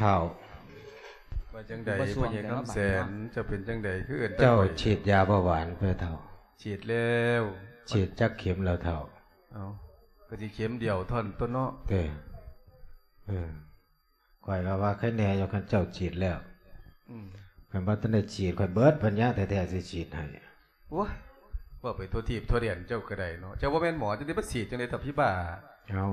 ທ້າວ ວ່າຈັ່ງໃດ ພໍ່ໃຫຍ່ຄຳແສນ? ເຈົ້າເປັນຈັ່ງໃດ ຄືເອີ້ນແຕ່ຂ້ອຍ? ເຈົ້າສີດຢາເບົາຫວານເພື່ອທ້າວ? ສີດແລ້ວ. ສີດຈັກເຂັມແລ້ວທ້າວ? ເອົ້າ ກະຊິເຂັມດຽວເທົ່ານັ້ນຕົວະເນາະ. ເອີ ຂ້ອຍກະວ່າໄຄແນ່ຢູ່ ຄັນເຈົ້າສີດແລ້ວ. ອືມ ຄັນບໍ່ທັນໄດ້ສີດ ຂ້ອຍເບິດປັນຍາແທ້ໆ ຊິສີດໃຫ້. ໂອ້ຍ ເວົ້າໄປທົ່ວທີບທົ່ວແດນ ເຈົ້າກະໄດ້ເນາະ. ເຈົ້າບໍ່ແມ່ນໝໍ ຈັ່ງໃດມາສີດຈັ່ງໃດ ທ້າວຜີບ້າ? ເອົ້າ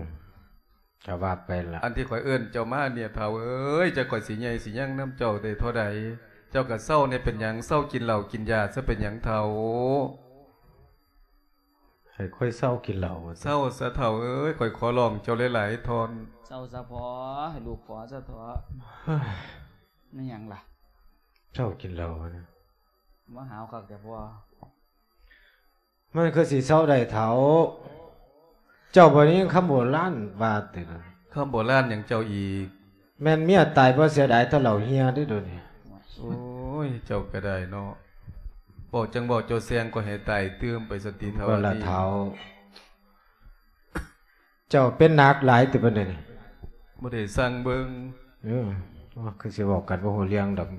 ກະວ່າໄປລະ. ອັນທີ່ຂ້ອຍເອີ້ນເຈົ້າມານີ້ ທ້າວເອີຍ ຈັກຂ້ອຍຊິໃຫຍ່ຊິຍັງນຳເຈົ້າໄດ້ທໍ່ໃດ. ເຈົ້າກະເຊົາແນ່ ເປັນຫຍັງ? ເຊົາກິນເຫຼົ້າກິນຢາຊະ ເປັນຫຍັງທ້າວ? ໃຫ້ຂ້ອຍເຊົາກິນເຫຼົ້າວ່າຊັ້ນ? ເຊົາຊະທ້າວເອີຍ ຂ້ອຍຂໍຮ້ອງເຈົ້າຫຼາຍໆທ່ອນ. ເຊົາຊະພໍ່ ໃຫ້ລູກຂໍຊະເຖາະ. ແມ່ນຫຍັງລະ? ເຊົາກິນເຫຼົ້ານະ. ມາຫາວຄັກແທ້ພໍ່. ມັນຄືຊິເຊົາໄດ້ທ້າວ? ເຈົ້າບໍ່ໄດ້ຍິນຄຳໂບລານວ່າຕິ? ຄຳໂບລານຫຍັງເຈົ້າອີກ? ແມ່ນເມຍຕາຍບໍ່ເສຍດາຍ ເທົ່າເຫຼົ້າເຫ່ຍເດ້ດຽວນີ້. ໂອ້ຍ ເຈົ້າກະໄດ້ເນາະ ເວົ້າຈັ່ງເວົ້າ ເຈົ້າແຊ່ງຂ້ອຍໃຫ້ຕາຍຕື່ມໄປຊັ້ນຕິທ້າວ. ບໍ່ລະທ້າວ ເຈົ້າເປັນໜັກຫຼາຍຕິປານໃດນີ້? ບໍ່ໄດ້ສັ່ງເບິ່ງ. ເອີ ຄືຊິເວົ້າກັນບໍ່ຮູ້ເລື່ອງດອກ.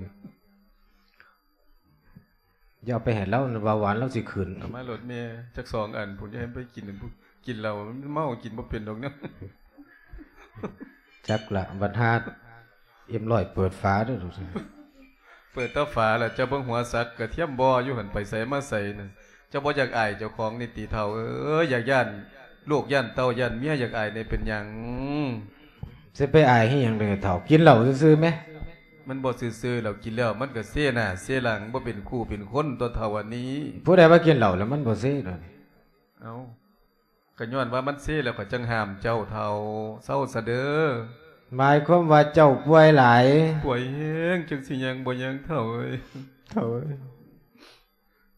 ຢ່າເອົາໄປໃຫ້ລາວນະ ເບົາຫວານລາວຊິຂຶ້ນ. ເອົາມາໂລດແມ່ ຈັກສອງອັນພຸ້ນ ຢ່າໃຫ້ໄປກິນ ກິນເຫຼົ້າ ມັນເມົາ ກິນບໍ່ເປັນດອກເນາະ. ຈັກລະ ບັດຫາເອັມຮ້ອຍເປີດຝາເດີ້. ເປີດແຕ່ຝາລະ ເຈົ້າເບິ່ງຫົວສັກກະທຽມບໍ່ຢູ່ຫັ້ນ ໄປໃສມາໃສນະ. ເຈົ້າບໍ່ຢາກອາຍເຈົ້າຂອງນີ້ຕິທ້າວເອີຍ? ຢາກຢ້ານລູກຢ້ານເຕົ້າຢ້ານເມຍ ຢາກອາຍແນ່ ເປັນຫຍັງ? ຊິໄປອາຍເຮັດຫຍັງເດທ້າວ? ກິນເຫຼົ້າຊື່ໆແມ. ມັນບໍ່ຊື່ໆ ລາວກິນແລ້ວມັນກະເຊໜ້າເຊຫຼັງ ບໍ່ເປັນຄູ່ເປັນຄົນຕົວະທ້າວອັນນີ້. ຜູ້ໃດວ່າກິນເຫຼົ້າແລ້ວມັນບໍ່ເຊດອກ? ເອົ້າ ກະຍ້ອນວ່າມັນເຊແລ້ວ ຂ້ອຍຈັ່ງຫ້າມເຈົ້າທ້າວ. ເຊົາຊະເດີ້. ໝາຍຄວາມວ່າເຈົ້າປ່ວຍຫຼາຍ? ປ່ວຍແຮງ ຈັ່ງຊິຍ່າງບໍ່ຍ່າງທ້າວເອີຍ. ທ້າວເອີຍ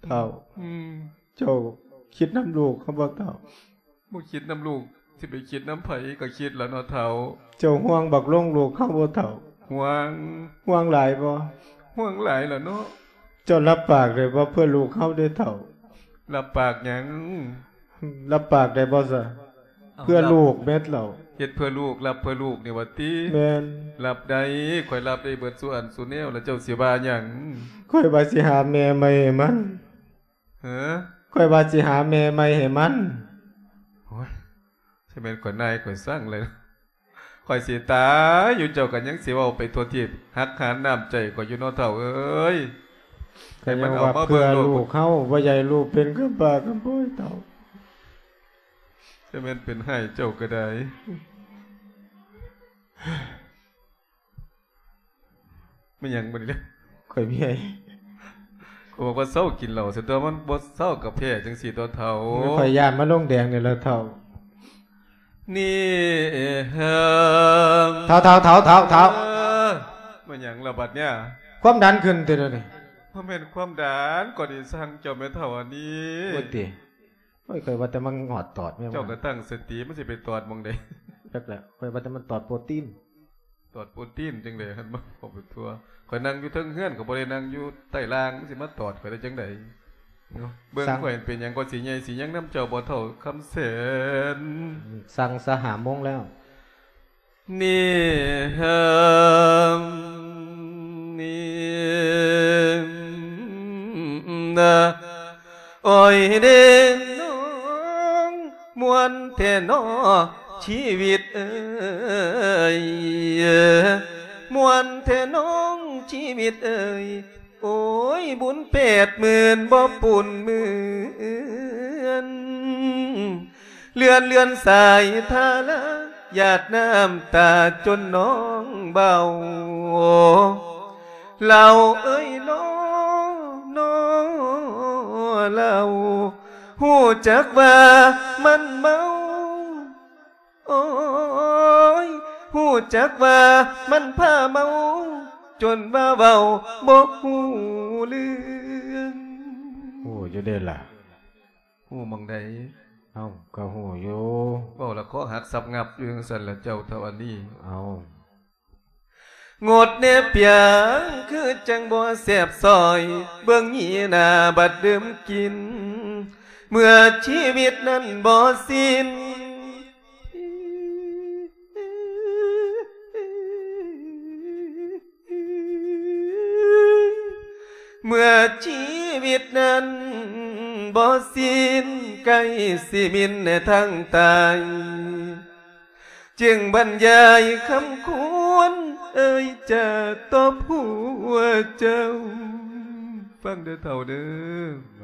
ທ້າວ. ອືມ ເຈົ້າຄິດນຳລູກເຮົາບໍ່ທ້າວ? ບໍ່ຄິດນຳລູກ ຊິໄປຄິດນຳໃຜ ກະຄິດລະເນາະທ້າວ. ເຈົ້າຫ່ວງບັກໂລງລູກເຮົາບໍ່ທ້າວ? ຫ່ວງ. ຫ່ວງຫຼາຍບໍ່? ຫ່ວງຫຼາຍລະເນາະ. ເຈົ້າຮັບປາກໄດ້ບໍ່ ເພື່ອລູກເຮົາເດ້ທ້າວ? ຮັບປາກຫຍັງ? ຮັບປາກໄດ້ບໍ່ຊະ? ເພື່ອລູກແມ່ນລະ. ເຮັດເພື່ອລູກ ຮັບເພື່ອລູກນີ້ຫວາຕິ? ແມ່ນ. ຮັບໄດ້ ຂ້ອຍຮັບໄດ້ເບິດສູ່ອັນສູ່ແນວ ລະເຈົ້າຊິວ່າຫຍັງ? ຂ້ອຍວ່າຊິຫາແມ່ໃໝ່ໃຫ້ມັນ. ເອີ ຂ້ອຍວ່າຊິຫາແມ່ໃໝ່ໃຫ້ມັນ. ໂອ້ຍ ຊິແມ່ນຂ້ອຍນາຍຂ້ອຍສັງເລີຍ. ຂ້ອຍຊິຕາຍຢູ່ ເຈົ້າກະຍັງຊິເວົ້າໄປທົ່ວທີບ ຫັກຫານນ້ຳໃຈຂ້ອຍຢູ່ເນາະທ້າວເອີຍ. ກະຍັງວ່າເພື່ອລູກເຮົາ ບໍ່ຢາກໃຫ້ລູກເປັນກຳພ້າກຳພ້ອຍທ້າວ. ຊິແມ່ນເປັນຮ້າຍເຈົ້າກະໄດ້. ແມ່ນຫຍັງບັດນີ້? ຂ້ອຍເມຍ. ຂ້ອຍບອກວ່າເຊົາກິນເຫຼົ້າ ຊັ້ນຕົວະ ມັນບໍ່ເຊົາກະແພ້ຈັ່ງຊີ້ຕົວະທ້າວ. ຂ້ອຍຢ້ານມາລົງແດງນີ້ລະທ້າວ. ນີ້ ທ້າວ ທ້າວ ທ້າວ ທ້າວ. ເອີ ແມ່ນຫຍັງລະບັດນີ້? ຄວາມດັນຂຶ້ນຕິດຽວນີ້? ບໍ່ແມ່ນຄວາມດັນ ກະດີຊັງເຈົ້າແມ່ນທ້າວອັນນີ້. ໂອ້ຍຕິ. ໂອ້ຍ ຂ້ອຍວ່າແຕ່ມັນງອດຕອດແມ່ນ. ເຈົ້າກະຕັ້ງສະຕິ ມັນຊິໄປຕອດໝ່ອງໃດ? ຈັກແຫຼະ ຂ້ອຍວ່າແຕ່ມັນຕອດໂປຣຕີນ. ຕອດໂປຣຕີນຈັ່ງໃດຫັ້ນ ມາເວົ້າໄປທົ່ວ. ຂ້ອຍນັ່ງຢູ່ເທິງເຮືອນ ກະບໍ່ໄດ້ນັ່ງຢູ່ໃຕ້ລ່າງ ມັນຊິມາຕອດຂ້ອຍໄດ້ຈັ່ງໃດ? ເບິ່ງຂ້ອຍເປັນຫຍັງ ຂ້ອຍຊິໃຫຍ່ຊິຍັງນຳເຈົ້າບໍ່ ທ້າວຄຳແສນ? ສັ່ງຊະ ຫ້າໂມງແລ້ວ. ນີ້ ນີ້ ໂອ້ຍເດນ້ອງ ມ່ວນແທ້ນໍຊີວິດເອີຍ ມ່ວນແທ້ນ້ອງຊີວິດເອີຍ. ໂອ້ຍ ບຸນແປດໝື່ນບໍ່ປຸ້ນເໝືອນ ເລື່ອນເລື່ອນສາຍທາລາ ຫຍາດນ້ຳຕາຈົນນ້ອງເບົາ ເຫຼົ້າເອີຍ ນໍ ນໍ ເຫຼົ້າ ຮູ້ຈັກວ່າມັນເມົາ ໂອ້ຍ ຮູ້ຈັກວ່າມັນພາເມົາ ຈົນວ່າເວົ້າບໍ່ຮູ້ເລື່ອງ. ຮູ້ຢູ່ເດ້ລະ. ຮູ້ໝ່ອງໃດ? ເອົ້າ ກະຮູ້ຢູ່. ເວົ້າລະຄໍຫັກສັບຫງັບຢູ່ຈັ່ງຊັ້ນລະເຈົ້າເຖົ້າອັນນີ້. ເອົ້າ. ງົດແດ່ປຽງ ຄືຈັ່ງບໍ່ແຊບຊອຍ ເບິ່ງຫຍີ່ໜ້າບັດດື່ມກິນ ເມື່ອຊີວິດນັ້ນບໍ່ສິ້ນ ເມື່ອຊີວິດນັ້ນບໍ່ສິ້ນ ໃກ້ຊິມິນແນທາງຕາຍ ຈຶ່ງບັນຍາຍຄຳຄວນເອີ່ຍຈາຕໍ່ຜົວເຈົ້າ. ຟັງເດີເຖົ້າເດີ.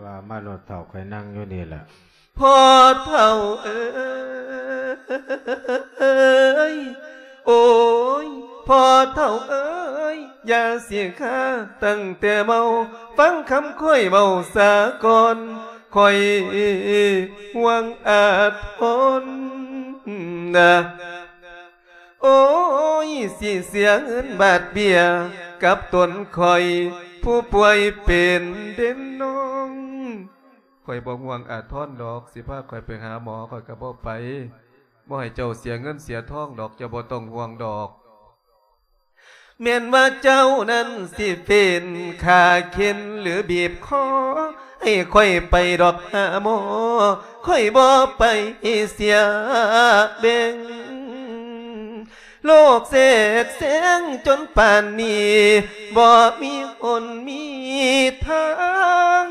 ວ່າມາໂລດເຖົ້າ ຂ້ອຍນັ່ງຢູ່ນີ້ແຫຼະ. ພໍ່ເຖົ້າເອີຍ ໂອ້ຍ ພໍ່ເຖົ້າເອີຍ ຢ່າຊິຄາຕັ້ງແຕ່ເມົາ ຟັງຄຳຂ້ອຍເວົ້າສາກ່ອນ ຂ້ອຍຫວງອາທອນນະ ໂອ້ຍ ຊິເສຍເງິນບາດເບ້ຍກັບຕົນຂ້ອຍ ຜູ້ປ່ວຍເປັນເດນນ້ອງ. ຂ້ອຍບໍ່ຫວງອາທອນດອກ ຊິພາຂ້ອຍໄປຫາໝໍ ຂ້ອຍກໍບໍ່ໄປ ບໍ່ໃຫ້ເຈົ້າເສຍເງິນເສຍທອງດອກ ເຈົ້າບໍ່ຕ້ອງຫ່ວງດອກ. ແມ່ນວ່າເຈົ້ານັ້ນຊິເປັນຂ້າເຂັນ ຫຼື ບີບຄໍ ໃຫ້ຂ້ອຍໄປດອກຫາໝໍ ຂ້ອຍບໍ່ໄປເສຍແບ່ງ. ໂລກແຊກແຊງຈົນປານນີ້ ບໍ່ມີຫົນມີທາງ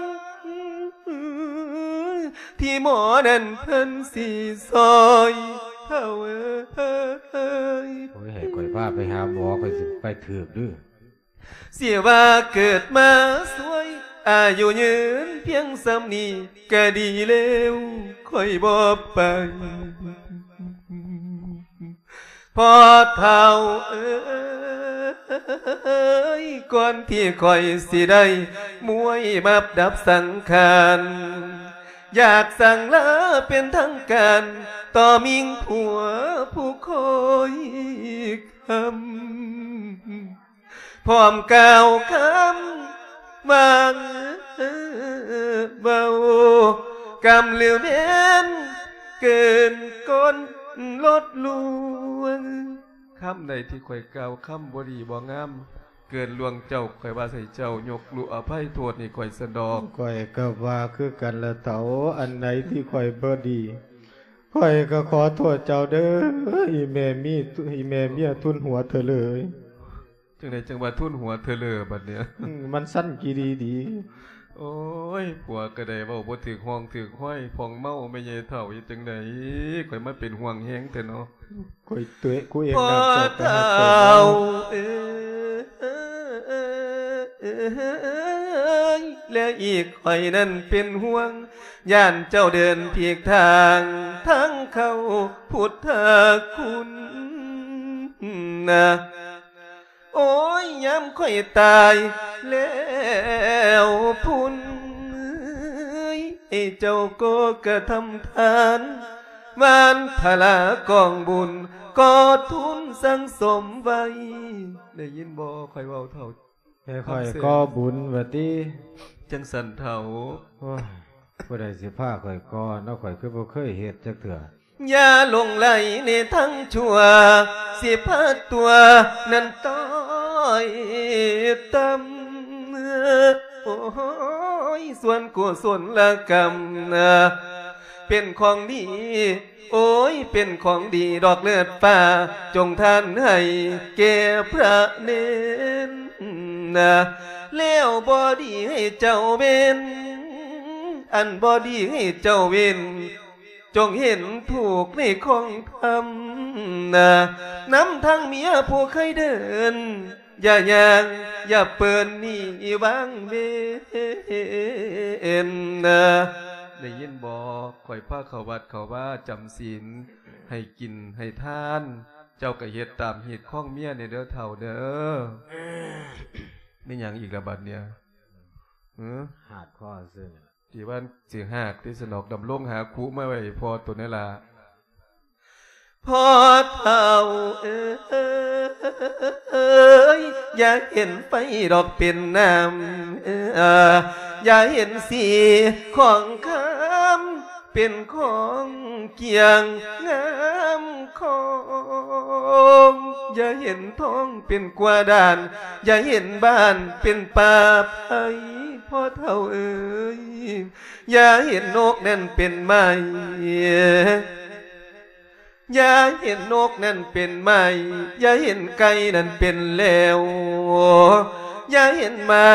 ທີ່ໝໍນັ້ນເພິ່ນຊິຊ່ອຍ ເຖົ້າເອີຍ. ໂອ້ຍ ໃຫ້ຂ້ອຍພາໄປຫາໝໍ ຂ້ອຍຊິໄປຖືກເດີ. ຊິວ່າເກີດມາສວຍ ອາຍຸຍືນພຽງສ່ຳນີ້ກະດີແລ້ວ ຂ້ອຍບໍ່ໄປ. ພໍ່ເຖົ້າເອີຍ ກ່ອນທີ່ຂ້ອຍຊິໄດ້ມວຍມາບດັບສັງຂານ ຢາກສັ່ງລາເປັນທາງການ ຕໍ່ມິງຜົວຜູ້ຄອຍຄຳ ພ້ອມກ່າວຄຳວ່າເວົ້າ ກຳຫຼືແມ່ນເກີນກ້ອນລົດລວງ. ຄຳໃດທີ່ຂ້ອຍກ່າວຄຳບໍ່ດີບໍ່ງາມ ເກີນລ່ວງເຈົ້າ ຂ້ອຍວ່າໃຫ້ເຈົ້າຍົກລຸອະໄພໂທດໃຫ້ຂ້ອຍຊັ້ນດອກ. ຂ້ອຍກໍວ່າຄືກັນລະເຖົ້າ ອັນໃດທີ່ຂ້ອຍບໍ່ດີ ຂ້ອຍກໍຂໍໂທດເຈົ້າເດີ ອີແມ່ມີ ອີແມ່ເມຍທຸນຫົວເຖົ້າເລີຍ. ຈັ່ງໃດຈັ່ງວ່າທຸນຫົວເຖົ້າເລີບັດນີ້? ອືມ ມັນສັ້ນກີ່ດີດີ. ໂອ້ຍ ຜົວກໍໄດ້ເວົ້າບໍ່ຖືກຮ່ອງຖືກຮອຍ ພອງເມົາແມ່ໃຫຍ່ເຖົ້າ ເຮັດຈັ່ງໃດ? ຂ້ອຍມາເປັນຫ່ວງແຮງແທ້ເນາະ. ຂ້ອຍຕົວເອງ ພໍ່ເຖົ້າເອີຍ ແລະອີກຂ້ອຍນັ້ນເປັນຫ່ວງ ຢ້ານເຈົ້າເດີນຜິດທາງ ທາງເຂົ້າພຸດທະຄຸນນະ. ໂອ້ຍ ຍາມຂ້ອຍຕາຍແລ້ວພຸ້ນ ເອີຍ ເຈົ້າກໍກະທຳທານ ວານພະລາກອງບຸນ ກໍທຸນສັງສົມໄວ້. ໄດ້ຍິນບໍ່ ຂ້ອຍເວົ້າເຖົ້າ? ໃຫ້ຂ້ອຍກໍ່ບຸນວ່າຕິ? ຈັ່ງຊັ້ນເຖົ້າ. ໂອ້ຍ ຜູ້ໃດຊິພາຂ້ອຍກໍ່ເນາະ ຂ້ອຍຄືບໍ່ເຄີຍເຮັດຈັກເທື່ອ. ຢ່າຫຼົງໄຫຼໃນທາງຊົ່ວ ຊິພາຕົວນັ້ນຕ້ອຍຕ່ຳ. ໂອ້ຍ ສ່ວນກຸສົນລະກຳນະ ເປັນຂອງດີ ໂອ້ຍ ເປັນຂອງດີດອກເລີດຟ້າ ຈົ່ງທານໃຫ້ແກ່ພະເນນນະ ແລ້ວບໍ່ດີໃຫ້ເຈົ້າເວັນ ອັນບໍ່ດີໃຫ້ເຈົ້າເວັນ ຈົ່ງເຫັນທຸກໃນຂອງທຳນະ ນຳທາງເມຍຜູ້ເຄີຍເດີນ ຢ່າຍ່າງ ຢ່າເປີນໜີວາງເວນນະ. ໄດ້ຍິນບໍ່? ຂ້ອຍພາເຂົ້າວັດເຂົ້າວາ ຈຳສິນ ໃຫ້ກິນໃຫ້ທານ ເຈົ້າກໍເຮັດຕາມຮີດຄອງເມຍແດ່ເດີເຖົ້າເດີ. ແມ່ນຫຍັງອີກລະບັດເນີ້ຍ? ຫື? ຫາດຄໍຊື່ນີ້ລະ. ທີ່ວ່າຊິຫາກທີ່ສະໜອກ ດຳລົງຫາຄຸມາໄວ້ໃຫ້ພໍ່ຕົນແດ່ລະ. ພໍ່ເຖົ້າເອີຍ ຢ່າເຫັນໄຟດອກເປັນນ້ຳ ຢ່າເຫັນສີຂອງຄຳ ເປັນຂອງກຽງງາມຂອງ ຢ່າເຫັນທອງເປັນກວ່າດ່ານ ຢ່າເຫັນບ້ານເປັນປ່າໄຜ່ ພໍ່ເຖົ້າເອີຍ ຢ່າເຫັນນົກນັ້ນເປັນໄມ້ ຢ່າເຫັນນົກນັ້ນເປັນໄມ້ ຢ່າເຫັນໄກ່ນັ້ນເປັນແລ້ວ ຢ່າເຫັນໝາ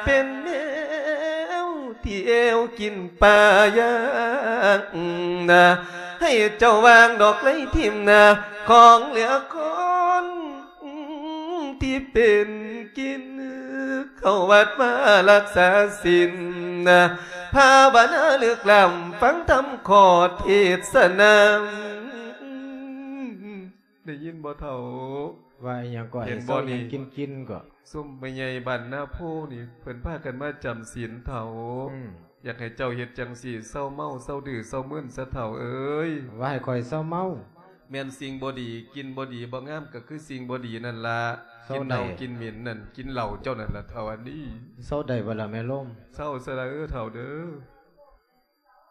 ເປັນແມວ ທີ່ແອວກິນປາຢ່າງນາ ໃຫ້ເຈົ້າວາງດອກໄລຖິ້ມນາ ຂອງເຫຼືອຄອນທີ່ເປັນກິນ ເຂົ້າວັດມາລັກສາສິນ ພາວະນາເລິກລ້ຳ ຟັງທຳຂໍເທດສະນາ ໄດ້ຍິນບໍ່ເຖົ້າ? ວ່າອີ່ຫຍັງກໍ ເຫັນບໍ່ນີ້? ເຮັດເຊົາຫຍັງກິນໆກໍ ຊຸມແມ່ໃຫຍ່ບ້ານນາໂພນີ້ ເພິ່ນພາກັນມາຈຳສິນເຖົ້າ ອືມ ຢາກໃຫ້ເຈົ້າເຮັດຈັ່ງຊີ້ ເຊົາເມົາ ເຊົາດື້ ເຊົາມຶນຊະເຖົ້າເອີຍ ວ່າໃຫ້ຂ້ອຍເຊົາເມົາ ແມ່ນສິ່ງບໍ່ດີ ກິນບໍ່ດີ ບໍ່ງາມ ກໍຄືສິ່ງບໍ່ດີນັ້ນລະ ເຊົາໄດ້ ກິນເນົ່າກິນເໝັນນັ້ນ ກິນເຫຼົ້າເຈົ້ານັ້ນລະເຖົ້າອັນນີ້ ເຊົາໄດ້ບໍ່ລະແມ່ລົມ? ເຊົາຊະລະເອີເຖົ້າເດີ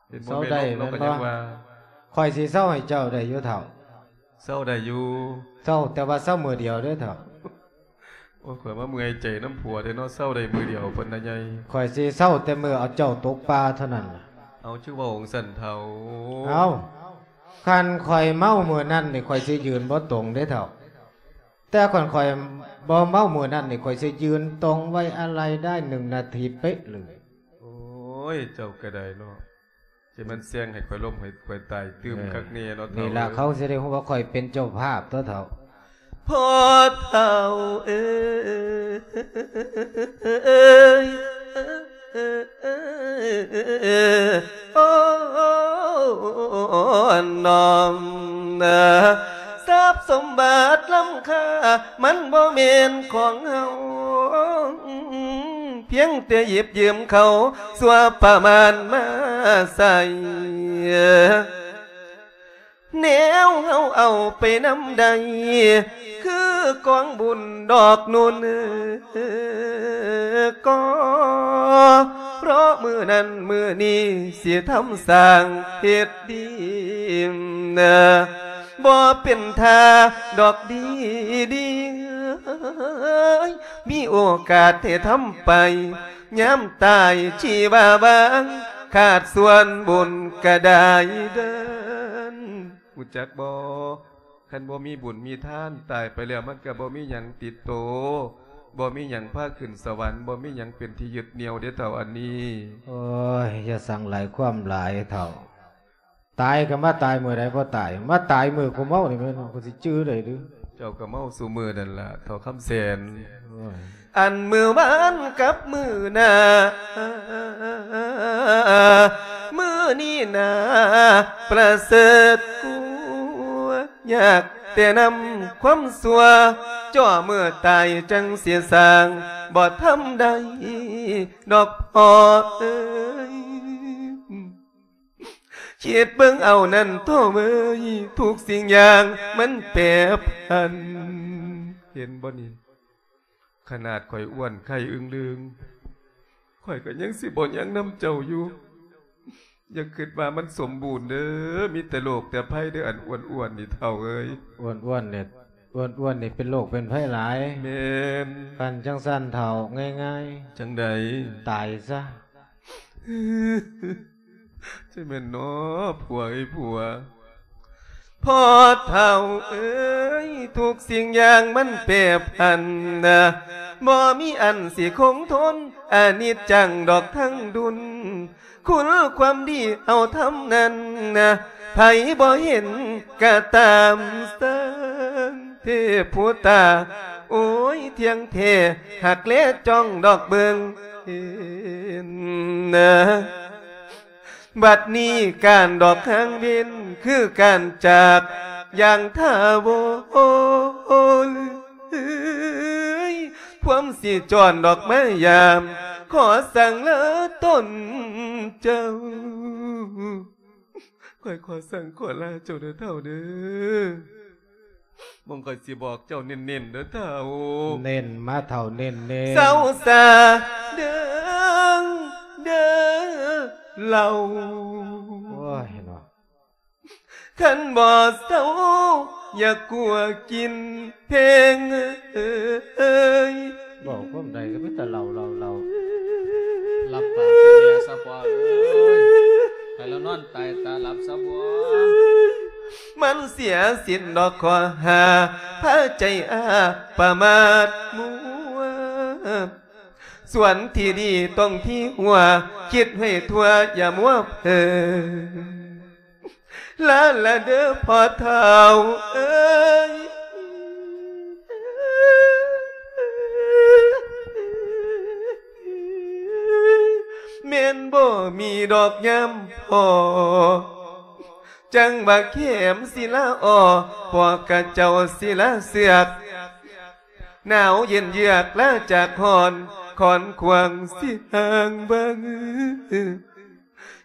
ເຫັນບໍ່ ເຊົາໄດ້ແມ່ລົມ ແມ່ນບໍ່? ຂ້ອຍຍັງວ່າ ຂ້ອຍຊິເຊົາໃຫ້ເຈົ້າໄດ້ຢູ່ເຖົ້າ ເຊົາໄດ້ຢູ່ ເຊົາ ແຕ່ວ່າເຊົາມື້ດຽວເດີເຖົ້າ ໂອ້ຍ ຂ້ອຍມາເມື່ອຍໃຈນຳຜົວແທ້ເນາະ ເຊົາໄດ້ມື້ດຽວພຸ້ນນະໃຫຍ່ ຂ້ອຍຊິເຊົາແຕ່ມື້ເອົາເຈົ້າຕົກປ່າເທົ່ານັ້ນລະ ເອົາ ຄືເວົ້າຈັ່ງຊັ້ນເຖົ້າ ເອົາ ຄັນຂ້ອຍເມົາມື້ນັ້ນນີ້ ຂ້ອຍຊິຢືນບໍ່ຕົງເດ້ເຖົ້າ ແຕ່ຄັນຂ້ອຍບໍ່ເມົາມື້ນັ້ນນີ້ ຂ້ອຍຊິຢືນຕົງໄວ້ອາໄລໄດ້ໜຶ່ງນາທີເປະເລີຍ ໂອ້ຍ ເຈົ້າກໍໄດ້ເນາະ ຊິແມ່ນແຊງໃຫ້ຂ້ອຍລົ້ມໃຫ້ຂ້ອຍຕາຍຕື່ມ ເອີ ຄັກແນ່ເນາະ ນີ້ລະເຖົ້າເອີຍ ເຂົາຊິໄດ້ຮູ້ວ່າຂ້ອຍເປັນເຈົ້າພາບຕົວະເຖົ້າ ພໍ່ເຖົ້າເອີຍ ໂອ້ ນ້ອມນາ ຊັບສົມບັດລ້ຳຄ່າ ມັນບໍ່ແມ່ນຂອງເຮົາ ພຽງແຕ່ຢິບຢືມເຂົາຊົ່ວປະມານມາໃຊ້ ແນວເຮົາເອົາໄປນຳໄດ້ ຄືກອງບຸນດອກນຸ່ນ ກໍເພາະມື້ນັ້ນມື້ນີ້ຊິທຳສ້າງເຮັດດີ ບໍ່ເປັນທ່າດອກດີດີ ມີໂອກາດໃຫ້ທຳໄປ ຍາມຕາຍຊີວາວາງ ຂາດສ່ວນບຸນກະໄດ້ເດີນ ຮູ້ຈັກບໍ່? ຄັນບໍ່ມີບຸນມີທານ ຕາຍໄປແລ້ວມັນກະບໍ່ມີຫຍັງຕິດໂຕ ບໍ່ມີຫຍັງພາຂຶ້ນສະຫວັນ ບໍ່ມີຫຍັງເປັນທີ່ຍຶດໜ່ຽວເດ້ເຖົ້າອັນນີ້. ໂອ້ຍ ຢ່າສັ່ງຫຼາຍຄວາມຫຼາຍເຖົ້າ. ຕາຍກໍມາຕາຍມື້ໃດບໍ່ຕາຍ ມາຕາຍມື້ກູເມົານີ້ແມ່ນ ກູຊິຈື່ໄດ້ຫຼື? ເຈົ້າກໍເມົາສູ່ມື້ນັ້ນລະ ເຖົ້າຄຳແສນ. ໂອ້ຍ ອັນມື້ວານກັບມື້ໜ້າ ມື້ນີ້ໜ້າປະເສີດກວ່າ ຍາກແຕ່ນຳຄວາມຊົ່ວ ຈ່ອເມື່ອຕາຍຈັ່ງຊິສ້າງ ບໍ່ທຳໄດ້ດອກພໍ່ເອີຍ. ຄິດເບິ່ງເອົານັ້ນໂທ້ເອີຍ ທຸກສິ່ງຢ່າງມັນແປຜັນ. ເຫັນບໍ່ນີ້? ຂະໜາດຂ້ອຍອ້ວນໄຂ່ອຶ່ງລຶ່ງ ຂ້ອຍກໍຍັງຊິບໍ່ຍັງນຳເຈົ້າຢູ່. ຢ່າຄິດວ່າມັນສົມບູນເດີ ມີແຕ່ໂລກແຕ່ໄພເດີ ອັນອ້ວນໆນີ້ເຖົ້າເອີຍ. ອ້ວນໆນີ້ ອ້ວນໆນີ້ເປັນໂລກເປັນໄພຫຼາຍ. ແມ່ນ. ຄັນຈັ່ງຊັ້ນເຖົ້າ ງ່າຍໆ. ຈັ່ງໃດ? ຕາຍຊະ. ຈັ່ງແມ່ນເນາະ ຜົວເອີຍຜົວ. ພໍ່ເຖົ້າເອີຍ ທຸກສິ່ງຢ່າງມັນແປຜັນນະ ບໍ່ມີອັນຊິຄົງທົນ ອະນິດຈັງດອກທັງດຸນ ຄຸນຄວາມດີເຮົາທຳນັ້ນນະ ໃຜບໍ່ເຫັນກະຕາມສັງ ເທບຜູ້ຕາ ໂອ້ຍ ທ່ຽງແທ້ ຮັກແລຈ້ອງດອກເບິ່ງເຫັນນະ. ບັດນີ້ການດອກຫາງເວັນ ຄືການຈາກຢ່າງຖາວນ ຄວາມຊິຈອນດອກມາຍາມ ຂໍສັ່ງລາຕົນເຈົ້າ. ຂ້ອຍຂໍສັ່ງຂໍລາເຈົ້າເດີເຖົ້າເດີ. ເບິ່ງ ຂ້ອຍຊິບອກເຈົ້າເນັ້ນໆເດີເຖົ້າ. ເນັ້ນມາເຖົ້າ ເນັ້ນໆ. ເຊົາຊາເດີເດີເລົ່າ. ໂອ້ຍເນາະ. ຄັນບໍ່ເຊົາ ຢ່າກົວກິນເພງເອີຍ. ເວົ້າຄວາມໃດກໍມີແຕ່ເລົ່າໆໆ. ຫຼັບຕາຊິແມ່ຊະພໍ່ເອີຍ, ໃຫ້ລາວນອນຕາຍຕາຫຼັບຊະພໍ່. ມັນເສຍສິ້ນດອກຂໍ້ຫາ ພາໃຈອາປະມາດມົວ. ສ່ວນທີ່ດີຕ້ອງທີ່ຫົວ, ຄິດໃຫ້ທົ່ວຢ່າມົວເພີ. ລາລະເດີພໍ່ເຖົ້າເອີຍ, ແມ່ນບໍ່ມີດອກຍາມພໍ, ຈັ່ງວ່າແຄມສິລາອໍ ພວກຂະເຈົ້າສິລາເຊືອກ. ໜາວເຢັນເຍືອກລາຈາກຮ້ອນ, ຄອນຂວາງສິຫ່າງເບິ່ງ.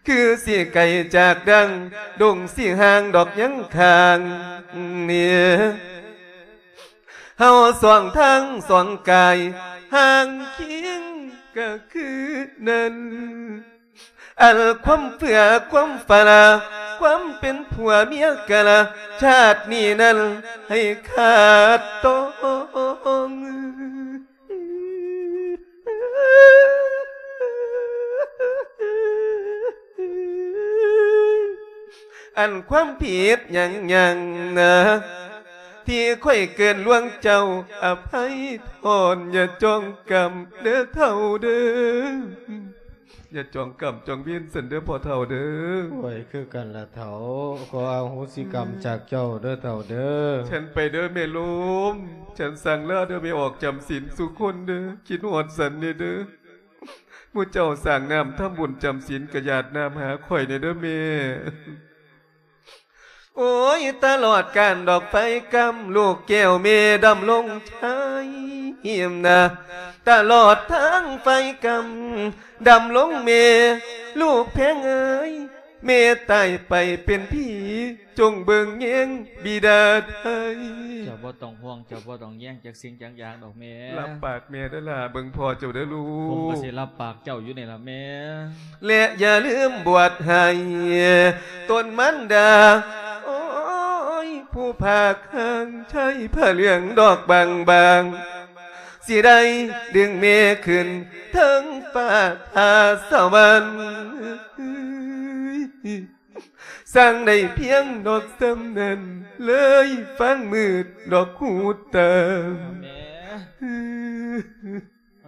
ຄືຊິໄກຈາກດັງ, ດົງສິຫ່າງດອກຍັງຂ້າງນີ້. ເຮົາສອງທາງສອງກາຍ, ຫ່າງຄຽງກະຄືນັ້ນ. ອັນຄວາມເຟື່ອຄວາມຟາລາ, ຄວາມເປັນຜົວເມຍກະລະ, ຊາດນີ້ນັ້ນໃຫ້ຂາດຕ້ອງ. ອັນຄວາມຜິດຫຍັງຫຍັງນະ ທີ່ຂ້ອຍເກີນລ່ວງເຈົ້າ ອະໄພທອນ ຢ່າຈອງກຳເດີເຖົ້າເດີ. ຢ່າຈອງກຳຈອງເວນຊັ້ນເດີພໍ່ເຖົ້າເດີ. ໂອ້ຍ ຄືກັນລະເຖົ້າ, ຂໍອະໂຫສິກຳຈາກເຈົ້າເດີເຖົ້າເດີ. ເຊີນໄປເດີແມ່ລົມ, ເຊີນສັ່ງລາເດີແມ່ອອກຈຳສິນສູ່ຄົນເດີ, ຄິດຮອດສັນແດ່ເດີ. ໝູ່ເຈົ້າສ້າງນ້ຳທຳບຸນຈຳສິນ ກະຫຍາດນ້ຳຫາຂ້ອຍແດ່ເດີແມ່. ໂອ້ຍ ຕະຫຼອດການດອກໄຟກຳ ລູກແກ້ວແມ່ດຳລົງໄທນະ, ຕະຫຼອດທາງໄຟກຳ ດຳລົງແມ່ ລູກແພງເອີຍ ແມ່ຕາຍໄປເປັນຜີ ຈົ່ງເບິ່ງແຍງບິດາໄທ. ເຈົ້າບໍ່ຕ້ອງຫ່ວງ ເຈົ້າບໍ່ຕ້ອງແຍງຈັກສິ່ງຈັກຢ່າງດອກແມ່. ຮັບປາກແມ່ເດີຫຼ້າ, ເບິ່ງພໍ່ເຈົ້າເດີລູກ. ຜົມກໍຊິຮັບປາກເຈົ້າຢູ່ນີ້ລະແມ່. ແລະຢ່າລືມບວດໃຫ້ຕົນມານດາ, ໂອ້ຍ ຜູ້ພາກຮ່າງໄທຜ້າເຫຼືອງດອກບາງໆ, ຊິໄດ້ດຶງແມ່ຂຶ້ນເທິງຟ້າ ຟ້າສະຫວັນ. ສ້າງໄດ້ພຽງດອກສ່ຳນັ້ນ ເລີຍຟັງມືດດອກຫູຕາ. ແມ່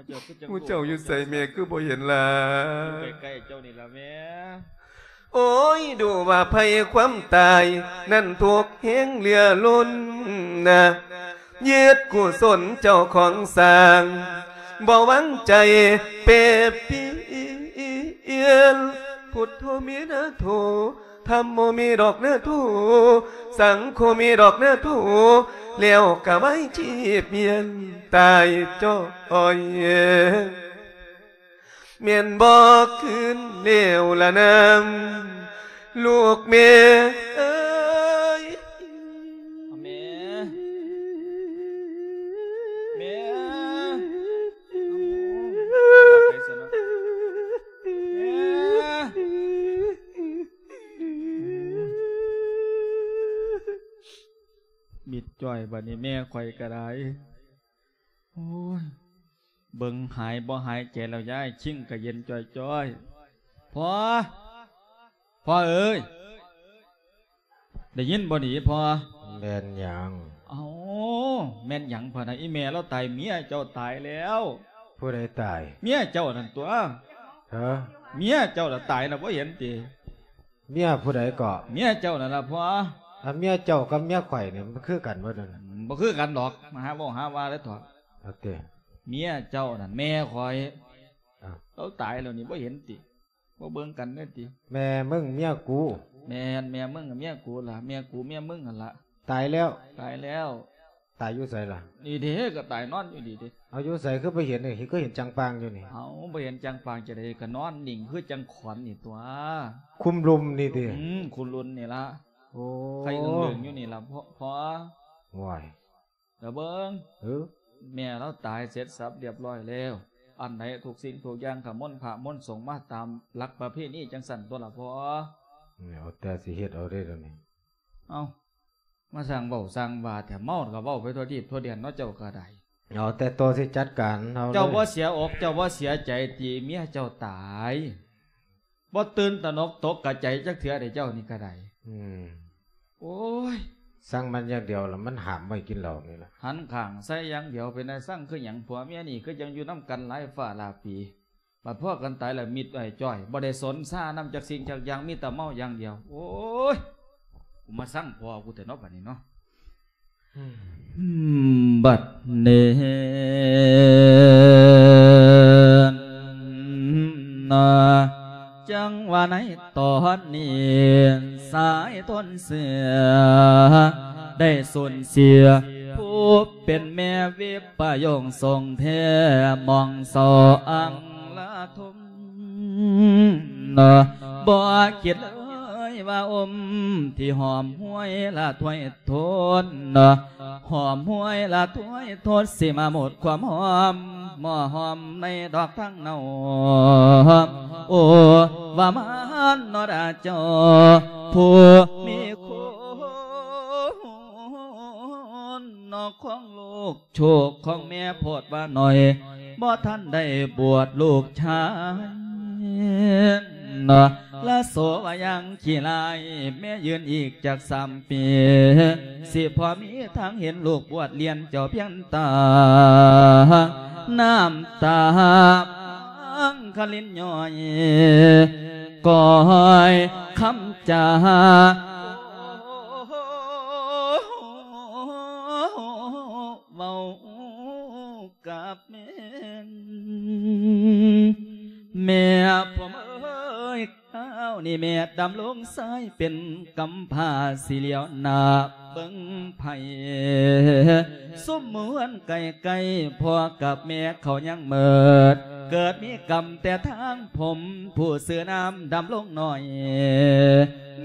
ເຈົ້າຄືຈັງ ໝູ່ເຈົ້າຢູ່ໃສແມ່ ຄືບໍ່ເຫັນລະ? ຢູ່ໃກ້ໆເຈົ້ານີ້ລະແມ່. ໂອ້ຍ ດູວ່າໄພຄວາມຕາຍນັ້ນທຸກແຮງເຫຼືອລົ້ນນະ, ຍຶດກຸສົນເຈົ້າຂອງສ້າງ ບໍ່ວາງໃຈແປປ່ຽນ. ພຸດໂທເມນາໂທ ທຳໂມເມດອກນາໂທ ສັງໂຄເມດອກນາໂທ ແລ້ວກະໄວ້ຊີບມຽນຕາຍຈ້ອຍ. ແມ່ນບໍ່ຄືນແລ້ວລະນາ ລູກແມ່ເອີຍ. ແມ່ ແມ່ ມິດຈ້ອຍ ບາດນີ້ແມ່ຂ້ອຍກໍໄດ້. ໂອ້ຍ ເບິ່ງຫາຍບໍ່ຫາຍໃຈແລ້ວຍາຍ ຄີງກະເຢັນຈ້ອຍໆ. ພໍ່ ພໍ່ເອີຍ ໄດ້ຍິນບໍ່ນີ້ພໍ່? ແມ່ນຫຍັງ? ເອົ້າ ແມ່ນຫຍັງພະນະ? ອີແມ່ລາວຕາຍ ເມຍເຈົ້າຕາຍແລ້ວ. ຜູ້ໃດຕາຍ? ເມຍເຈົ້ານັ້ນຕົວະ. ຮະ? ເມຍເຈົ້າລະຕາຍລະ ບໍ່ເຫັນຕິ? ເມຍຜູ້ໃດເກາະ? ເມຍເຈົ້ານັ້ນລະພໍ່. ອັນເມຍເຈົ້າກັບເມຍຂ້ອຍນີ້ ມັນຄືກັນບໍ່ນັ້ນ? ອືມ ບໍ່ຄືກັນດອກ ມາຫາເວົ້າຫາວ່າເລີຍເຖາະ. ເອົາຕິ ເມຍເຈົ້ານັ້ນແມ່ຂ້ອຍ. ອ້າວ ລາວຕາຍແລ້ວນີ້ ບໍ່ເຫັນຕິ? ບໍ່ເບິ່ງກັນເລີຍຕິ? ແມ່ມຶງເມຍກູ. ແມ່ນ ແມ່ມຶງກັບເມຍກູລະ ແມ່ກູເມຍມຶງຫັ້ນລະ. ຕາຍແລ້ວ? ຕາຍແລ້ວ. ຕາຍຢູ່ໃສລະ? ນີ້ເດ້ ກໍຕາຍນອນຢູ່ນີ້ເດ້. ເອົາ ຢູ່ໃສຄືບໍ່ເຫັນ? ຄືເຫັນຈັງປາງຢູ່ນີ້? ເອົາ ບໍ່ເຫັນຈັງປາງຈັ່ງໃດ ກໍນອນນິ່ງຄືຈັ່ງຂອນນີ້ຕົວະ. ຄຸມລຸມນີ້ຕິ? ອືມ ຄຸມລຸມນີ້ລະ. ໂອ້ ໄຂ່ເຫືອງຢູ່ນີ້ລະ ພໍ່ ພໍ່. ໂອ້ຍ ລະເບິ່ງ ເອີ ແມ່ລາວຕາຍເສັດສັບລຽບຮ້ອຍແລ້ວ. ອັນໃດທຸກສິ່ງທຸກຢ່າງ ຂະມົນພະມົນສົງມາຕາມຫຼັກປະເພນີຈັ່ງຊັ້ນຕົວະລະພໍ່. ເອົາແຕ່ຊິເຮັດເອົາເດ້ດຽວນີ້. ເອົ້າ ມາສ້າງເວົ້າສ້າງວ່າແທ້ ເມົາກໍເວົ້າໄປທົ່ວທີບທົ່ວແດນເນາະ ເຈົ້າກໍໄດ້. ເອົາແຕ່ຕົວຊິຈັດການເອົາເລີຍ. ເຈົ້າບໍ່ເສຍອົກ ເຈົ້າບໍ່ເສຍໃຈທີ່ເມຍເຈົ້າຕາຍ? ບໍ່ຕື່ນຕະໜົກຕົກກະໃຈຈັກເທື່ອເດ້ ເຈົ້ານີ້ກໍໄດ້. ອືມ ໂອ້ຍ ສັ່ງມັນຢ່າງດຽວລະ ມັນຫ້າມບໍ່ໃຫ້ກິນເຫຼົ້ານີ້ລະ. ຫັນຂ້າງໃສ່ຢ່າງດຽວ ເປັນຕາສັ່ງຄືຫຍັງ? ຜົວເມຍນີ້ຄືຈັ່ງຢູ່ນຳກັນຫຼາຍຟ້າຫຼາຍປີ ບັດພໍກັນຕາຍລະມິດອ້ອຍຈ້ອຍ ບໍ່ໄດ້ສົນຊານຳຈັກສິ່ງຈັກຢ່າງ ມີແຕ່ເມົາຢ່າງດຽວ. ໂອ້ຍ ກູມາຊັງພໍ່ກູແທ້ເນາະ ບັດນີ້ເນາະ. ອືມ ບັດນີ້ນະ ຈັ່ງວ່າໃນຕອນນີ້ ສາຍທົນເສືອ ໄດ້ສູນເສຍຜູ້ເປັນແມ່ ວິປະໂຍງຊົງແທ້ ມອງເສົ້າອັງລະ ທຸມ ບໍ່ຄິດເລີຍວ່າອົມທີ່ຫອມຫວຍລະຖ້ວຍທົນ ຫອມຫວຍລະຖ້ວຍທົນ ຊິມາໝົດຄວາມຫອມ ໝໍ້ຫອມໃນດອກທາງເນົາ. ໂອ້ ວ່າມານເນາະດາເຈົ້າ ຜູ້ມີຄຸນເນາະຂອງລູກ ໂຊກຂອງແມ່ໂພດວ່າໜ້ອຍ ບໍ່ທັນໄດ້ບວດລູກຊາຍເນາະ ລະໂສວ່າຢ່າງຂີ້ລາຍ ແມ່ຢືນອີກຈັກສາມປີ ຊິພໍມີທາງເຫັນລູກບວດລຽນເຈົ້າພຽງຕາ ນ້ຳຕາພັງຄະລິນຍ້ອຍ ກ້ອຍຄຳຈາ ເວົ້າກັບແມ່ ແມ່ຜົມເອີຍ ຄາວນີ້ແມ່ດຳລົງຊາຍເປັນກຳພ້າ ຊິຫຼຽວໜ້າເບິ່ງໃຜ ຊຸມໝູ່ເຮືອນໃກ້ໆ ພໍ່ກັບແມ່ເຂົາຍັງເມີດ ເກີດມີກຳແຕ່ທາງຜົມ ຜູ້ຊື່ນາມດຳລົງໜ້ອຍ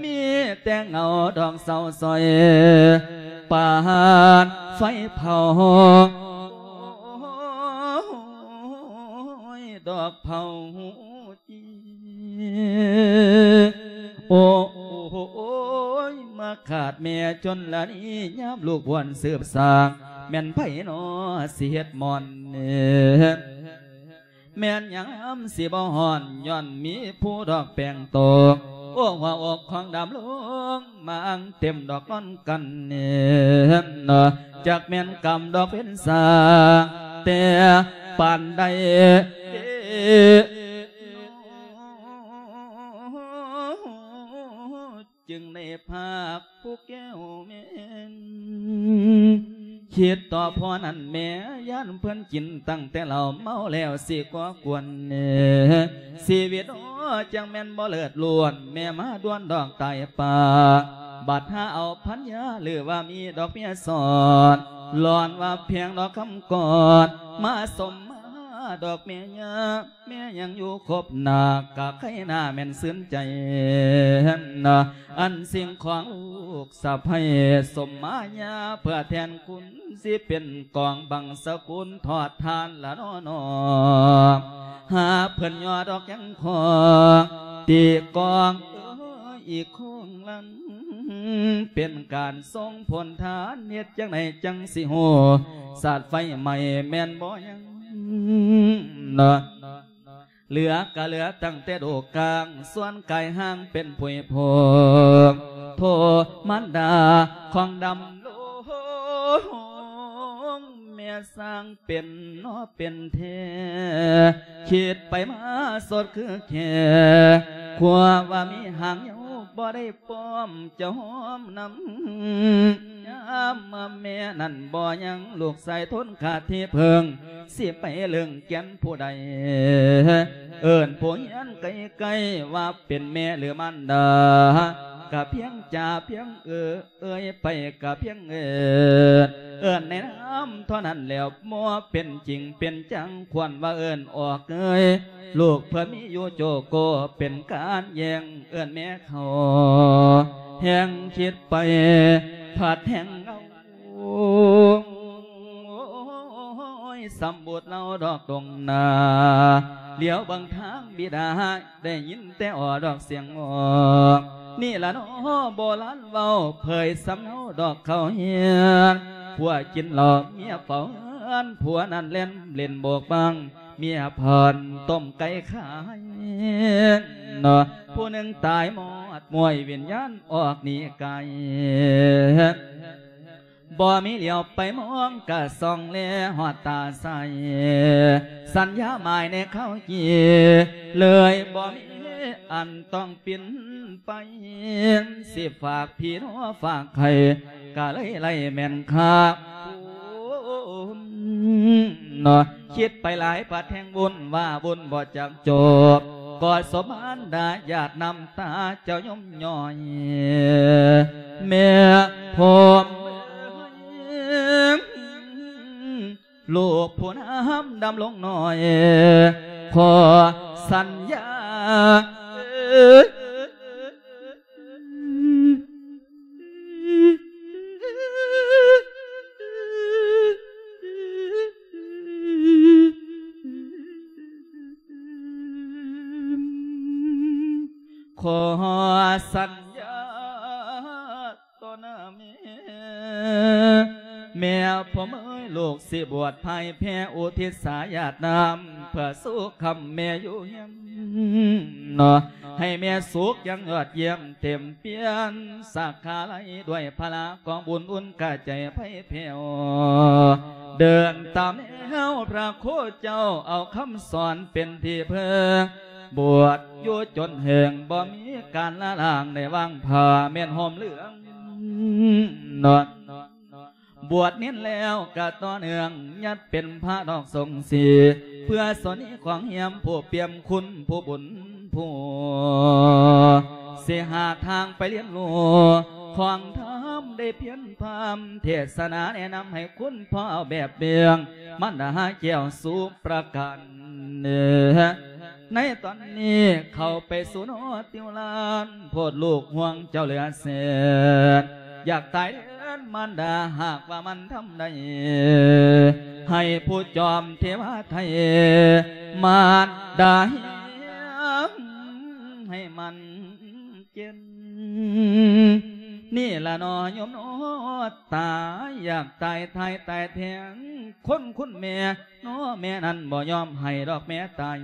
ມີແຕ່ເງົາດອກເສົ້າຊອຍ ປານໄຟເຜົາ ໂອ້ຍ ດອກເຜົາ ໂອ້ຍ ມາຂາດແມ່ຈົນລະນີ້ ຍາມລູກບວນສືບສ້າງ ແມ່ນໃຜນໍຊິເຮັດໝ່ອນ ແມ່ນຍາມຊິບໍ່ຮ້ອນ ຍ້ອນມີຜູ້ດອກແປ້ງຕົກ ໂອ້ ຫົວອົກຂອງດຳລົງ ມາອັງເຕັມດອກນອນກັນ ຈັກແມ່ນກຳດອກເປັນສາງ ແຕ່ປານໃດ ຈຶ່ງໄດ້ພາກຜູ້ແກ້ວແມ່ນ ຄິດຕໍ່ພໍ່ນັ້ນແມ່ ຢ້ານເພິ່ນກິນຕັ້ງແຕ່ເຫຼົ້າ ເມົາແລ້ວຊິກໍ່ກວນ ຊີວິດ ໂອ້ ຈັ່ງແມ່ນບໍ່ເລີດລ້ວນ ແມ່ມາດ່ວນດອກຕາຍປາ ບັດຫາເອົາພັນຍາ ຫຼືວ່າມີດອກເມຍສອດ ຫຼອນວ່າພຽງດອກຄຳກອດ ມາສົມມາດອກແມ່ຍາ ແມ່ຍັງຢູ່ຄົບໜ້າ ກະໄຄໜ້າແມ່ນຊື່ນໃຈ ອັນສິ່ງຂອງລູກສະໃພ້ ສົມມາຍາເພື່ອແທນຄຸນ ຊິເປັນກອງບັງສະກຸນ ທອດທານລະນໍນໍ ຫາເພິ່ນຍໍດອກຍັງຂອງ ຕີກອງເອີຍ ອີກໂຄງລັງ ເປັນການສົ່ງຜົນທານ ເຮັດຈັ່ງໃດຈັ່ງຊິຮູ້ ສາດໄຟໄໝ້ແມ່ນບໍ່ຍັງ ເຫຼືອກະເຫຼືອຕັ້ງແຕ່ດູກາງ ສ່ວນກາຍຮ່າງເປັນຜຸຍຜົງ ໂທມານດາຂອງດຳລົງ ແມ່ຊ່າງ ເປັນນໍເປັນແທ້ ຄິດໄປມາສົດຄືແຄ່ ຂົວວ່າມີຫາງເຍົາ ບໍ່ໄດ້ປ້ອມຈະຫອມນຳ ຍາມມາແມ່ນັ້ນບໍ່ຍັງ ລູກຊາຍທົນຂາດທີ່ເພິ່ງ ຊິໄປເລື່ອງແກ່ນຜູ້ໃດ ເອີ້ນຜູ້ຮຽນໃກ້ໆ ວ່າເປັນແມ່ຫຼືມານດາ ກະພຽງຈ່າພຽງເອີ ເອີຍໄປກະພຽງເອີ້ນ ເອີ້ນໃນນາມເທົ່ານັ້ນແລ້ວ ບໍ່ເປັນຈິງເປັນຈັງ ຄວນວ່າເອີ້ນອອກເອີຍ ລູກເພິ່ນມີຢູ່ໂຈໂກ ເປັນການແຍ່ງເອີ້ນແມ່ເຂົາ ແຮ່ງຄິດໄປພັດແຮ່ງເງົາ ໂອ້ຍ ສຳບຸດເລົ່າດອກດົງໜ້າ ຫຼຽວເບິ່ງທາງບິດາ ໄດ້ຍິນແຕ່ອໍດອກສຽງອອກ ນີ້ລະນໍ ໂບລານເວົ້າ ເຜີຍສຳເນົາ ດອກເຂົ້າເຮືອນ ຜົວກິນເຫຼົ້າເມຍເຝົ້າເຮືອນ ຜົວນັ້ນແລ່ນຫຼິ້ນໂບກບັງ ເມຍພັນຕົ້ມໄກ່ຂາຍເນາະ ຜູ້ໜຶ່ງຕາຍໝອດ ມວຍວິນຍານອອກໜີໄກ ບໍ່ມີຫຼຽວໄປມອງ ກະສ່ອງແລຮອດຕາໃສ ສັນຍາໝາຍໃນເຂົ້າກີ ເລີຍບໍ່ມີອັນຕ້ອງປິ່ນໄປ ຊິຝາກພີ່ເນາະຝາກໃຫ້ ກະເລີຍໄລ່ແມ່ນຄັກ ເນາະ ຄິດໄປຫຼາຍປາດແຮງວຸ່ນ ວ່າວຸ່ນບໍ່ຈັກຈົບ ກໍສົມານດາຢາດນ້ຳຕາເຈົ້າຍົມຍ່ອຍ ແມ່ຜົມເອີຍ ລູກຜູ້ນຳດຳລົງໜ້ອຍ ຂໍສັນຍາ ຂໍສັນຍາຕໍ່ໜ້າແມ່ ແມ່ຜົມເອີຍ ລູກຊິບວດພ່າຍແພ້ ອຸທິດສາຍາດນ້ຳ ເພື່ອສູ່ຄຳແມ່ຢູ່ຮຽມ ເນາະ ໃຫ້ແມ່ສຸກຢ່າງຍອດຢ້ຽມ ເຕັມປ່ຽນສາຂາໄລ ດ້ວຍພະລາກອງບຸນອຸ່ນກະໃຈໃຜແຜ່ວ ເດີນຕາມແນວພະໂຄເຈົ້າ ເອົາຄຳສອນເປັນທີ່ເພິ່ງ ບວດຢູ່ຈົນເຖິງ ບໍ່ມີການລະລາງ ໄດ້ວາງຜ້າແມ່ນຫົ່ມເຫຼືອງ ເນາະ ບວດເນນແລ້ວກະຕໍ່ເນື່ອງ ຍັດເປັນພະດອກສົງສີ ເພື່ອສົນນີຂອງຮຽມ ຜູ້ປ່ຽມຄຸນຜູ້ບຸນຜູ້ ຊິຫາທາງໄປຮຽນຮູ້ ຂອງທຳໄດ້ພຽນພາມ ເທດສະໜາແນະນຳໃຫ້ຄຸນພໍ່ເອົາແບບເບື້ອງ ມັນດາຫາແກ້ວສຸປະການ ໃນຕອນນີ້ເຂົ້າໄປສູ່ນອດຕິວລານ ໂພດລູກຫ່ວງເຈົ້າເຫຼືອແສນ ຢາກຕາຍແທນມານດາ ຫາກວ່າມັນທຳໄດ້ ໃຫ້ຜູ້ຈອມເທວາໄທ ມານດາຮຽງໃຫ້ມັນເຈັນ ນີ້ລະໜໍໂຍມເນາະ ຕາຍຢາກຕາຍ ຕາຍ ຕາຍແທນຄົນຄຸນແມ່ ເນາະ ແມ່ນັ້ນບໍ່ຍອມໃຫ້ດອກແມ່ຕາຍ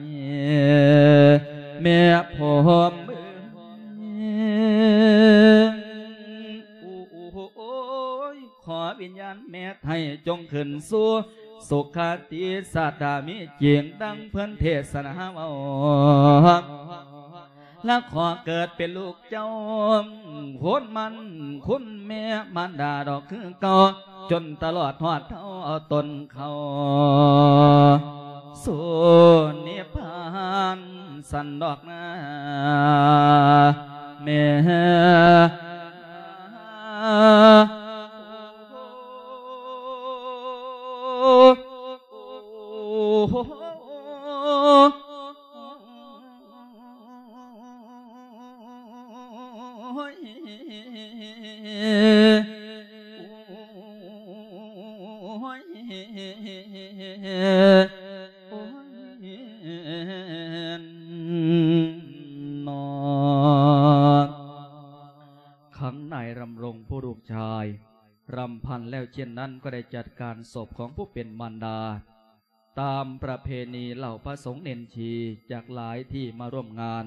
ແມ່ຜົມເອີຍ ໂອ້ຍ ຂໍວິນຍານແມ່ໄທຈົ່ງຂຶ້ນສູ່ສຸຄະຕິ ສາດດາມີຈິງ ດັ່ງເພິ່ນເທດສະໜາເວົ້າ ລະຂໍເກີດເປັນລູກເຈົ້າ ໂພນມັນຄຸນແມ່ມານດາດອກຄືເກົ່າ ຈົນຕະຫຼອດຮອດເທົ່າເອົາຕົນເຂົ້າສູ່ນິບພານ ສັນດອກນາແມ່. ຄັງນາຍດຳລົງຜູ້ລູກຊາຍ ລຳພັນແລ້ວເຊັ່ນນັ້ນ ກໍໄດ້ຈັດການສົບຂອງຜູ້ເປັນມານດາ ຕາມປະເພນີເຫຼົ່າພະສົງເນນຊີຈາກຫຼາຍທີ່ມາຮ່ວມງານ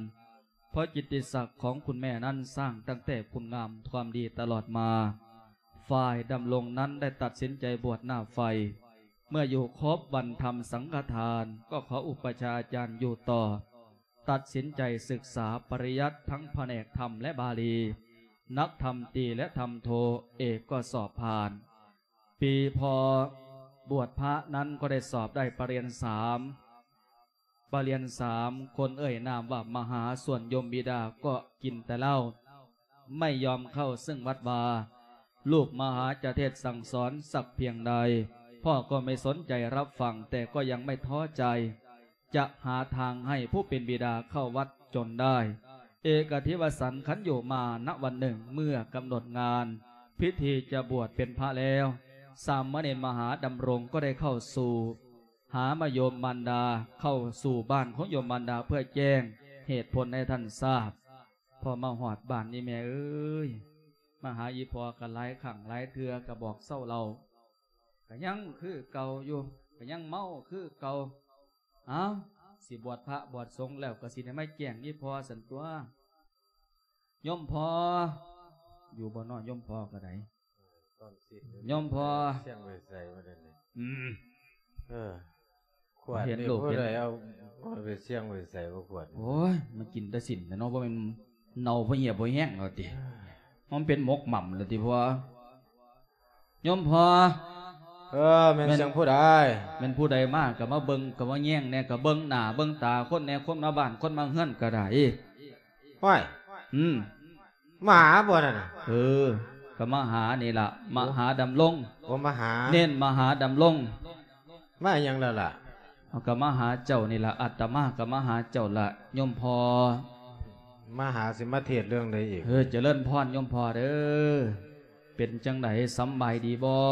ເພາະກິດຕິສັກຂອງຄຸນແມ່ນັ້ນສ້າງຕັ້ງແຕ່ຄຸນງາມຄວາມດີຕະຫຼອດມາ ຝ່າຍດຳລົງນັ້ນໄດ້ຕັດສິນໃຈບວດໜ້າໄຟ ເມື່ອຢູ່ຄົບວັນທຳສັງຄະທານ ກໍຂໍອຸປະຊາອາຈານຢູ່ຕໍ່ ຕັດສິນໃຈສຶກສາປະລິຍັດທັງພະແນກທຳ ແລະ ບາລີ ນັກທຳຕີ ແລະ ທຳໂທ ເອກກໍສອບຜ່ານ. ປີພໍບວດພະນັ້ນກໍໄດ້ສອບໄດ້ປະລຽນສາມ ປະລຽນສາມ ຄົນເອີ່ຍນາມວ່າມະຫາ ສ່ວນໂຍມບິດາກໍກິນແຕ່ເຫຼົ້າ ໄມ່ຍອມເຂົ້າເຊິ່ງວັດວາ ລູກມະຫາຈະເທດສັ່ງສອນສັກພຽງໃດ ພໍ່ກໍໄມ່ສົນໃຈຮັບຟັງ ແຕ່ກໍຍັງໄມ່ທໍ້ໃຈ ຈະຫາທາງໃຫ້ຜູ້ເປັນບິດາເຂົ້າວັດຈົນໄດ້ ເອກະທິວະສັນ ຄັນຢູ່ມານະວັນໜຶ່ງ ເມື່ອກຳນົດງານພິທີຈະບວດເປັນພະແລ້ວ ສາມະເນນມະຫາດຳລົງກໍໄດ້ເຂົ້າສູ່ ຫາມາໂຍມມານດາ ເຂົ້າສູ່ບ້ານຂອງໂຍມມານດາເພື່ອແຈ້ງເຫດຜົນໃຫ້ທ່ານຊາບ. ພໍມາຮອດບ້ານນີ້ແມ່ເອີຍ ມາຫາອີ່ພໍ່ກໍຫຼາຍຄັ້ງຫຼາຍເທື່ອ ກໍບອກເຊົາເຫຼົ້າ ກໍຍັງຄືເກົ່າຢູ່ ກໍຍັງເມົາຄືເກົ່າ. ອ້າວ ຊິບວດພະບວດສົງແລ້ວ ກໍຊິໄດ້ມາແຈ້ງອີ່ພໍ່ຊັ້ນຕົວະ. ໂຍມພໍ່ ຢູ່ບໍ່ນໍໂຍມພໍ່ກໍໄດ້? ໂຍມພໍ່ ສຽງໄປໃສບໍ່ໄດ້ນີ້? ອືມ ເອີ ຂວດນີ້ຜູ້ໃດເອົາໄປສຽງໄປໃສບໍ່ຂວດນີ້? ໂອ້ຍ ມັນກິນແຕ່ຊີ້ນແຫຼະເນາະ ບໍ່ແມ່ນເນົ່າບໍ່ເຫຍບໍ່ແຫ້ງເອົາຕິ ມັນເປັນໝົກໝໍ້າແລ້ວຕິພໍ່? ໂຍມພໍ່ ເອີ ແມ່ນ ແມ່ນສຽງຜູ້ໃດ? ແມ່ນຜູ້ໃດມາກໍມາເບິ່ງ ກໍມາແຍງແດ່ ກໍເບິ່ງໜ້າເບິ່ງຕາຄົນແດ່ ຄົນມາບ້ານຄົນມາເຮືອນກໍໄດ້. ຫ້ວຍ ອືມ ມາຫາບໍ່ນັ້ນນະ? ເອີ ກໍມາຫານີ້ລະ ມະຫາດຳລົງ. ໂອ້ ມະຫາ ເນັ້ນມະຫາດຳລົງ. ມາຫຍັງແລ້ວລະ? ເຮົາກໍມາຫາເຈົ້ານີ້ລະ ອາດຕະມາກໍມາຫາເຈົ້າລະໂຍມພໍ່. ມາຫາ ຊິມາເທດເລື່ອງໃດອີກ? ເອີ ຈະເລີນພອນໂຍມພໍ່ເດີ. ເປັນຈັ່ງໃດ ສຳບາຍດີບໍ່?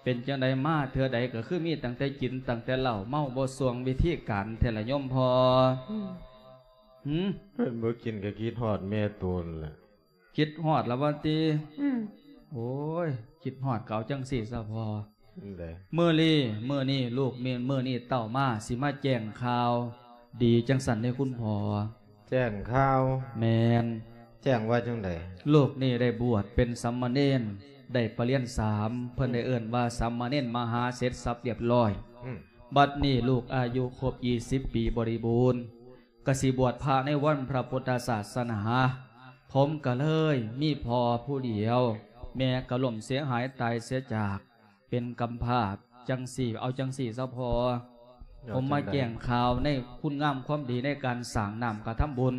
ເປັນຈັ່ງໃດ ມາເທື່ອໃດກໍຄືມີຕັ້ງແຕ່ກິນ ຕັ້ງແຕ່ເຫຼົ້າເມົາ ບໍ່ຊ່ວງວິທີການແທ້ລະໂຍມພໍ່. ຫືມ ເພິ່ນບໍ່ກິນກໍຄິດຮອດແມ່ໂຕນແຫຼະ. ຄິດຮອດລະວ່າຕິ? ອືມ ໂອ້ຍ ຄິດຮອດກໍເອົາຈັ່ງຊີ້ຊະພໍ່. ຈັ່ງໃດ? ມື້ນີ້ ມື້ນີ້ລູກມີ ມື້ນີ້ເຕົ້າມາ ຊິມາແຈ້ງຂ່າວດີຈັ່ງຊັ້ນເດ້ຄຸນພໍ່. ແຈ້ງຂ່າວ? ແມ່ນ. ແຈ້ງວ່າຈັ່ງໃດ? ລູກນີ້ໄດ້ບວດເປັນສາມະເນນ ໄດ້ປະລຽນສາມ ເພິ່ນໄດ້ເອີ້ນວ່າສາມະເນນມະຫາເສັດສັບລຽບຮ້ອຍ. ອືມ ບັດນີ້ລູກອາຍຸຄົບຊາວປີບໍລິບູນ ກະຊິບວດພະໃນວັນພະພຸດທະສາສະໜາ. ຜົມກະເລີຍມີພໍ່ຜູ້ດຽວ ແມ່ກະລົ້ມເສຍຫາຍຕາຍເສຍຈາກ ເປັນກຳພ້າຈັ່ງຊີ້. ເອົາຈັ່ງຊີ້ຊະພໍ່ ເອົາ ຜົມມາແຈ້ງຂ່າວໃນຄຸນງາມຄວາມດີໃນການສ້າງນ້ຳກະທຳບຸນ.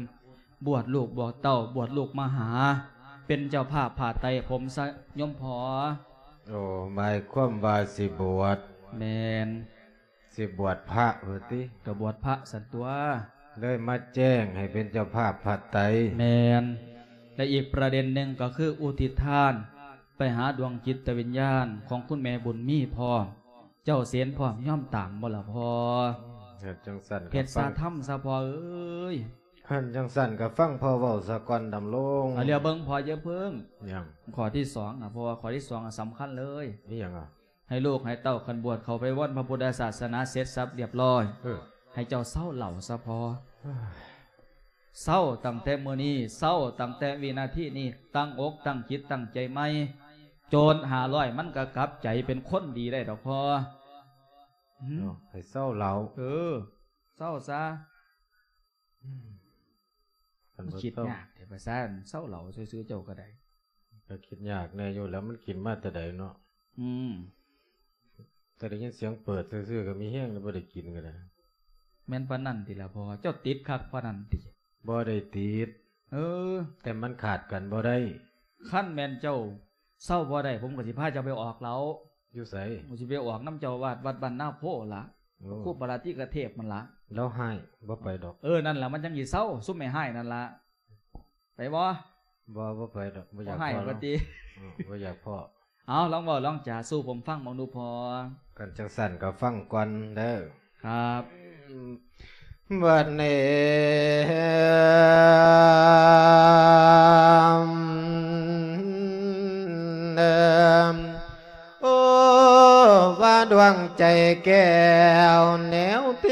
ບວດລູກບວດເຕົ້າ ບວດລູກມະຫາ ເປັນເຈົ້າພາບຜ້າໄຕຜົມຊະໂຍມພໍ່. ໂອ້ ໝາຍຄວາມວ່າຊິບວດ? ແມ່ນ. ຊິບວດພະວ່າຕິ? ກໍບວດພະຊັ້ນຕົວະ. ເລີຍມາແຈ້ງໃຫ້ເປັນເຈົ້າພາບຜ້າໄຕ. ແມ່ນ. ແລະ ອີກປະເດັນໜຶ່ງກໍຄືອຸທິດທານໄປຫາດວງຈິດຕະວິນຍານຂອງຄຸນແມ່ບຸນມີພ້ອມ. ເຈົ້າເສນພ້ອມຍອມຕາມບໍ່ລະພໍ່? ເຮັດຈັ່ງຊັ້ນກໍ ເຮັດສາທຳຊະພໍ່ເອີຍ. ຄັນຈັ່ງຊັ້ນກໍຟັງພໍ່ເວົ້າສາກ່ອນດຳລົງ. ອາ ລຽວເບິ່ງພໍ່ຢ່າເພິ່ງ. ຫຍັງ? ຂໍ້ທີສອງອະ ເພາະວ່າຂໍ້ທີສອງອະສຳຄັນເລີຍ. ອີຫຍັງອະ? ໃຫ້ລູກໃຫ້ເຕົ້າຄັນບວດເຂົ້າໄປວັນພະພຸດທະສາສະໜາເສັດສັບລຽບຮ້ອຍ ເອີ ໃຫ້ເຈົ້າເຊົາເຫຼົ້າຊະພໍ່. ເຊົາຕັ້ງແຕ່ມື້ນີ້ ເຊົາຕັ້ງແຕ່ວິນາທີນີ້ ຕັ້ງອົກຕັ້ງຈິດຕັ້ງໃຈໃໝ່ ໂຈນຫ້າຮ້ອຍມັນກໍກັບໃຈເປັນຄົນດີໄດ້ດອກພໍ່. ຫືມ ເນາະ ໃຫ້ເຊົາເຫຼົ້າ. ເອີ ເຊົາຊະ. ອືມ ຄັນບໍ່ ຄິດ ເຊົາ ຍາກແທ້ ພາສາເຊົາເຫຼົ້າຊື່ໆ ເຈົ້າກໍໄດ້. ກໍຄິດຍາກແດ່ຢູ່ແລ້ວ ມັນກິນມາແຕ່ໃດເນາະ. ອືມ ແຕ່ໄດ້ຍິນສຽງເປີດຊື່ໆ ກໍມີແຮງແລ້ວ ບໍ່ໄດ້ກິນກໍໄດ້. ແມ່ນປານນັ້ນຕິລະພໍ່? ເຈົ້າຕິດຄັກປານນັ້ນຕິ? ບໍ່ໄດ້ຕິດ. ເອີ ແຕ່ມັນຂາດກັນບໍ່ໄດ້. ຄັນແມ່ນເຈົ້າເຊົາບໍ່ໄດ້ ຜົມກໍຊິພາເຈົ້າໄປອອກເຫຼົ້າ. ຢູ່ໃສ? ຜົມຊິໄປອອກນຳເຈົ້າອາວາດວັດບ້ານນາໂພລະ. ໂອ້ ຄູປາລາຕິກະເທບຫັ້ນລະ. ລາວຮ້າຍ ບໍ່ໄປດອກ. ເອີ ນັ້ນລະ ມັນຈັ່ງຊິເຊົາ ຊຸມແມ່ຮ້າຍນັ້ນລະ. ໄປບໍ່? ບໍ່ ບໍ່ໄປດອກ ບໍ່ຢາກພໍ້. ບໍ່ຮ້າຍວ່າຕິ? ເອີ ບໍ່ຢາກພໍ້. ເອົາ ລອງເວົ້າລອງຈາສູ່ຜົມຟັງເບິ່ງດູພໍ່. ຄັນຈັ່ງຊັ້ນກໍຟັງກ່ອນເດີ. ຄັບ ບັດນີ້ ໂອ້ ວ່າດວງໃຈແກ້ວແນວເທ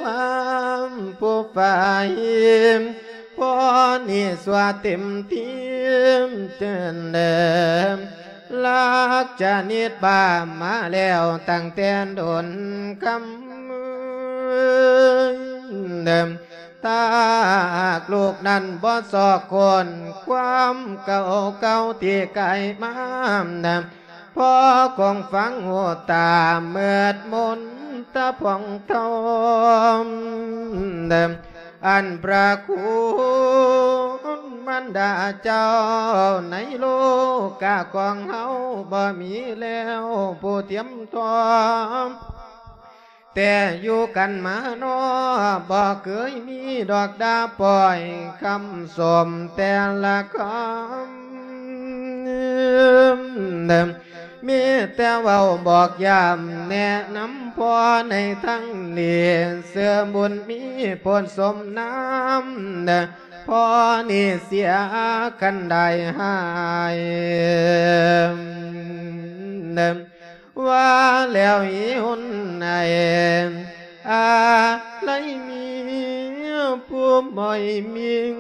ວາ ຜູ້ຝ່າຍ ພໍນີ້ຊົ່ວເຕັມທີ່ເຕີນເດີ ລັກຈະນິດບ້າມາແລ້ວຕັ້ງແຕ່ດົນກຳເນີນ. ຖ້າຫາກລູກນັ້ນບໍ່ຊອກຄົ້ນຄວາມເກົ່າໆທີ່ກາຍມາ ພໍຄົງຟັງຫູຕາມືດມົນຕາຜ່ອງທອງ ອັນພະຄຸນມານດາເຈົ້າໃນໂລກາຂອງເຮົາ ບໍ່ມີແລ້ວຜູ້ທຽມທອງ. ແຕ່ຢູ່ກັນມາເນາະ ບໍ່ເຄີຍມີດອກດາປ່ອຍຄຳຊົມແຕ່ລະຄຳ ມີແຕ່ເວົ້າບອກຢ້ຳແນະນຳພໍ່ໃນທາງດີ ເຊື່ອບຸນມີໂພນສົມນາມ ພໍນີ້ເສຍຄັນໄດ້ຫາຍ ວ່າແລ້ວອີຫຸ່ນໃນອາໄລມີຜູ້ໝ້ອຍມິງ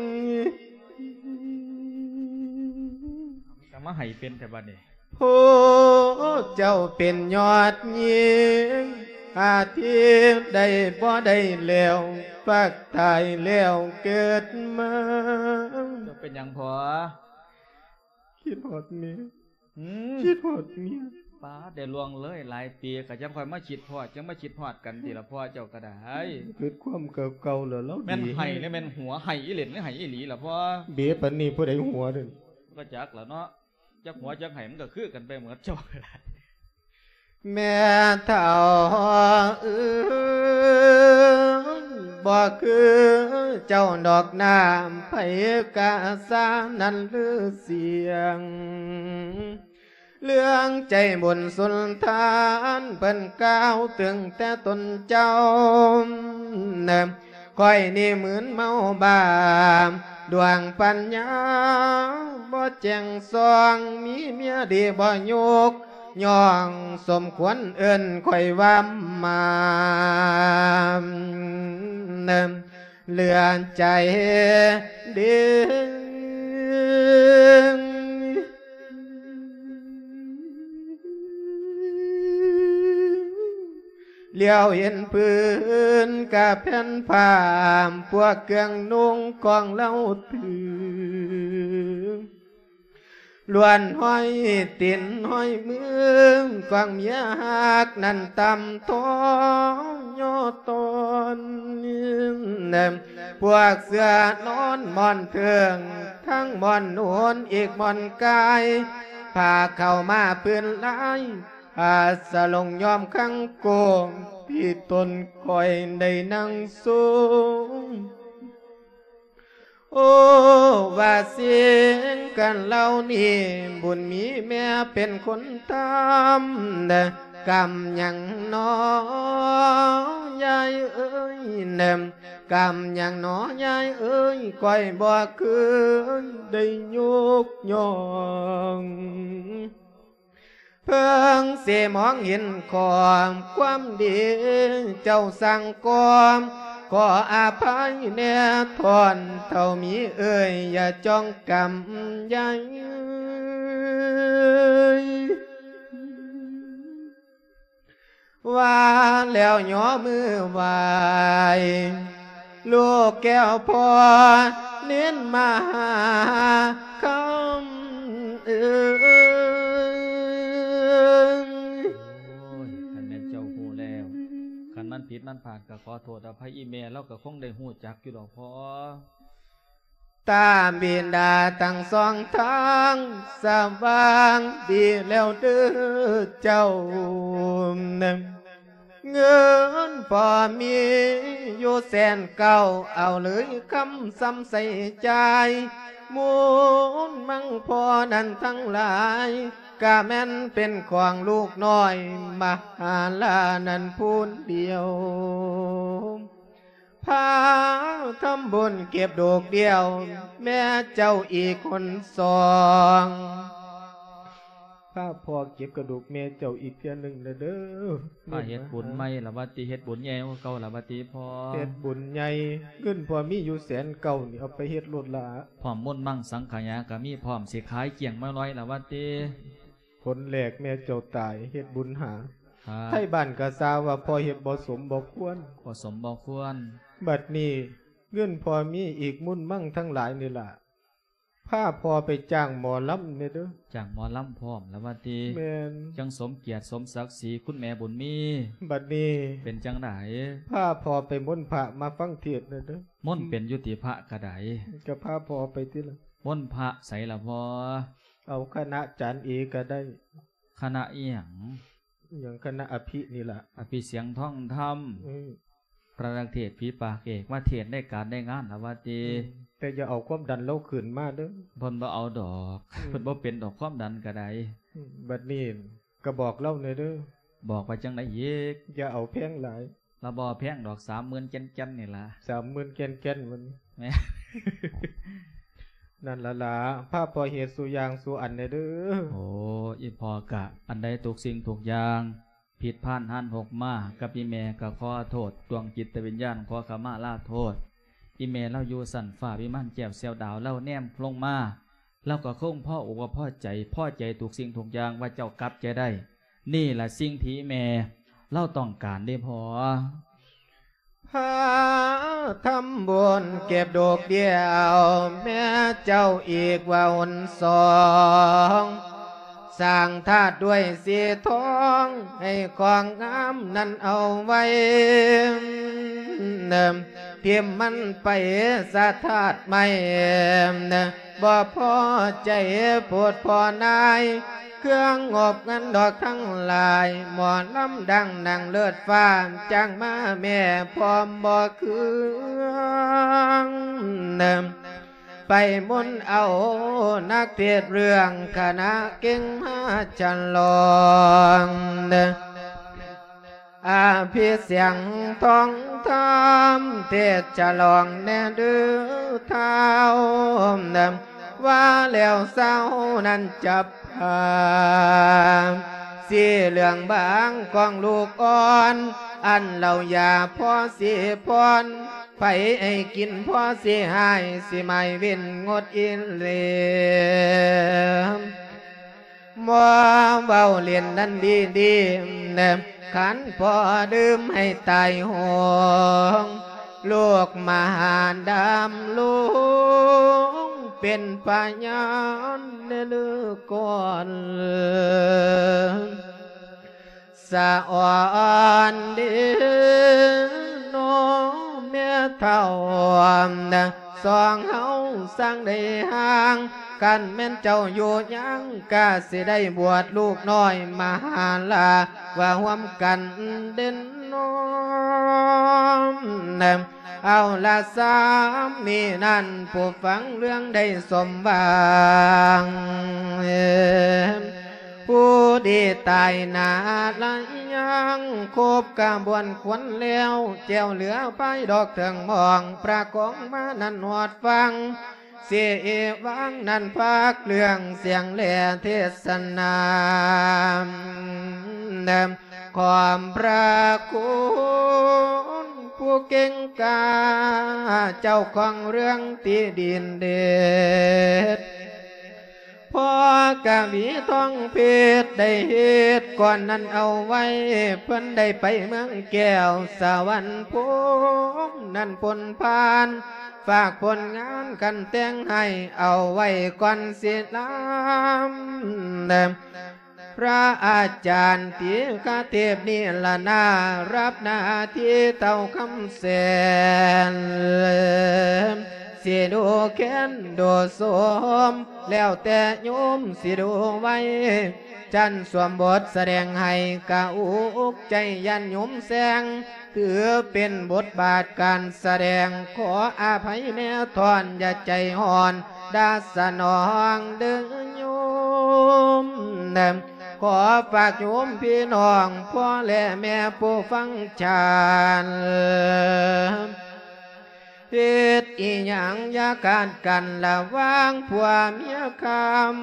ກໍມາໃຫ້ເປັນແຕ່ບັດນີ້ ຜູ້ເຈົ້າເປັນຍອດຍິງ ອາທິບໄດ້ບໍ່ໄດ້ແລ້ວ ປາກຕາຍແລ້ວເກີດມາ. ເຈົ້າເປັນຫຍັງພໍ່? ຄິດຮອດເມຍ ອືມ ຄິດຮອດເມຍ. ປາດ ໄດ້ລ່ວງເລີຍຫຼາຍປີ ກໍຈັ່ງຄ່ອຍມາຄິດຮອດ ຈັ່ງມາຄິດຮອດກັນຕິລະພໍ່ ເຈົ້າກໍໄດ້ ຄິດຄວາມເກົ່າໆ ແລ້ວລາວ ແມ່ນ ດີ ໄຫ້ ແລ້ວແມ່ນຫົວ ໄຫ້ອີ່ເຫຼັ່ນ ຫຼືໄຫ້ອີ່ຫຼີລະພໍ່? ເບປານນີ້ຜູ້ໃດຫົວເດ້? ກໍຈັກລະເນາະ ຈັກຫົວຈັກໄຫ້ ມັນກໍຄືກັນໄປໝົດ ເຈົ້າກໍໄດ້. ແມ່ເຖົ້າເອີຍ ບໍ່ຄືເຈົ້າດອກ ນ້ຳໃຜກະສານັ້ນລືສຽງ ເລື່ອງໃຈບຸນສຸນທານ ເພິ່ນກ່າວເຖິງແຕ່ຕົນເຈົ້າ ຂ້ອຍນີ້ມຶນເມົາບ້າ ດວງປັນຍາບໍ່ແຈ້ງສ່ອງ ມີເມຍດີບໍ່ຍົກ ຍ້ອງສົມຄວນເອີ້ນຂ້ອຍວ່າໝ່າ ເຫຼືອໃຈເດ ຫຼຽວເຫັນພື້ນກະແຜ່ນຜ້າ ພວກເຄື່ອງນຸ່ງຂອງລາວຖື ລ້ວນຫ້ອຍຕີນຫ້ອຍມື ຂອງເມຍຮັກນັ້ນຕ່ຳທໍຍໍຕອນ ພວກເສື້ອນອນໝອນເທິງ ທັງໝອນໜູນອີກໝອນກາຍ ພາເຂົ້າມາພື້ນລາຍ ອາສະຫຼົງຍອມຄັງໂກງ ທີ່ຕົນຂ້ອຍໄດ້ນັ່ງສູງ. ໂອ້ ວ່າສິ່ງກັນເຫຼົ່ານີ້ ບຸນມີແມ່ເປັນຄົນທຳ ກຳຫຍັງໜໍຍາຍເອີຍ ກຳຫຍັງໜໍຍາຍເອີຍ ຂ້ອຍບໍ່ເຄີຍໄດ້ຍົກຍ້ອງ ເພິ່ງຊິມອງເຫັນຂໍ້ຄວາມດີ ເຈົ້າສ້າງກ່ອ ຂໍອະໄພແດ່ທ່ອນເຖົ້າມີເອີຍ ຢ່າຈ້ອງກຳໃຫຍ່ ວ່າແລ້ວຍໍມືໄຫວ້ ລູກແກ້ວພໍ່ເນນມະຫາຄຳເອີຍ. ໂອ້ຍ ຄັນແມ່ນເຈົ້າຮູ້ແລ້ວ ຄັນມັນຜິດມັນພາດກໍຂໍໂທດອະໄພອີ່ແມ່ ລາວກໍຄົງໄດ້ຮູ້ຈັກຢູ່ດອກພໍ່. ຕາບິດາທັງສອງທາງ ສະຫວ່າງດີແລ້ວເດີເຈົ້າ ເງິນພໍ່ມີຢູ່ແສນເກົ້າ ເອົາເລີຍຄຳສຳໃສ່ຈ່າຍ ມູນມັງພໍ່ນັ້ນທັງຫຼາຍ ກະແມ່ນເປັນຂອງລູກນ້ອຍ ມະຫາລານັ້ນຜູ້ດຽວ. ພາທຳບຸນເກັບດອກດຽວ ແມ່ເຈົ້າອີກຄົນສອງ ພາພໍ່ເກັບກະດູກແມ່ເຈົ້າອີກເທື່ອໜຶ່ງແດ່ເດີ. ມາເຮັດບຸນໃໝ່ລະວ່າຕິ ເຮັດບຸນໃຫຍ່ກວ່າເກົ່າລະວ່າຕິພໍ່. ເຮັດບຸນໃຫຍ່ ເງິນພໍ່ມີຢູ່ແສນເກົ້ານີ້ ເອົາໄປເຮັດໂລດລະ. ພ້ອມມຸນມັງສັງຂະຍາກະມີພ້ອມ ຊິຂາຍກ້ຽງມາລອຍລະວ່າຕິ. ຜົນແລກແມ່ເຈົ້າຕາຍ ເຮັດບຸນຫາ ໄທບ້ານກະຊາວ່າພໍ່ເຮັດບໍ່ສົມບໍ່ຄວນ ບໍ່ສົມບໍ່ຄວນ. ບັດນີ້ເງິນພໍ່ມີອີກມຸນມັງທັງຫຼາຍນີ້ລະ ພາພໍ່ໄປຈ້າງໝໍລຳແດ່ເດີ. ຈ້າງໝໍລຳພ້ອມລະວ່າຕິ. ແມ່ນ. ຈັ່ງສົມກຽດສົມສັກສີຄຸນແມ່ບຸນມີ. ບັດນີ້ເປັນຈັ່ງໃດ? ພາພໍ່ໄປມົນພະມາຟັງເທດແດ່ເດີ. ມົນເປັນຢູ່ຕິພະກະໄດ? ກະພາພໍ່ໄປຕິລະ. ມົນພະໃສລະພໍ່? ເອົາຄະນະຈານເອກະໄດ້. ຄະນະອີ່ຫຍັງ? ອີ່ຫຍັງຄະນະອະພິນີ້ລະ. ອະພິສຽງທອງທຳ. ອືມ. ພະນັກເທດຜີປາກເອກ ມາເທດໃນການໃນງານລະວ່າຕິ. ອືມ. ແຕ່ຢ່າເອົາຄວາມດັນລາວຂຶ້ນມາເດີ. ເພິ່ນບໍ່ເອົາດອກ. ອືມ. ເພິ່ນບໍ່ເປັນດອກຄວາມດັນກະໄດ. ອືມ. ບັດນີ້ກະບອກລາວແດ່ເດີ. ບອກວ່າຈັ່ງໃດອີກ? ຢ່າເອົາແພງຫຼາຍ. ລາວບໍ່ແພງດອກ ສາມໝື່ນແກ່ນໆນີ້ລະ. ສາມໝື່ນແກ່ນໆມັນ. ແມ່ນ. ນັ້ນລະລະ ພາພໍ່ເຮັດສູ່ຢ່າງສູ່ອັນແດ່ເດີ. ໂອ້ ອີ່ພໍ່ກະ ອັນໃດທຸກສິ່ງທຸກຢ່າງ ຜິດພານຮານຫົກມາ ກັບອີ່ແມ່ກະຂໍໂທດ ດວງຈິດຕະວິນຍານ ຂໍຂະມາລາໂທດ. ອີ່ແມ່ລາວຢູ່ຊັ້ນຟ້າວິມານແກ້ວແຊວດາວ ລາວແນມລົງມາ ລາວກະຄົງພໍອົກພໍໃຈ ພໍໃຈທຸກສິ່ງທຸກຢ່າງວ່າເຈົ້າກັບໃຈໄດ້. ນີ້ລະສິ່ງທີ່ແມ່ລາວຕ້ອງການເດ້ພໍ່. ພາທຳບຸນເກັບດອກດຽວແມ່ເຈົ້າອີກວ່າຫົນສອງ, ສ້າງທາດດ້ວຍສີທອງໃຫ້ຂອງງາມນັ້ນເອົາໄວ້, ຖິ້ມມັນໄປສະທາດໃໝ່. ບໍ່ພໍໃຈໂພດພໍ່ນາຍ ເຄື່ອງງົບເງິນດອກທັງຫຼາຍ, ໝໍລຳດັງໜັງເລີດຟ້າ ຈ້າງມາແມ່ພ້ອມບໍ່ເຄືອງ. ໄປມົນເອົານັກເທດເລື່ອງ ຄະນະເກັ່ງມາສະຫຼອງ. ອະພິສຽງທອງທຳ ເທດສະຫຼອງແດ່ເດີທ້າວ, ວ່າແລ້ວຊາວນັ້ນຈັບພາ ສີເຫຼືອງບາງຂອງລູກອ່ອນ, ອັນເຫຼົ້າຢາພໍສີພອນ, ໃຜໃຫ້ກິນພໍສີຫາຍ, ສີໝາຍເວັ້ນງົດອີ່ເລ. ໝໍເວົ້າຫຼິ້ນນັ້ນດີໆ, ຄັນພໍ່ດື່ມໃຫ້ຕາຍໂຫງ, ລູກມະຫາດຳລົງເປັນພະຍານເດີກ່ອນ. ສະອອນເດເນາະແມ່ເຖົ້າ, ສອງເຮົາຊ່າງໄດ້ຫ່າງ, ຄັນແມ່ນເຈົ້າຢູ່ຍັງ ກະຊິໄດ້ບວດລູກນ້ອຍມະຫາລາ ວ່າຮ່ວມກັນເດເນາະ. ເອົາລະ ສາມີນັ້ນ ຜູ້ຟັງເລື່ອງໄດ້ສົມຫວັງ. ຜູ້ດີຕາຍໜ້າລະຍັງ ຄົບຂະບວນຂວັນແລ້ວ ແຈວເຫຼືອພາຍດອກເຖິງໝອງ ພະກອງມານັ້ນຮອດຟັງ ເສວາງນັ້ນພາກເລື່ອງສຽງແລເທດສະໜາ ຂອບພະຄຸນຜູ້ເກັ່ງກ້າ ເຈົ້າຂອງເລື່ອງທີ່ດີເດັ່ນເດດ. ພໍ່ກະວີທອງເພັດໄດ້ເຮັດກ່ອນນັ້ນເອົາໄວ້ ເພິ່ນໄດ້ໄປເມືອງແກ້ວສະຫວັນພູມນັ້ນພົ້ນຜ່ານ ຝາກຜົນງານຄັນແຕ່ງໃຫ້ເອົາໄວ້ກ່ອນຊິລຳ. ພະອາຈານຕີຄະເທບນີ້ລະນາ ຮັບໜ້າທີ່ເຕົ້າຄຳແສນ ຊິດູແຄນດູໂສມ ແລ້ວແຕ່ໂຍມຊິດູໄວ. ຊັ້ນສວມບົດສະແດງໃຫ້ກະອຸກໃຈຢ້ານໂຍມແຊງ ຖືເປັນບົດບາດການສະແດງ ຂໍອະໄພແນ່ທ່ອນ ຢ່າໃຈຮ້ອນ ດາສະໜອງເດີໂຍມ. ຂໍຝາກໂຍມພີ່ນ້ອງ ພໍ່ແລະແມ່ຜູ້ຟັງຊານ ເຮັດອີ່ຫຍັງຢ່າກາດກັນລະຫວ່າງຜົວເມຍຄຳ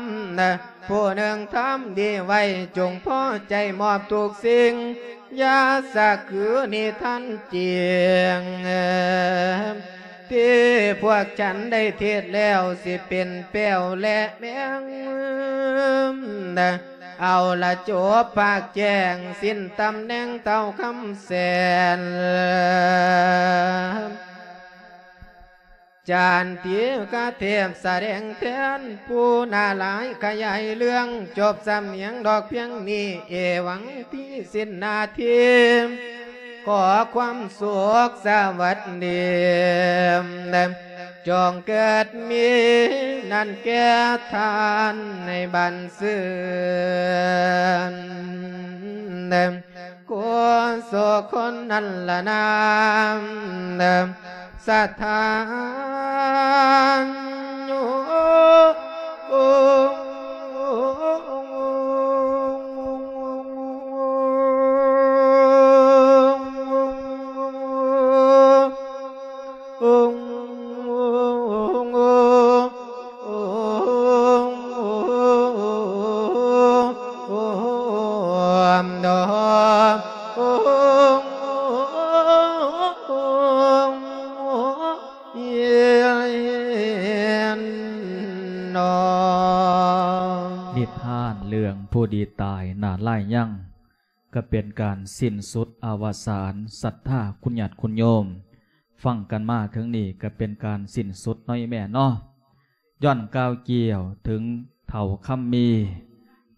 ຜູ້ໜຶ່ງທຳດີໄວ້ ຈົ່ງພໍໃຈມອບທຸກສິ່ງ ຢ່າສະຄືນິທານຈິງ ທີ່ພວກສັນໄດ້ເທດແລ້ວ ຊິເປັນແປ້ວແລະແມງ ເອົາລະຈົບພາກແຈ້ງ ສິ້ນຕຳແໜ່ງເຕົ້າຄຳແສນ. ຈານຕີຄະເທບສະແດງແທນ ຜູ້ໜ້າຫຼາຍຂະຫຍາຍເລື່ອງ ຈົບສຳນຽງດອກພຽງນີ້ ເອວັງ ທີ່ສິ້ນໜ້າທີ່ ຂໍຄວາມສຸກສະຫວັດດີ ຈົ່ງເກີດມີນັ້ນແກ່ທ່ານໃນບັນຊືນ ໂກສຸຄົນນັ້ນລະນາມ ສະຖານໂຍ ມດອງເຍນນອງ. ນິທານເລື່ອງຜູ້ດີຕາຍໜ້າລາຍຍັງ ກໍເປັນການສິ້ນສຸດອະວະສານສັດທາຄຸນຍາດຄຸນໂຍມ. ຟັງກັນມາເຖິງນີ້ກໍເປັນການສິ້ນສຸດເນາະອີ່ແມ່ເນາະ. ຍ້ອນກ່າວກ່ຽວເຖິງເຖົ້າຄຳມີ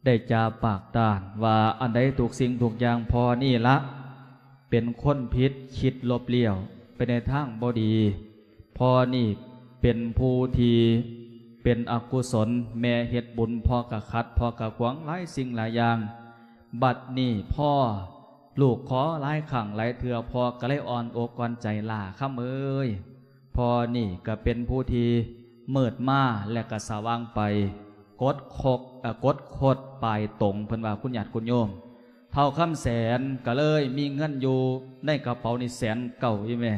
ໄດ້ຈາປາກຕ້ານວ່າ ອັນໃດທຸກສິ່ງທຸກຢ່າງພໍ່ນີ້ລະ ເປັນຄົນຜິດ ຄິດລົບລ້ຽວໄປໃນທາງບໍ່ດີ. ພໍ່ນີ້ເປັນຜູ້ທີ່ເປັນອະກຸສົນ, ແມ່ເຮັດບຸນ ພໍ່ກະຂັດ ພໍ່ກະຂວາງຫຼາຍສິ່ງຫຼາຍຢ່າງ. ບັດນີ້ພໍ່ ລູກຂໍຫຼາຍຄັ້ງຫຼາຍເທື່ອ ພໍ່ກໍເລີຍອ່ອນອົກອ່ອນໃຈ ຫຼ້າຄຳເອີຍ. ພໍ່ນີ້ກໍເປັນຜູ້ທີ່ມືດມາ ແລະກໍສະຫວ່າງໄປ ກົດຄົກ ເອີ ກົດຄົດປາຍຕົງ ເພິ່ນວ່າ ຄຸນຍາດຄຸນໂຍມ. ເຖົ້າຄຳແສນກໍເລີຍມີເງິນຢູ່ໃນກະເປົານີ້ແສນເກົ້າອີ່ແມ່